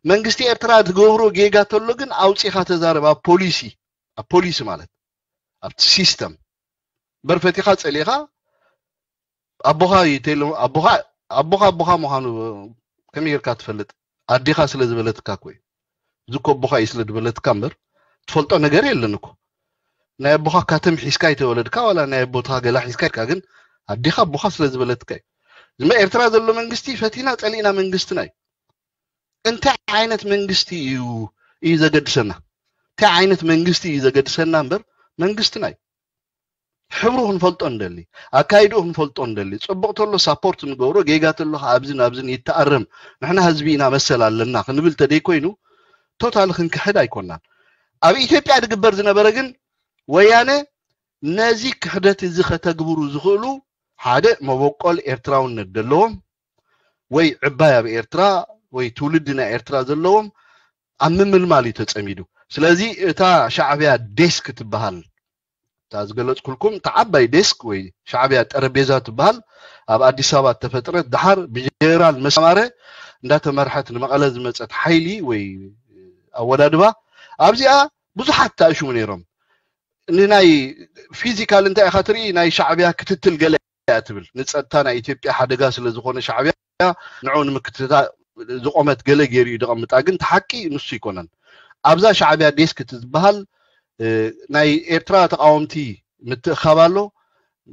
መንግስቲ ኤርትራ ትገብሮ ጌጋ ተሎ ግን ኣውጺኻ ተዛረብ። ኣብ ፖሊሲ ኣብ ፖሊሲ ማለት ኣብቲ ሲስተም በርፈቲኻ ጸሊኻ ኣቦኻ ይተሎ ኣቦኻ ኣቦኻ ኣቦኻ ምዃኑ ከመይ ጌርካ ትፈልጥ? ኣዴኻ ስለ ዝበለትካ እኮ እዩ። እዚ እኮ ኣቦኻ እዩ ስለ ዝበለትካ እምበር ትፈልጦ ነገር የለን እኮ። ናይ ኣቦኻ ካተም ሒዝካ ይተወለድካ ዋላ ናይ ኣቦትኻ ገላ ሒዝካ ይካ ግን ኣዴኻ ኣቦኻ ስለ ዝበለትካ እዩ። ዝመ ኤርትራ ዘሎ መንግስቲ ፈቲና ጸሊእና መንግስትና እዩ። እንታይ ዓይነት መንግስቲ እዩ እዩ ዘገድሰና? እንታይ ዓይነት መንግስቲ እዩ ዘገድሰና እምበር መንግስትና እዩ። ሕብሩ ክንፈልጦ እንደሊ፣ ኣካይድኡ ክንፈልጦ እንደሊ፣ ጽቡቕ ተሎ ሳፖርት ንገብሮ፣ ጌጋ ተሎ ከዓ ኣብዝን ኣብዝን ይተኣረም፣ ንሕና ህዝቢ ኢና መሰል ኣለና ክንብል ተደይ ኮይኑ ቶታሊ ክንክሕድ ኣይኮናን። ኣብ ኢትዮጵያ ዝግበር ዝነበረ ግን ወያነ ነዚ ክሕደት እዚ ከተግብሩ ዝኽእሉ ሓደ መበቆል ኤርትራውነት ዘለዎም ወይ ዕባይ ኣብ ኤርትራ ወይ ትውልዲ ናይ ኤርትራ ዘለዎም ኣብ ምምልማል እዩ ተጸሚዱ። ስለዚ እታ ሻዕብያ ዴስክ ትበሃል እታ ዝገለጽኩልኩም እታ ዓባይ ዴስክ ወይ ሻዕብያ ጠረጴዛ ትበሃል ኣብ ኣዲስ ኣበባ እተፈጥረት ድሓር ብጀነራል መሳማረ እንዳተመርሐት ንመቐለ ዝመጸት ሓይሊ ወይ ኣወዳድባ ኣብዚኣ ብዙሓት ተኣሽሙ ነይሮም። ንናይ ፊዚካል እንታይ ኢኻ ትርኢ ናይ ሻዕብያ ክትትል ገለ እያ ትብል ንፀጥታ ናይ ኢትዮጵያ ሓደጋ ስለ ዝኾነ ሻዕብያ ንዑ ንምክትታ ዝቆመት ገለ ገይሩ እዩ ደቐምጣ ግን ተሓቂ ንሱ ይኮነን። ኣብዛ ሻዕብያ ዴስክ ትበሃል ናይ ኤርትራ ተቃወምቲ ምትእኻብ ኣሎ።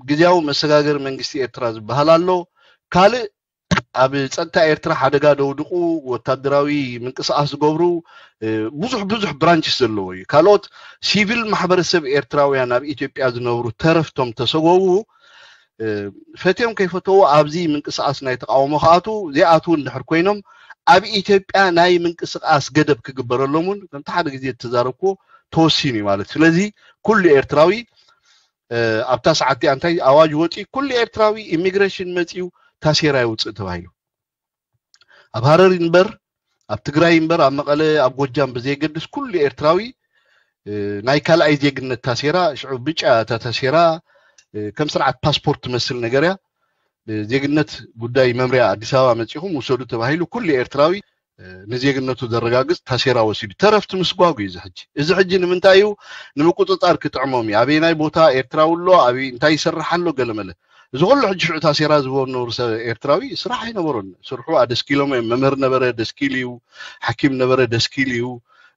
ግዜያዊ መሰጋገሪ መንግስቲ ኤርትራ ዝበሃል ኣሎ። ካልእ ኣብ ጸጥታ ኤርትራ ሓደጋ ደውድቁ ወታደራዊ ምንቅስቃስ ዝገብሩ ብዙሕ ብዙሕ ብራንችስ ዘለዎ እዩ። ካልኦት ሲቪል ማሕበረሰብ ኤርትራውያን ኣብ ኢትዮጵያ ዝነብሩ ተረፍቶም ተሰጎቡ ፈትዮም ከይፈተዉ ኣብዚ ምንቅስቃስ ናይ ተቃውሞ ክኣቱ ዘይኣትዉ እንድሕር ኮይኖም ኣብ ኢትዮጵያ ናይ ምንቅስቃስ ገደብ ክግበረሎም እውን ከምቲ ሓደ ግዜ እተዛረብኩዎ ተወሲኑ እዩ ማለት። ስለዚ ኩሉ ኤርትራዊ ኣብታ ሰዓት እቲኣ እንታይ ኣዋጅ ወፂኡ ኩሉ ኤርትራዊ ኢሚግሬሽን መፂኡ ታሴራ ይውፅእ ተባሂሉ ኣብ ሃረር ይንበር ኣብ ትግራይ ይንበር ኣብ መቐለ ኣብ ጎጃም ብዘየገድስ ኩሉ ኤርትራዊ ናይ ካልኣይ ዜግነት ታሴራ ሽዑ ብጫ እታ ታሴራ ከም ስርዓት ፓስፖርት ትመስል ነገር እያ። ዜግነት ጉዳይ መምርያ ኣዲስ ኣበባ መፂኹም ውሰዱ ተባሂሉ ኩሉ ኤርትራዊ ንዜግነቱ ዘረጋግጽ ታሴራ ወሲዱ ተረፍቲ ምስጓጉ እዩ እዚ ሕጂ። እዚ ሕጂ ንምንታይ እዩ ንምቁፅፃር ክጥዕሞም እዩ። ኣበየናይ ቦታ ኤርትራዊ ኣሎ ኣበይ እንታይ ይሰርሕ ኣሎ ገለመለ። እዚ ኩሉ ሕጂ ሽዑ ታሴራ ዝበነሩ ሰብ ኤርትራዊ ስራሕ ኣይነበሮን። ስርሑ ኣደስኪሎም እዮም። መምህር ነበረ ደስኪል እዩ፣ ሓኪም ነበረ ደስኪል እዩ።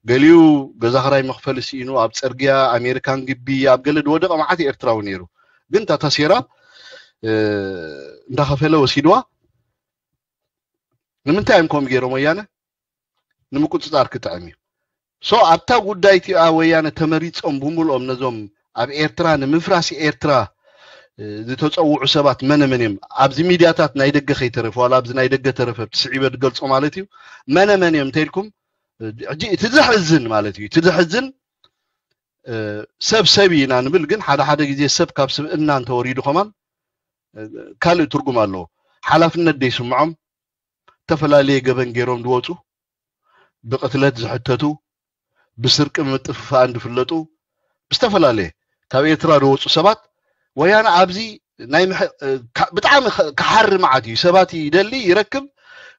ገሊኡ ገዛ ክራይ መኽፈሊ ስኢኑ ኣብ ፅርግያ ኣሜሪካን ግቢ ኣብ ገለ ዝወደቐ መዓት ኤርትራዊ ነይሩ። ግን እታ ታሴራ እንዳኸፈለ ወሲድዋ። ንምንታይ እዮም ከምኡ ገይሮም ወያነ? ንምቁፅፃር ክጥዕም እዩ። ሶ ኣብታ ጉዳይ እቲኣ ወያነ ተመሪፆም ብምልኦም ነዞም ኣብ ኤርትራ ንምፍራስ ኤርትራ ዝተፀውዑ ሰባት መነ መን እዮም? ኣብዚ ሚድያታት ናይ ደገ ከይተረፈ ዋላ ኣብዚ ናይ ደገ ተረፈ ብቲ ስዒበ ዝገልፆ ማለት እዩ መነ መን እዮም እንተኢልኩም ሕጂ እቲ ዘሕዝን ማለት እዩ እቲ ዘሕዝን ሰብ ሰብ ኢና ንብል ግን ሓደ ሓደ ግዜ ሰብ ካብ ስብእና እንተወሪዱ ከማን ካልእ ትርጉም ኣለዎ። ሓላፍነት ደይስምዖም ዝተፈላለየ ገበን ገይሮም ዝወፁ ብቅትለት ዝሕተቱ ብስርቂ ምጥፍፋእን ዝፍለጡ ብዝተፈላለየ ካብ ኤርትራ ዝወፁ ሰባት ወያነ ኣብዚ ናይ ምሕ- እ፣ ካ- ብጣዕሚ ከ- ክሓሪ መዓት እዩ። ሰባት ይደሊ ይረክብ።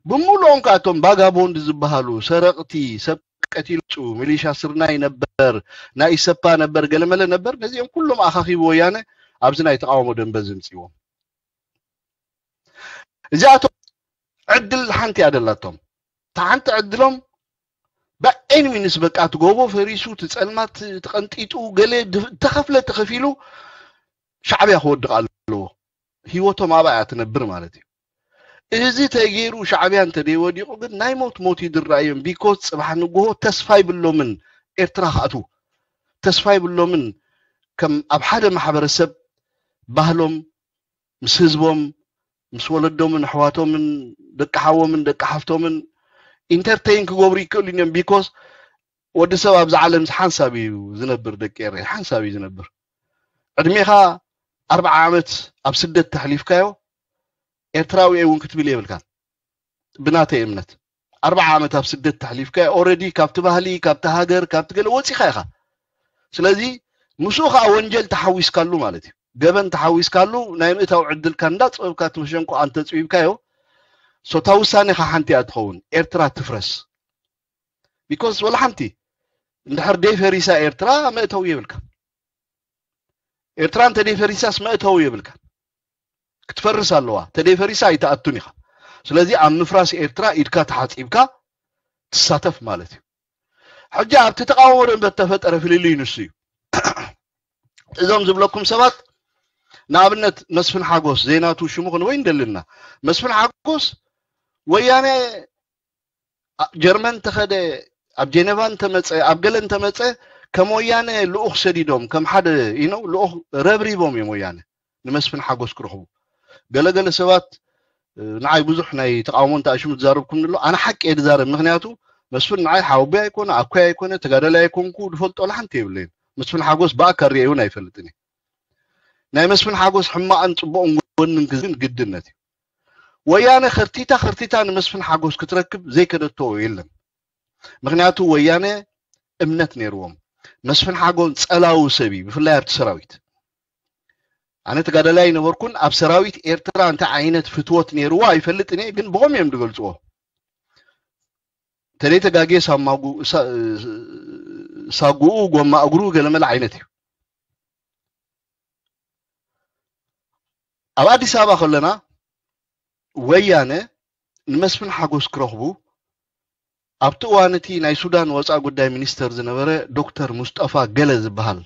ብምሉኦም ከዓ እቶም ባጋቦንድ ዝበሃሉ ሰረቕቲ፣ ሰብ ቀቲሉ፣ ሚሊሻ ስርናይ ነበር፣ ናይ ኢሰፓ ነበር፣ ገለመለ ነበር። ነዚኦም ኩሎም ኣኻኺቡ ወያነ ኣብዚ ናይ ተቃውሞ ደንበ ዝምፅዎም። እዚኣቶም ዕድል ሓንቲ እያ ደላቶም። እታ ሓንቲ ዕድሎም ብኤኒ ሚንስ በቃ እቲ ጎቦ ፈሪሱ፣ እቲ ጸልማት ተቐንጢጡ፣ ገለ ድ- እተኸፍለ ተኸፊሉ ሻዕብያ ክወድቕ ኣለዎ። ህይወቶም ኣብኣ እያ ትነብር ማለት እዩ። እዚ ተገይሩ ሻዕብያ እንተደይወዲቑ ግን ናይ ሞት ሞት ይድረኣዮም። ቢኮዝ ጽባሕ ንግሆ ተስፋ ይብሎምን ኤርትራ ክኣትዉ። ተስፋ ይብሎምን ከም ኣብ ሓደ ማሕበረሰብ ባህሎም ምስ ህዝቦም ምስ ወለዶምን ኣሕዋቶምን ደቂ ሓዎምን ደቂ ሓፍቶምን ኢንተርቴይን ክገብሩ ይክእሉ እዮም። ቢኮዝ ወዲ ሰብ ኣብዚ ዓለም ሓንሳብ እዩ ዝነብር፣ ደቂ ኤረይ ሓንሳብ እዩ ዝነብር። ዕድሜኻ ኣርብዓ ዓመት ኣብ ስደት ተሕሊፍካዮ ኤርትራዊ እውን ክትብል የብልካን። ብናተይ እምነት ኣርብዓ ዓመት ኣብ ስደት ተሕሊፍካ ኦረዲ ካብቲ ባህሊ ካብቲ ሃገር ካብቲ ገለ ወፂኻ ኢኻ። ስለዚ ምስኡ ከዓ ወንጀል ተሓዊስካሉ ማለት እዩ። ገበን ተሓዊስካሉ ናይ ምእታው ዕድልካ እንዳፀበብካ እቲ መሸንቆ ኣንተፅቢብካዮ ሶታ ውሳኔኻ ሓንቲ እያ ትኸውን። ኤርትራ ትፍረስ። ቢኮዝ ወላ ሓንቲ እንድሕር ደይፈሪሳ ኤርትራ መእተዊ የብልካ። ኤርትራ እንተ ደይፈሪሳስ መእተዊ የብልካ። ክትፈርስ ኣለዋ። ተደይፈሪሳ ኣይትኣቱን ኢኻ። ስለዚ ኣብ ምፍራስ ኤርትራ ኢድካ ተሓፂብካ ትሳተፍ ማለት እዩ። ሕጂ ኣብቲ ተቃውሞ ደንበ እተፈጠረ ፍልልይ ንሱ እዩ። እዞም ዝብለኩም ሰባት ንኣብነት መስፍን ሓጎስ ዘይናቱ ሽሙ ክንወይ እንደልና መስፍን ሓጎስ ወያነ ጀርመን ተኸደ ኣብ ጀነቫ እንተመፀ ኣብ ገለ እንተመፀ ከም ወያነ ልኡኽ ሰዲዶም ከም ሓደ ኢነው ልኡኽ ረብሪቦም እዮም ወያነ ንመስፍን ሓጎስ ክረኽቡ። ገለገለ ሰባት ንዓይ ብዙሕ ናይ ተቃውሞ እንተ ኣሽሙ ትዛረብኩም ንሎ ኣነ ሓቂ እየ ዝዛረብ። ምክንያቱ መስፍን ንዓይ ሓወቦይ ኣይኮነ ኣኮይ ኣይኮነ ተጋዳላይ ኣይኮንኩ ዝፈልጦ ለሓንቲ የብለይን። መስፍን ሓጎስ ብኣካል ርእየውን ኣይፈልጥን እየ። ናይ መስፍን ሓጎስ ሕማቕን ፅቡቕን ጎንን ግን ግድነት እዩ። ወያነ ከርቲታ ከርቲታ ንመስፍን ሓጎስ ክትረክብ ዘይከደቶ የለን። ምክንያቱ ወያነ እምነት ነይርዎም። መስፍን ሓጎስ ፀላዊ ሰብ እዩ፣ ብፍላይ ኣብቲ ሰራዊት። ኣነ ተጋዳላይ ኣይነበርኩን፣ ኣብ ሰራዊት ኤርትራ እንታይ ዓይነት ፍትወት ነይርዎ ኣይፈልጥን እየ፣ ግን ብኸም እዮም ዝገልፅዎ። ተለይ ተጋጌ ሳጉኡ ጎማ እግሩ ገለመለ ዓይነት እዩ። ኣብ ኣዲስ ኣበባ ከለና ወያነ ንመስፍን ሓጎስ ክረኽቡ ኣብቲ እዋን እቲ ናይ ሱዳን ወፃኢ ጉዳይ ሚኒስተር ዝነበረ ዶክተር ሙስጠፋ ገለ ዝበሃል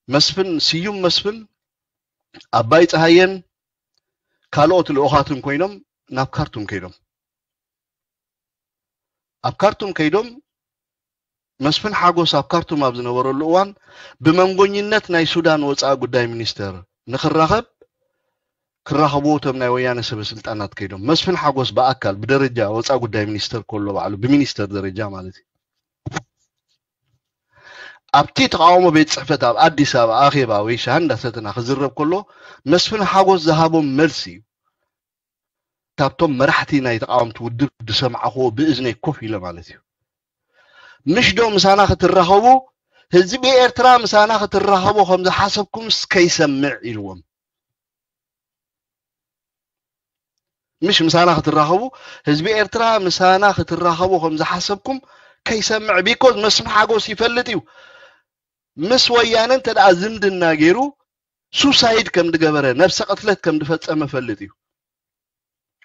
መስፍን ስዩም መስፍን ኣባይ ፀሃየን ካልኦት ልኡኻትን ኮይኖም ናብ ካርቱም ከይዶም። ኣብ ካርቱም ከይዶም መስፍን ሓጎስ ኣብ ካርቱም ኣብ ዝነበረሉ እዋን ብመንጎኝነት ናይ ሱዳን ወፃኢ ጉዳይ ሚኒስተር ንክራኸብ ክራኸብዎ እቶም ናይ ወያነ ሰበ ስልጣናት ከይዶም መስፍን ሓጎስ ብኣካል ብደረጃ ወፃኢ ጉዳይ ሚኒስተር ከሎ ባዕሉ ብሚኒስተር ደረጃ ማለት እዩ። ኣብቲ ተቃውሞ ቤት ፅሕፈት ኣብ ኣዲስ ኣበባ ኣኼባ ወይ ሻሂ እንዳሰተና ክዝረብ ከሎ መስፍን ሓጎስ ዝሃቦም መልሲ እዩ። ካብቶም መራሕቲ ናይ ተቃወምቲ ውድብ ዝሰማዕክዎ ብእዝነይ ኮፍ ኢለ ማለት እዩ። ምሽ ዶ ምሳና ክትራኸቡ ህዝቢ ኤርትራ ምሳና ክትራኸቡ ከም ዝሓሰብኩምስ ከይሰምዕ ኢልዎም። ምሽ ምሳና ክትራኸቡ ህዝቢ ኤርትራ ምሳና ክትራኸቡ ከም ዝሓሰብኩም ከይሰምዕ ቢኮዝ መስፍን ሓጎስ ይፈልጥ እዩ። ምስ ወያነ እንተ ደኣ ዝምድና ገይሩ ሱሳይድ ከም ዝገበረ ነብሰ ቅትለት ከም ዝፈጸመ ፈልጥ እዩ።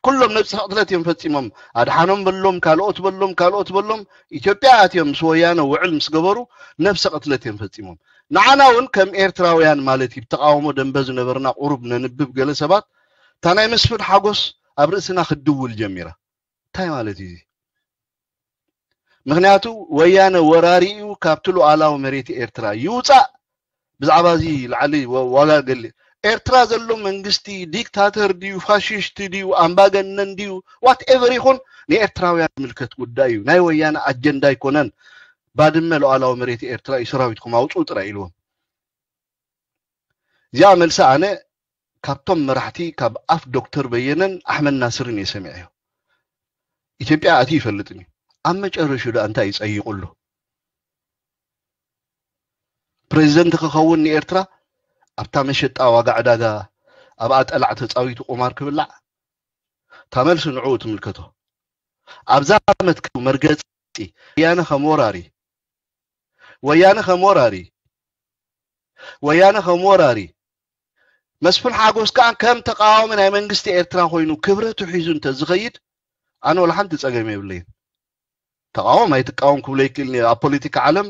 ኩሎም ነብሰ ቅትለት እዮም ፈጺሞም። ኣድሓኖም በሎም ካልኦት በሎም ካልኦት በሎም ኢትዮጵያ ኣትዮም ምስ ወያነ ውዕል ምስ ገበሩ ነብሰ ቅትለት እዮም ፈጺሞም። ንዓና እውን ከም ኤርትራውያን ማለት እዩ ተቃውሞ ደንበ ዝነበርና ቁሩብ ነንብብ ገለ ሰባት እታ ናይ መስፍን ሓጎስ ኣብ ርእስና ክትድውል ጀሚራ። እንታይ ማለት እዩ እዚ? ምክንያቱ ወያነ ወራሪ እዩ፣ ካብቲ ሉዓላዊ መሬት ኤርትራ ይውፃእ። ብዛዕባ እዚ ላዕሊ ዋጋ ገሊ ኤርትራ ዘሎ መንግስቲ ዲክታተር ድዩ ፋሽስት ድዩ ኣምባገነን ድዩ ዋትኤቨር ይኹን ንኤርትራውያን ዝምልከት ጉዳይ እዩ። ናይ ወያነ ኣጀንዳ ኣይኮነን። ባድመ ሉዓላዊ መሬት ኤርትራ እዩ፣ ሰራዊትኩም ኣውፅኡ ጥራይ ኢልዎም። እዚኣ መልሲ ኣነ ካብቶም መራሕቲ ካብ ኣፍ ዶክተር በየነን ኣሕመድ ናስርን እየ ሰሚዐዮ። ኢትዮጵያ ኣትዩ ይፈልጥን እዩ። ኣብ መጨረሽኡ ደኣ እንታይ ይጸይቑ ኣሎ? ፕሬዚደንት ክኸውን ንኤርትራ ኣብታ መሸጣ ዋጋ ዕዳጋ ኣብኣ ጠላዕ ተጻዊቱ ቁማር ክብላዕ? እታ መልሲ ንዕኡ ትምልከቶ። ኣብዛ መትከል መርገጺ ወያነ ከም ወራሪ፣ ወያነ ከም ወራሪ፣ ወያነ ከም ወራሪ፣ መስፍን ሓጎስ ከኣ ከም ተቃዋሚ ናይ መንግስቲ ኤርትራ ኮይኑ ክብረቱ ሒዙ እንተዝኸይድ ኣነ ወላ ሓንቲ ጸገም የብለይን። ተቃወም ኣይትቃወም ክብሎ ይክእል። ኣብ ፖለቲካ ዓለም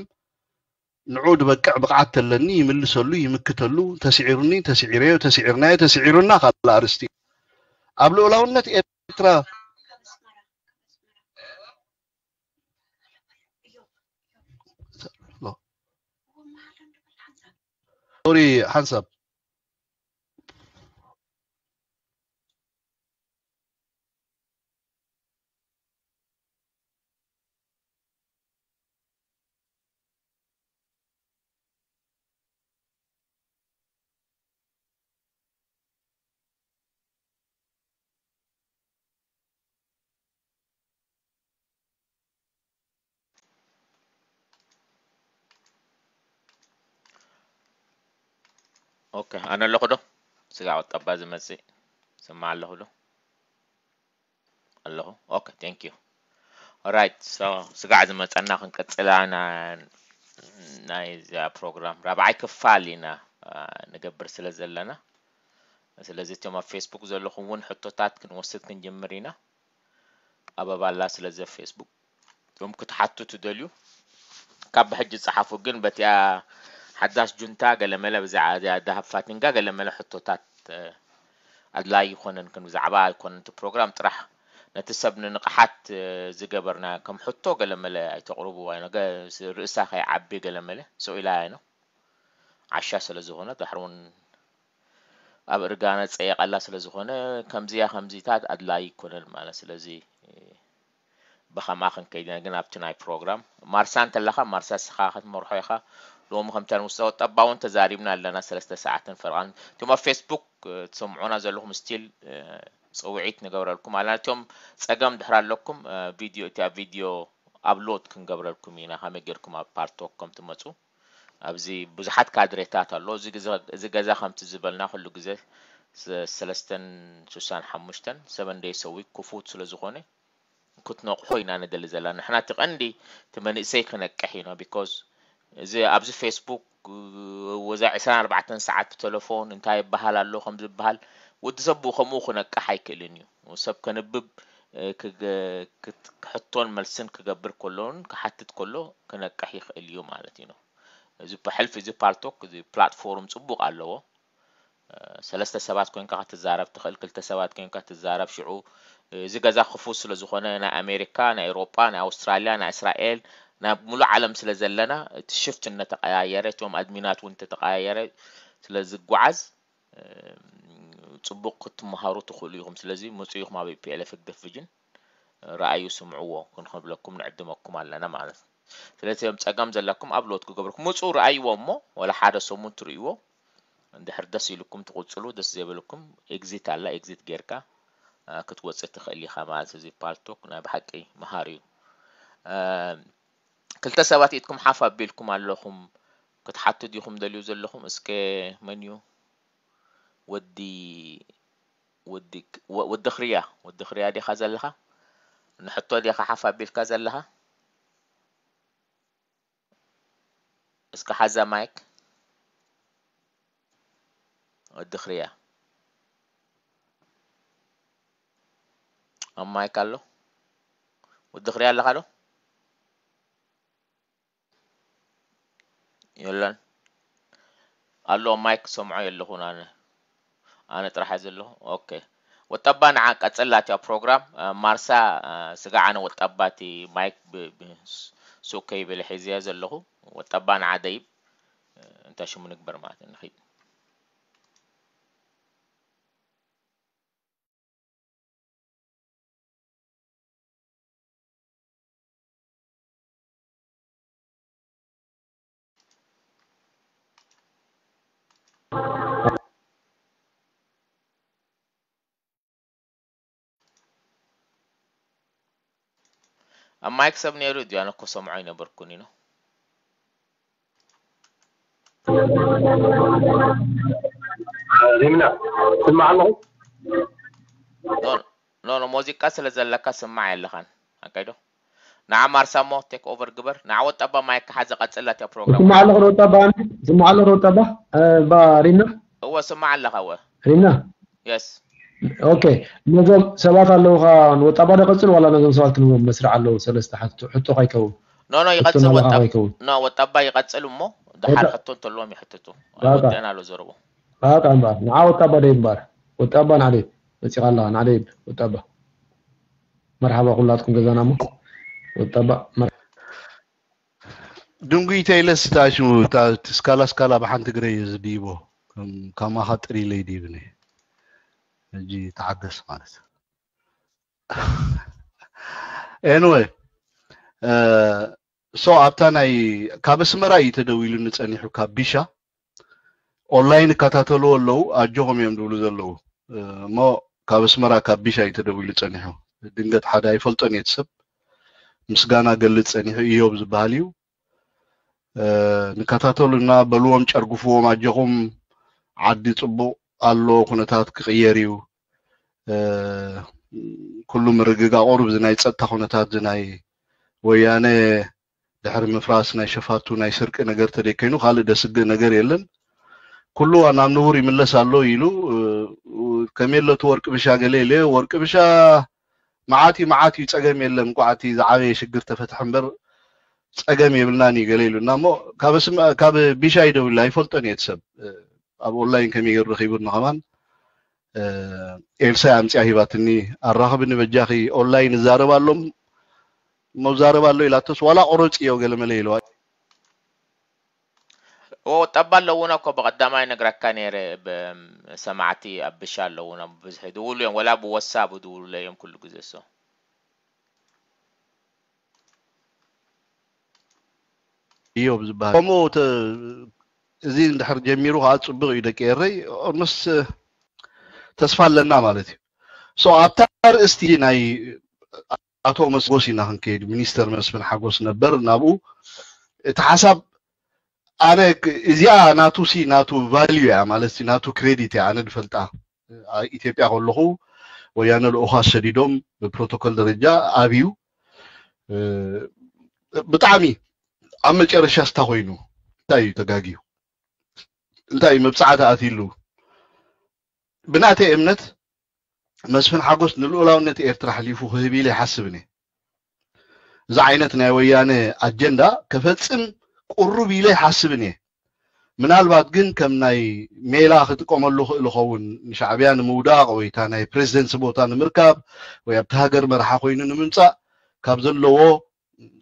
ንዑ ዝበቅዕ ብቕዓት ተለኒ ይምልሰሉ፣ ይምክተሉ። ተስዒሩኒ፣ ተስዒረዮ፣ ተስዒርናዮ፣ ተስዒሩና ካልእ ኣርእስቲ። ኣብ ልኡላውነት ኤርትራ ሶሪ ሓንሳብ ኦኬ፣ ኣነ ኣለኹ ዶ? ስጋዕ ወጣባ ዝመጽእ ስማዕ ኣለኹ ዶ? ኣለኹ። ኦኬ፣ thank you። Alright, so ስጋዕ ዝመጸና ክንቀጽላ ና ናይ እዚኣ ፕሮግራም ራብዓይ ክፋል ኢና ንገብር ስለ ዘለና፣ ስለዚ እቶም ኣብ ፌስቡክ ዘለኹም እውን ሕቶታት ክንወስድ ክንጅምር ኢና። ኣበባ ኣላ። ስለዚ ኣብ ፌስቡክ እቶም ክትሓቱ ትደልዩ ካብ ብሕጂ ጸሓፉ። ግን በቲኣ ሓዳስ ጁንታ ገለመለ ብዛዕባ እዚኣ ዳሃብ ፋቲንጋ ገለመለ ሕቶታት ኣድላይ ይኮነን። ግን ብዛዕባ ኣይኮነን እቲ ፕሮግራም ጥራሕ ነቲ ሰብ ንንቕሓት ዝገበርና ከም ሕቶ ገለመለ ኣይተቕርቡ፣ ርእሳ ከይዓቢ ገለመለ ሰው ኢላ ነው። ዓሻ ስለ ዝኾነ ዳሕሪ እውን ኣብ እርጋና ጸየቐላ ስለ ዝኾነ ከምዚያ ከምዚታት ኣድላይ ይኮነን ማለት። ስለዚ ብኸምኣ ክንከይድ ኢና። ግን ኣብቲ ናይ ፕሮግራም ማርሳ እንተለኻ ማርሳ ስኻ ክትመርሖ ኢኻ። ሎሚ ከምታ ንውስተ ጠባ እውን ተዛሪብና ኣለና ሰለስተ ሰዓትን ፈርቓን። እቶም ኣብ ፌስቡክ ትሰምዑና ዘለኹም ስቲል ጽውዒት ንገብረልኩም ኣለና። እቶም ጸገም ድሕር ኣለኩም ቪድዮ እቲኣ ቪድዮ ኣፕሎድ ክንገብረልኩም ኢና ከመይ ጌርኩም ኣብ ፓልቶክ ከም ትመጹ። ኣብዚ ብዙሓት ካድሬታት ኣሎ። እዚ ገዛ ከምቲ ዝበልና ኩሉ ግዜ ሰለስተን ስሳን ሓሙሽተን ሰቨን ደይስ ዊክ ክፉት ስለ ዝኾነ ክትነቕሑ ኢና ንደሊ ዘለና። ንሕና እቲ ቀንዲ እቲ መንእሰይ ክነቅሕ ኢና። ቢኮዝ እዚ ኣብዚ ፌስቡክ ወዛ ዕስራን ኣርባዕተን ሰዓት ብቴሌፎን እንታይ ይበሃል ኣሎ ከም ዝበሃል ወዲ ሰብ ብኡ ከምኡ ክነቅሕ ኣይክእልን እዩ። ሰብ ከንብብ ክሕቶን መልስን ክገብር ከሎን ክሓትት ከሎ ክነቅሕ ይኽእል እዩ ማለት እዩ። እዚ ብሕልፊ እዚ ፓልቶክ እዚ ፕላትፎርም ጽቡቕ ኣለዎ። ሰለስተ ሰባት ኮንካ ክትዛረብ ትኽእል፣ ክልተ ሰባት ኮንካ ትዛረብ። ሽዑ እዚ ገዛ ክፉት ስለ ዝኾነ ናይ ኣሜሪካ፣ ናይ ኤውሮጳ፣ ናይ ኣውስትራልያ፣ ናይ እስራኤል፣ ናይ ሙሉእ ዓለም ስለ ዘለና እቲ ሽፍት እናተቀያየረ እቶም ኣድሚናት እውን እንተተቀያየረ ስለ ዝጓዓዝ ጽቡቕ ክትመሃሩ ትኽእሉ ኢኹም። ስለዚ ምጹ ኢኹም ኣብ ፒ ኤል ኤፍ ህግደፍ ቪዥን። ረኣዩ ስምዕዎ ክንብለኩም ንዕድመኩም ኣለና ማለት እዩ። ስለዚ እዮም ጸገም ዘለኩም ኣፕሎድ ክገብርኩም ምጹ ረኣይዎ እሞ ወላ ሓደ ሰሙን ትርእይዎ። እንድሕር ደስ ኢልኩም ትቕጽሉ፣ ደስ ዘይበልኩም ኤግዚት ኣላ፣ ኤግዚት ጌርካ ክትወጽእ ትኽእል ኢኻ ማለት እዚ ፓልቶክ ናይ ብሓቂ መሃሪ እዩ። ክልተ ሰባት ኢድኩም ሓፍ ኣቢልኩም ኣለኹም ክትሓቱ ዲኹም ደልዩ ዘለኹም? እስከ መን እዩ? ወዲ ወዲ ወዲ ክርያ ወዲ ክርያ ዲኻ ዘለኻ? ንሕቶ ዲኻ ሓፍ ኣቢልካ ዘለኻ? እስከ ሓዛ ማይክ። ወዲ ክርያ ኣብ ማይክ ኣሎ? ወዲ ክርያ ኣለኻ ዶ? የለን ኣሎ። ማይክ ሰምዖ የለኹን ኣነ። ኣነ ጥራሕ እየ ዘለኹ። ኦኬ። ወጠባ ንዓ ቀጽላ እቲያ ፕሮግራም። ማርሳ ስጋ ኣነ ወጠባ እቲ ማይክ ሱቅ ከይበለ ሒዝያ ዘለኹ። ወጠባ ንዓ ደይብ እንታይ ሽሙ ንግበር ማለት ንኺድ። ኣብ ማይክ ሰብ ነይሩ ድዩ? ኣነ እኮ ሰምዖ ኣይነበርኩን ኢኖ። ሪምና፣ ስማዕ ኣለኹ። ኖ ኖ ኖ፣ ሙዚቃ ስለ ዘለካ ስማዕ የለኻን። ኣካይዶ ንዓ ማርሳሞ ቴክ ኦቨር ግበር። ንዓ ወጣባ ማይክ ሓዘ ቀጽላት እያ ፕሮግራም። ስማዕ ኣለኹ ወጣባ፣ ኣነ ስማዕ ኣለኹ ወጣባ። እ፣ ባ ሪምና፣ እወ ስማዕ ኣለኻ። እወ ሪምና፣ የስ ኦኬ። ነዞም ሰባት ኣለውኻ ንወጣባ ዶ ቀጽል ዋላ ነዞም ሰባት ክንዎም መስርዕ ኣለዉ። ሰለስተ ሕቶ፣ ሕቶ ካይከውን ኖ ኖ ሕቶ ይቐጽል። ናባኻ ወጣ ካይከውን ኖ ወጣባ ይቐጽል እሞ ድሓር ወጣ- ሕቶ እንተለዎም ይሕትቱ። ባባ። ወጥዕና ኣሎ ዘረቦ ባጣ እምበኣር ንዓ ወጣባ ደይ እምበኣር ወጣባ ንዓደይ መጺኻ ኣለኻ ንዓደይ ወጣባ። መርሓባ ኩላትኩም ገዛና እሞ ወጣባ መር- ድንጉይ ተይለስ ታሹ ስካላ ስካላ ብሓንቲ ግረ እዩ ዝድይቦ። ከም- ከማኻ ጥሪ ኢለይ ድይብኒ። ሕጂ ተዓገስ ማለት። Anyway፣ እ፣ so ኣብታ ናይ ካብ ኣስመራ እዩ ተደዊሉኒ ጸኒሑ ካብ ቢሻ። ኦንላይን እከታተልዎ ኣለዉ፣ ኣጆኹም እዮም ዝብሉ ዘለዉ። እ፣ እሞ ካብ ኣስመራ ካብ ቢሻ እዩ ተደዊሉ ጸኒሑ። ድንገት ሓደ ኣይፈልጦን እየ እቲ ሰብ። ምስጋና ገልጽ ጸኒሑ። እዮብ ዝበሃል እዩ። እ፣ ንከታተሉና በልዎም፣ ጨርግፍዎም፣ ኣጆኹም፣ ዓዲ ጽቡቕ ኣሎ፣ ኩነታት ክቕየር እዩ። እ፣ ኩሉ ምርግጋእ ቁሩብ እዚ ናይ ጸጥታ ኩነታት እዚ ናይ ወያነ ድሕሪ ምፍራስ ናይ ሸፋቱ ናይ ስርቂ ነገር ተደይከይኑ ካልእ ደስግእ ነገር የለን። ኩሉ ናብ ንቡር ይምለስ ኣሎ ኢሉ፣ እ፣ ከመይ ኣሎ እቲ ወርቂ ብሻ ገለ ኢለ፣ ወርቂ ብሻ መዓት እዩ፣ መዓት እዩ፣ ጸገም የለን። እንቋዕ እቲ ዝዓበየ ሽግር ተፈትሐ እምበር ጸገም የብልናን እዩ ገለ ኢሉና። እሞ ካብ ስም-፣ ካብ ቢሻ ይደውል ኣይፈልጦን እየ እቲ ሰብ። እ፣ ኣብ ኦንላይን ከመይ ገይሩ ረኺቡኒ ከማን፣ እ፣ ኤልሳ ኣምጽያ ሂባትኒ። ኣራኽብኒ በጃኺ፣ ኦንላይን እዛረብ ኣሎም፣ መዛረብ ኣሎ ኢላቶስ ዋላ ቆረጽ እዮ ገለ መለ ኢለዋ። ኦ ጠባ ኣለውና እኮ ብቐዳማይ ነግረካ ነይረ። ብ-፣ ሰማዕቲ ኣብ ብሻ ኣለውና ብብዝሒ ድውሉ እዮም፣ ወላ ብወሳብ ድውሉ እዮም ኩሉ ግዜ። ሶ እዮብ ዝበሃል ከምኡ ተ-፣ እዚ እንድሕር ጀሚሩ ከዓ ጽቡቕ እዩ ደቂ ኤረይ። ኦልሞስት ተስፋ ኣለና ማለት እዩ። ሶ ኣብታ ኣርእስቲ ናይ ኣቶ መስጎስ ኢና ክንከይድ። ሚኒስተር መስፍን ሓጎስ ነበር ናብኡ። እቲ ሓሳብ ኣነ ክ-፣ እዚኣ ናቱ ሲ ናቱ ቫልዩ እያ ማለት ሲ ናቱ ክሬዲት እያ ኣነ ድፈልጣ። ኣብ ኢትዮጵያ ከለኹ ወያነ ልኡኻት ሰዲዶም ብፕሮቶኮል ደረጃ ኣብዩ፣ እ፣ ብጣዕሚ ኣብ መጨረሻ ስታ ኮይኑ እንታይ እዩ ተጋግዩ? እንታይ እዩ መብጽዓ ተኣትይሉ? ብናተይ እምነት መስፍን ሓጎስ ንልኡላውነት ኤርትራ ኣሕሊፉ ክህብ ኢለ ይሓስብን እየ። እዚ ዓይነት ናይ ወያነ ኣጀንዳ ከፈጽም ቁሩብ ኢለ ይሓስብን እየ። ምናልባት ግን ከም ናይ ሜላ ክጥቀመሉ ክእል ይኸውን፣ ንሻዕብያ ንምውዳቕ ወይ እታ ናይ ፕሬዚደንሲ ቦታ ንምርካብ ወይ ኣብቲ ሃገር መርሓ ኮይኑ ንምምጻእ ካብ ዘለዎ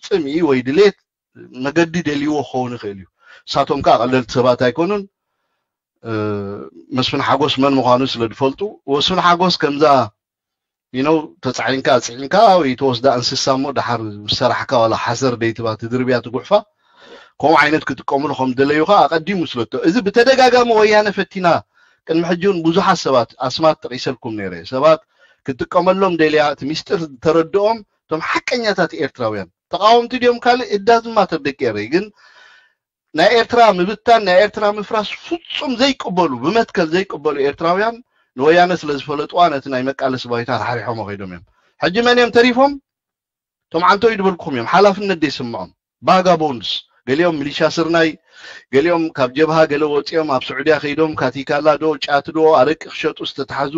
ጽምኢ ወይ ድሌት መገዲ ደልይዎ ክኸውን ይኽእል እዩ። ንሳቶም ከኣ ቀለልቲ ሰባት ኣይኮኑን። እ፣ መስፍን ሓጎስ መን ምዃኑ ስለ ዝፈልጡ፣ መስፍን ሓጎስ ከምዛ you know ተጻዒንካ ኣጽዒንካ ወይ ተወስዳ እንስሳ እሞ ደሓር ምስ ሰራሕካ ዋላ ሓሰር ደይትባ ትድርብያ ትጉሕፋ፣ ከምኡ ዓይነት ክጥቀምሉ ከም ዝደለዩ ከኣ ኣቐዲሙ ስለቶ። እዚ ብተደጋጋሚ ወያነ ፈቲና፣ ቅድሚ ሕጂ እውን ብዙሓት ሰባት ኣስማት ጠቒሰልኩም ነይረ። ሰባት ክትጥቀመሎም ደልያ፣ እቲ ሚስጥር ተረድኦም፣ እቶም ሓቀኛታት ኤርትራውያን። ተቃወምቲ ድዮም ካልእ እዳዝማተር ደቂ ኤረይ፣ ግን ናይ ኤርትራ ምብታን፣ ናይ ኤርትራ ምፍራስ ፍጹም ዘይቅበሉ፣ ብመትከል ዘይቅበሉ ኤርትራውያን ንወያነ ስለ ዝፈለጥዋ ነቲ ናይ መቃለሲ ባይታ ራሕሪሖሞ ከይዶም እዮም። ሕጂ መን እዮም ተሪፎም? እቶም ዓንተው ይድበልኩም እዮም፣ ሓላፍነት ዘይስምዖም ባጋቦንድስ። ገሊኦም ሚሊሻ ስርናይ፣ ገሊኦም ካብ ጀብሃ ገለ ወጺኦም ኣብ ስዑድያ ከይዶም ካቲካላ ዶ ጫት ዶ ኣረቂ ክሸጡ ዝተታሕዙ፣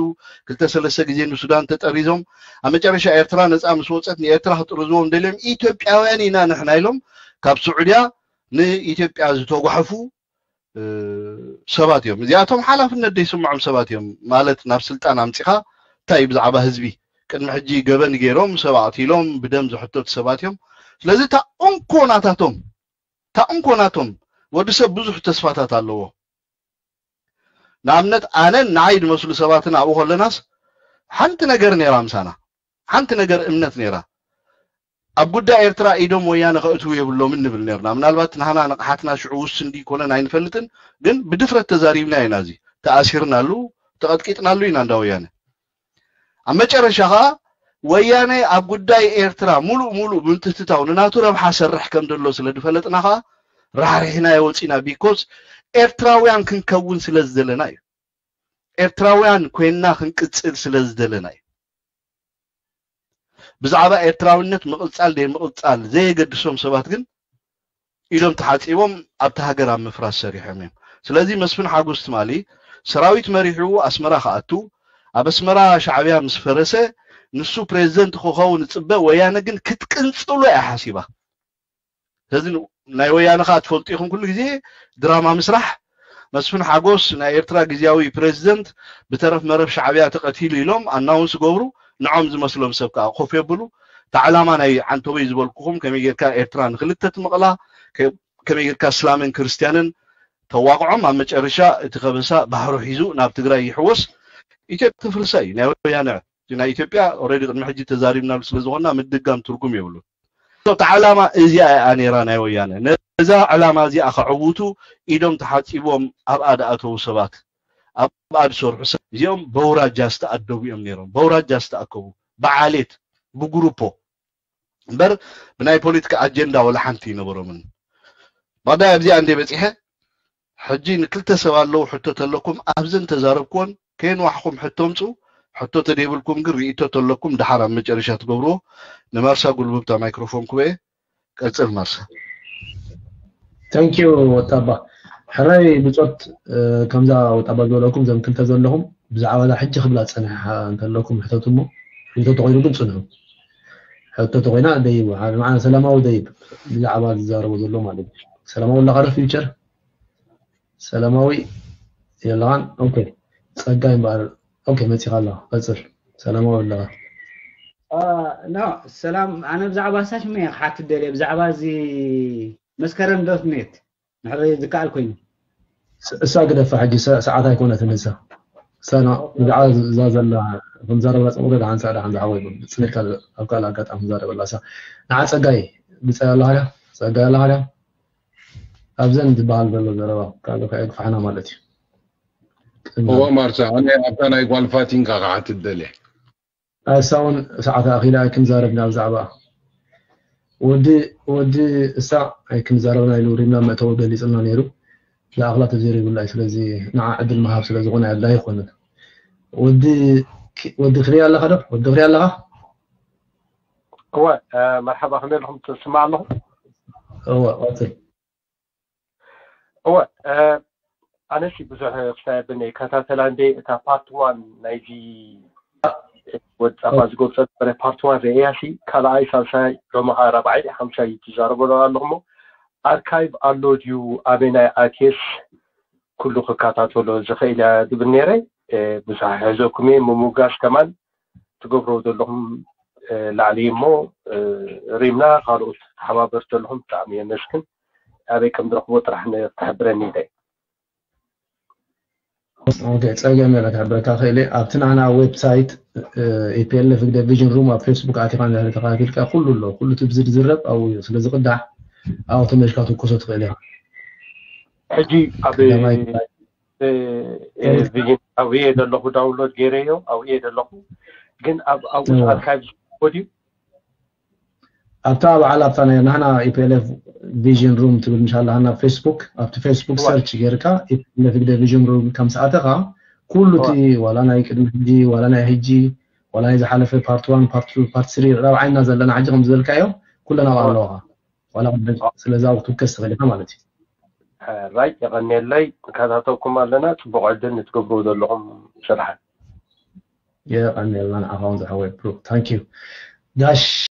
ክልተ ሰለስተ ግዜ ንሱዳን ተጠሪዞም። ኣብ መጨረሻ ኤርትራ ነጻ ምስ ወጸት ንኤርትራ ክጥርዝዎም ደልዮም ኢትዮጵያውያን ኢና ንሕና ኢሎም ካብ ስዑድያ ንኢትዮጵያ ዝተጓሕፉ፣ እ፣ ሰባት እዮም። እዚኣቶም ሓላፍነት ዘይስምዖም ሰባት እዮም። ማለት ናብ ስልጣን ኣምጺኻ እንታይ እዩ ብዛዕባ ህዝቢ? ቅድሚ ሕጂ ገበን ገይሮም፣ ሰብ ኣቕቲሎም፣ ብደም ዝሕተቱ ሰባት እዮም። ስለዚ እታ እንኮ ናታቶም፣ እታ እንኮ ናቶም፣ ወዲ ሰብ ብዙሕ ተስፋታት ኣለዎ። ንኣብነት ኣነን ንዓይ ዝመስሉ ሰባትን ኣብኡ ከለናስ ሓንቲ ነገር ነይራ ምሳና፣ ሓንቲ ነገር እምነት ነይራ። ኣብ ጉዳይ ኤርትራ ኢዶም ወያነ ከእትዉ የብሎምን ንብል ነርና። ምናልባት ናህና ንቕሓትና ሽዑ ውስን ድዩ ኮነን ኣይንፈልጥን፣ ግን ብድፍረት ተዛሪብና ኢና። እዚ ተኣሲርናሉ፣ ተቐጥቂጥናሉ ኢና እንዳ ወያነ። ኣብ መጨረሻ ኸኣ ወያነ ኣብ ጉዳይ ኤርትራ ሙሉእ ሙሉእ ብምትትታው ንናቱ ረብሓ ሰርሕ ከም ዘሎ ስለ ዝፈለጥና ኸኣ ራሕሪሕናዮ ወጺና። ቢኮዝ ኤርትራውያን ክንከውን ስለ ዝደለና እዩ። ኤርትራውያን ኮይንና ክንቅጽል ስለ ዝደለና እዩ። ብዛዕባ ኤርትራውነት ምቕጻል ደይ ምቕጻል ዘየገድሶም ሰባት ግን ኢዶም ተሓጺቦም ኣብቲ ሃገር ኣብ ምፍራስ ሰሪሖም እዮም። ስለዚ መስፍን ሓጎስ ትማሊ ሰራዊት መሪሑ ኣስመራ ክኣቱ፣ ኣብ ኣስመራ ሻዕብያ ምስ ፈረሰ ንሱ ፕሬዚደንት ክኸውን ዝጽበ፣ ወያነ ግን ክትቅንጽሎ እያ ሓሲባ። ስለዚ ናይ ወያነ ኸኣ ትፈልጡ ኢኹም፣ ኩሉ ግዜ ድራማ ምስራሕ። መስፍን ሓጎስ ናይ ኤርትራ ግዝያዊ ፕሬዚደንት ብተረፍ መረፍ ሻዕብያ ተቐቲሉ ኢሎም ኣናውንስ ገብሩ፣ ንዖም ዝመስሎም ሰብ ከኣ ኮፍ የብሉ። እቲ ዓላማ ናይ ዓንቶበይ ዝበልኩኹም ከመይ ጌርካ ኤርትራ ንክልተ ትምቕላ፣ ከ- ከመይ ጌርካ እስላምን ክርስትያንን ተዋቕዖም፣ ኣብ መጨረሻ እቲ ከበሳ ባሕሩ ሒዙ ናብ ትግራይ ይሕወስ። ኢትዮጵያ ትፍርሳ እዩ ናይ ወያነ። እቲ ናይ ኢትዮጵያ ኦልሬዲ ቅድሚ ሕጂ ተዛሪብናሉ ስለ ዝኾንና ምድጋም ትርጉም የብሉን። እቲ ዓላማ እዚኣ እያ ነይራ ናይ ወያነ። ነዛ ዕላማ እዚኣ ከዕውቱ ኢዶም ተሓጺቦም ኣብኣ ዝኣተዉ ሰባት፣ ኣብኣ ዝሰርሑ ሰባት እዚኦም በውራጃ ዝተኣደቡ እዮም ነይሮም። በውራጃ ዝተኣከቡ፣ ብዓሌት፣ ብግሩፖ እምበር ብናይ ፖለቲካ ኣጀንዳ ወላ ሓንቲ ይነበሮምን። ባዳይ ኣብዚኣ እንደ በጺሐ ሕጂ ንክልተ ሰብ ኣለዉ ሕቶ ተለኩም ኣብዘን ተዛረብኩዎን ከየንዋሕኩም ሕቶ ምጹ። ሕቶ ተደይብልኩም ግን ርእይቶ ተለኩም ድሓር ኣብ መጨረሻ ትገብርዎ። ንማርሳ ጉልብብታ ማይክሮፎን ክበየ ቀጽል ማርሳ። Thank you ወጣባ። ሕራይ ብጾት። ከምዛ ወጣባ ዝበለኩም ዘም ክልተ ዘለኹም ብዛዕባ እዛ ሕጂ ክብላ ጸኒሓ እንተለኩም ሕተቱ እሞ ሕቶ ተኾይኑ ግን ጽንሑ። ሕቶ ተኾይና ደይቡ ሓደ መዓነ ሰላማዊ ደይብ ብዛዕባ ዝዛረቦ ዘሎ ማለት እዩ። ሰላማዊ ኣለኻ ዶ ፊውቸር? ሰላማዊ የለኻን። ኦኬ ጸጋይ እምበኣር። ኦኬ መጺኻ ኣለኻ ቀጽል። ሰላማዊ ኣለኻ። ኖ ሰላም፣ ኣነ ብዛዕባ ሳሽመ እየ ክሓትት ደልየ፣ ብዛዕባ እዚ መስከረም ዶት ኔት ንሕሪ ዝከኣል ኮይኑ። እሳ ግደፋ ሕጂ ሰዓት ኣይኮነትን እሳ። እሳ ብዛዕባ እዛ ዘላ ክንዛረበላ ጽምዶ ደሓን ሳዕ ደሓን ዝሓወይ ጽንልካ ኣብ ካልእ ኣጋጣሚ ክንዛረበላ እሳ። ንዓ ጸጋይ ብጻይ ኣለኻ ድያ? ጸጋይ ኣለኻ ድያ? ኣብዘን ዝበሃል ዘሎ ዘረባ ካልእ ከየግፋሕና ማለት እዩ። እዎ ማርሳ፣ ኣነ ኣብታ ናይ ጓል ፋቲንካ ክሓትት ደልየ። እሳ እውን ሰዓት ኣኺላ ኣይክንዛረብና ብዛዕባ ወዲ ወዲ እሳ ኣይክንዛረብና ኢሉ ሪምና መእተዊ ገሊፅልና ነይሩ። ዝኣኽላ ተዘሪቡላ እዩ። ስለዚ ንዓ ዕድል ምሃብ ስለ ዝኾነ ኣድላይ ኣይኮነን። ወዲ ወዲ ክሪያ ኣለኻ ዶ? ወዲ ክሪያ ኣለኻ? እወ መርሓባ፣ ከመይ ኣለኹም? ትስማዕ ኣለኹ? እወ ቀፅል። እወ ኣነሲ ብዙሕ ክሳብ የብልኒ፣ ይከታተላ እንደ እታ ፓርት ዋን ናይዚ ወዲ ጻፋ ዝገብጾ ነበረ ፓርት ዋን ርእያ ሲ ካልኣይ ሳልሳይ ሎሚ ኸዓ ራብዓይ ሓምሻይ ትዛረበሉ ኣለኹሞ ኣርካይቭ ኣሎ ድዩ ኣበናይ ኣትየስ ኩሉ ክከታተሎ ዝኽእል እያ ዝብል ነይረ። ብዙሕ ኣይሕዘኩም እየ፣ ምሙጋስ ከማን ትገብርዎ ዘለኹም ላዕሊ እሞ ሪምና ካልኦት ተሓባበርቲ ዘለኹም ብጣዕሚ የመስግን። ኣበይ ከም ዝረኽቦ ጥራሕ ክትሕብረኒ ኢለ። ኦኬ ጸገም የለ ክሕብረካ ክእል እየ። ኣብቲ ናህና ዌብሳይት ኢፒኤልኤፍ ህግደፍ ቪዥን ሩም ኣብ ፌስቡክ ኣቲኻ እንድሕር ተኸታቲልካ ኩሉ ኣሎ። ኩሉ እቲ ብዝርዝረብ ኣብኡ እዩ ስለ ዝቕዳሕ ኣብኡ ተመልሽካ ትኩሶ ትኽእል ኢኻ። ሕጂ ኣብ ቪዥን ኣብኡ እየ ዘለኹ፣ ዳውንሎድ ገይረዮ ኣብኡ እየ ዘለኹ። ግን ኣብኡ ኣርካይቭ ዝኮ ድዩ? ኣብታ በዓል ኣብታ ናይ ናህና ኢፒኤልኤፍ ቪዥን ሩም ትብል ምሽ ኣለሃና ፌስቡክ ኣብቲ ፌስቡክ ሰርች ጌርካ ኢፒኤልኤፍ ግደ ቪዥን ሩም ከም ሰኣተኻ ኩሉ እቲ ዋላ ናይ ቅድሚ ሕጂ ዋላ ናይ ሕጂ ዋላ ናይ ዝሓለፈ ፓርት ዋን ፓርት ቱ ፓርት ስሪ ራብዓይና ዘለና ሕጂ ከም ዝበልካዮ ኩለን ኣብኡ ኣለዋኻ። ዋላ ስለዚ ኣብኡ ክትውከስ ትኽእል ኢኻ ማለት እዩ። ራይ የቐንየለይ፣ ንከታተልኩም ኣለና። ፅቡቕ ዕድል ንትገብርዎ ዘለኹም ስራሓት። የቐንየልና ንዓኻ እውን ዝሓወይ ብሩክ ታንኪዩ ጋሽ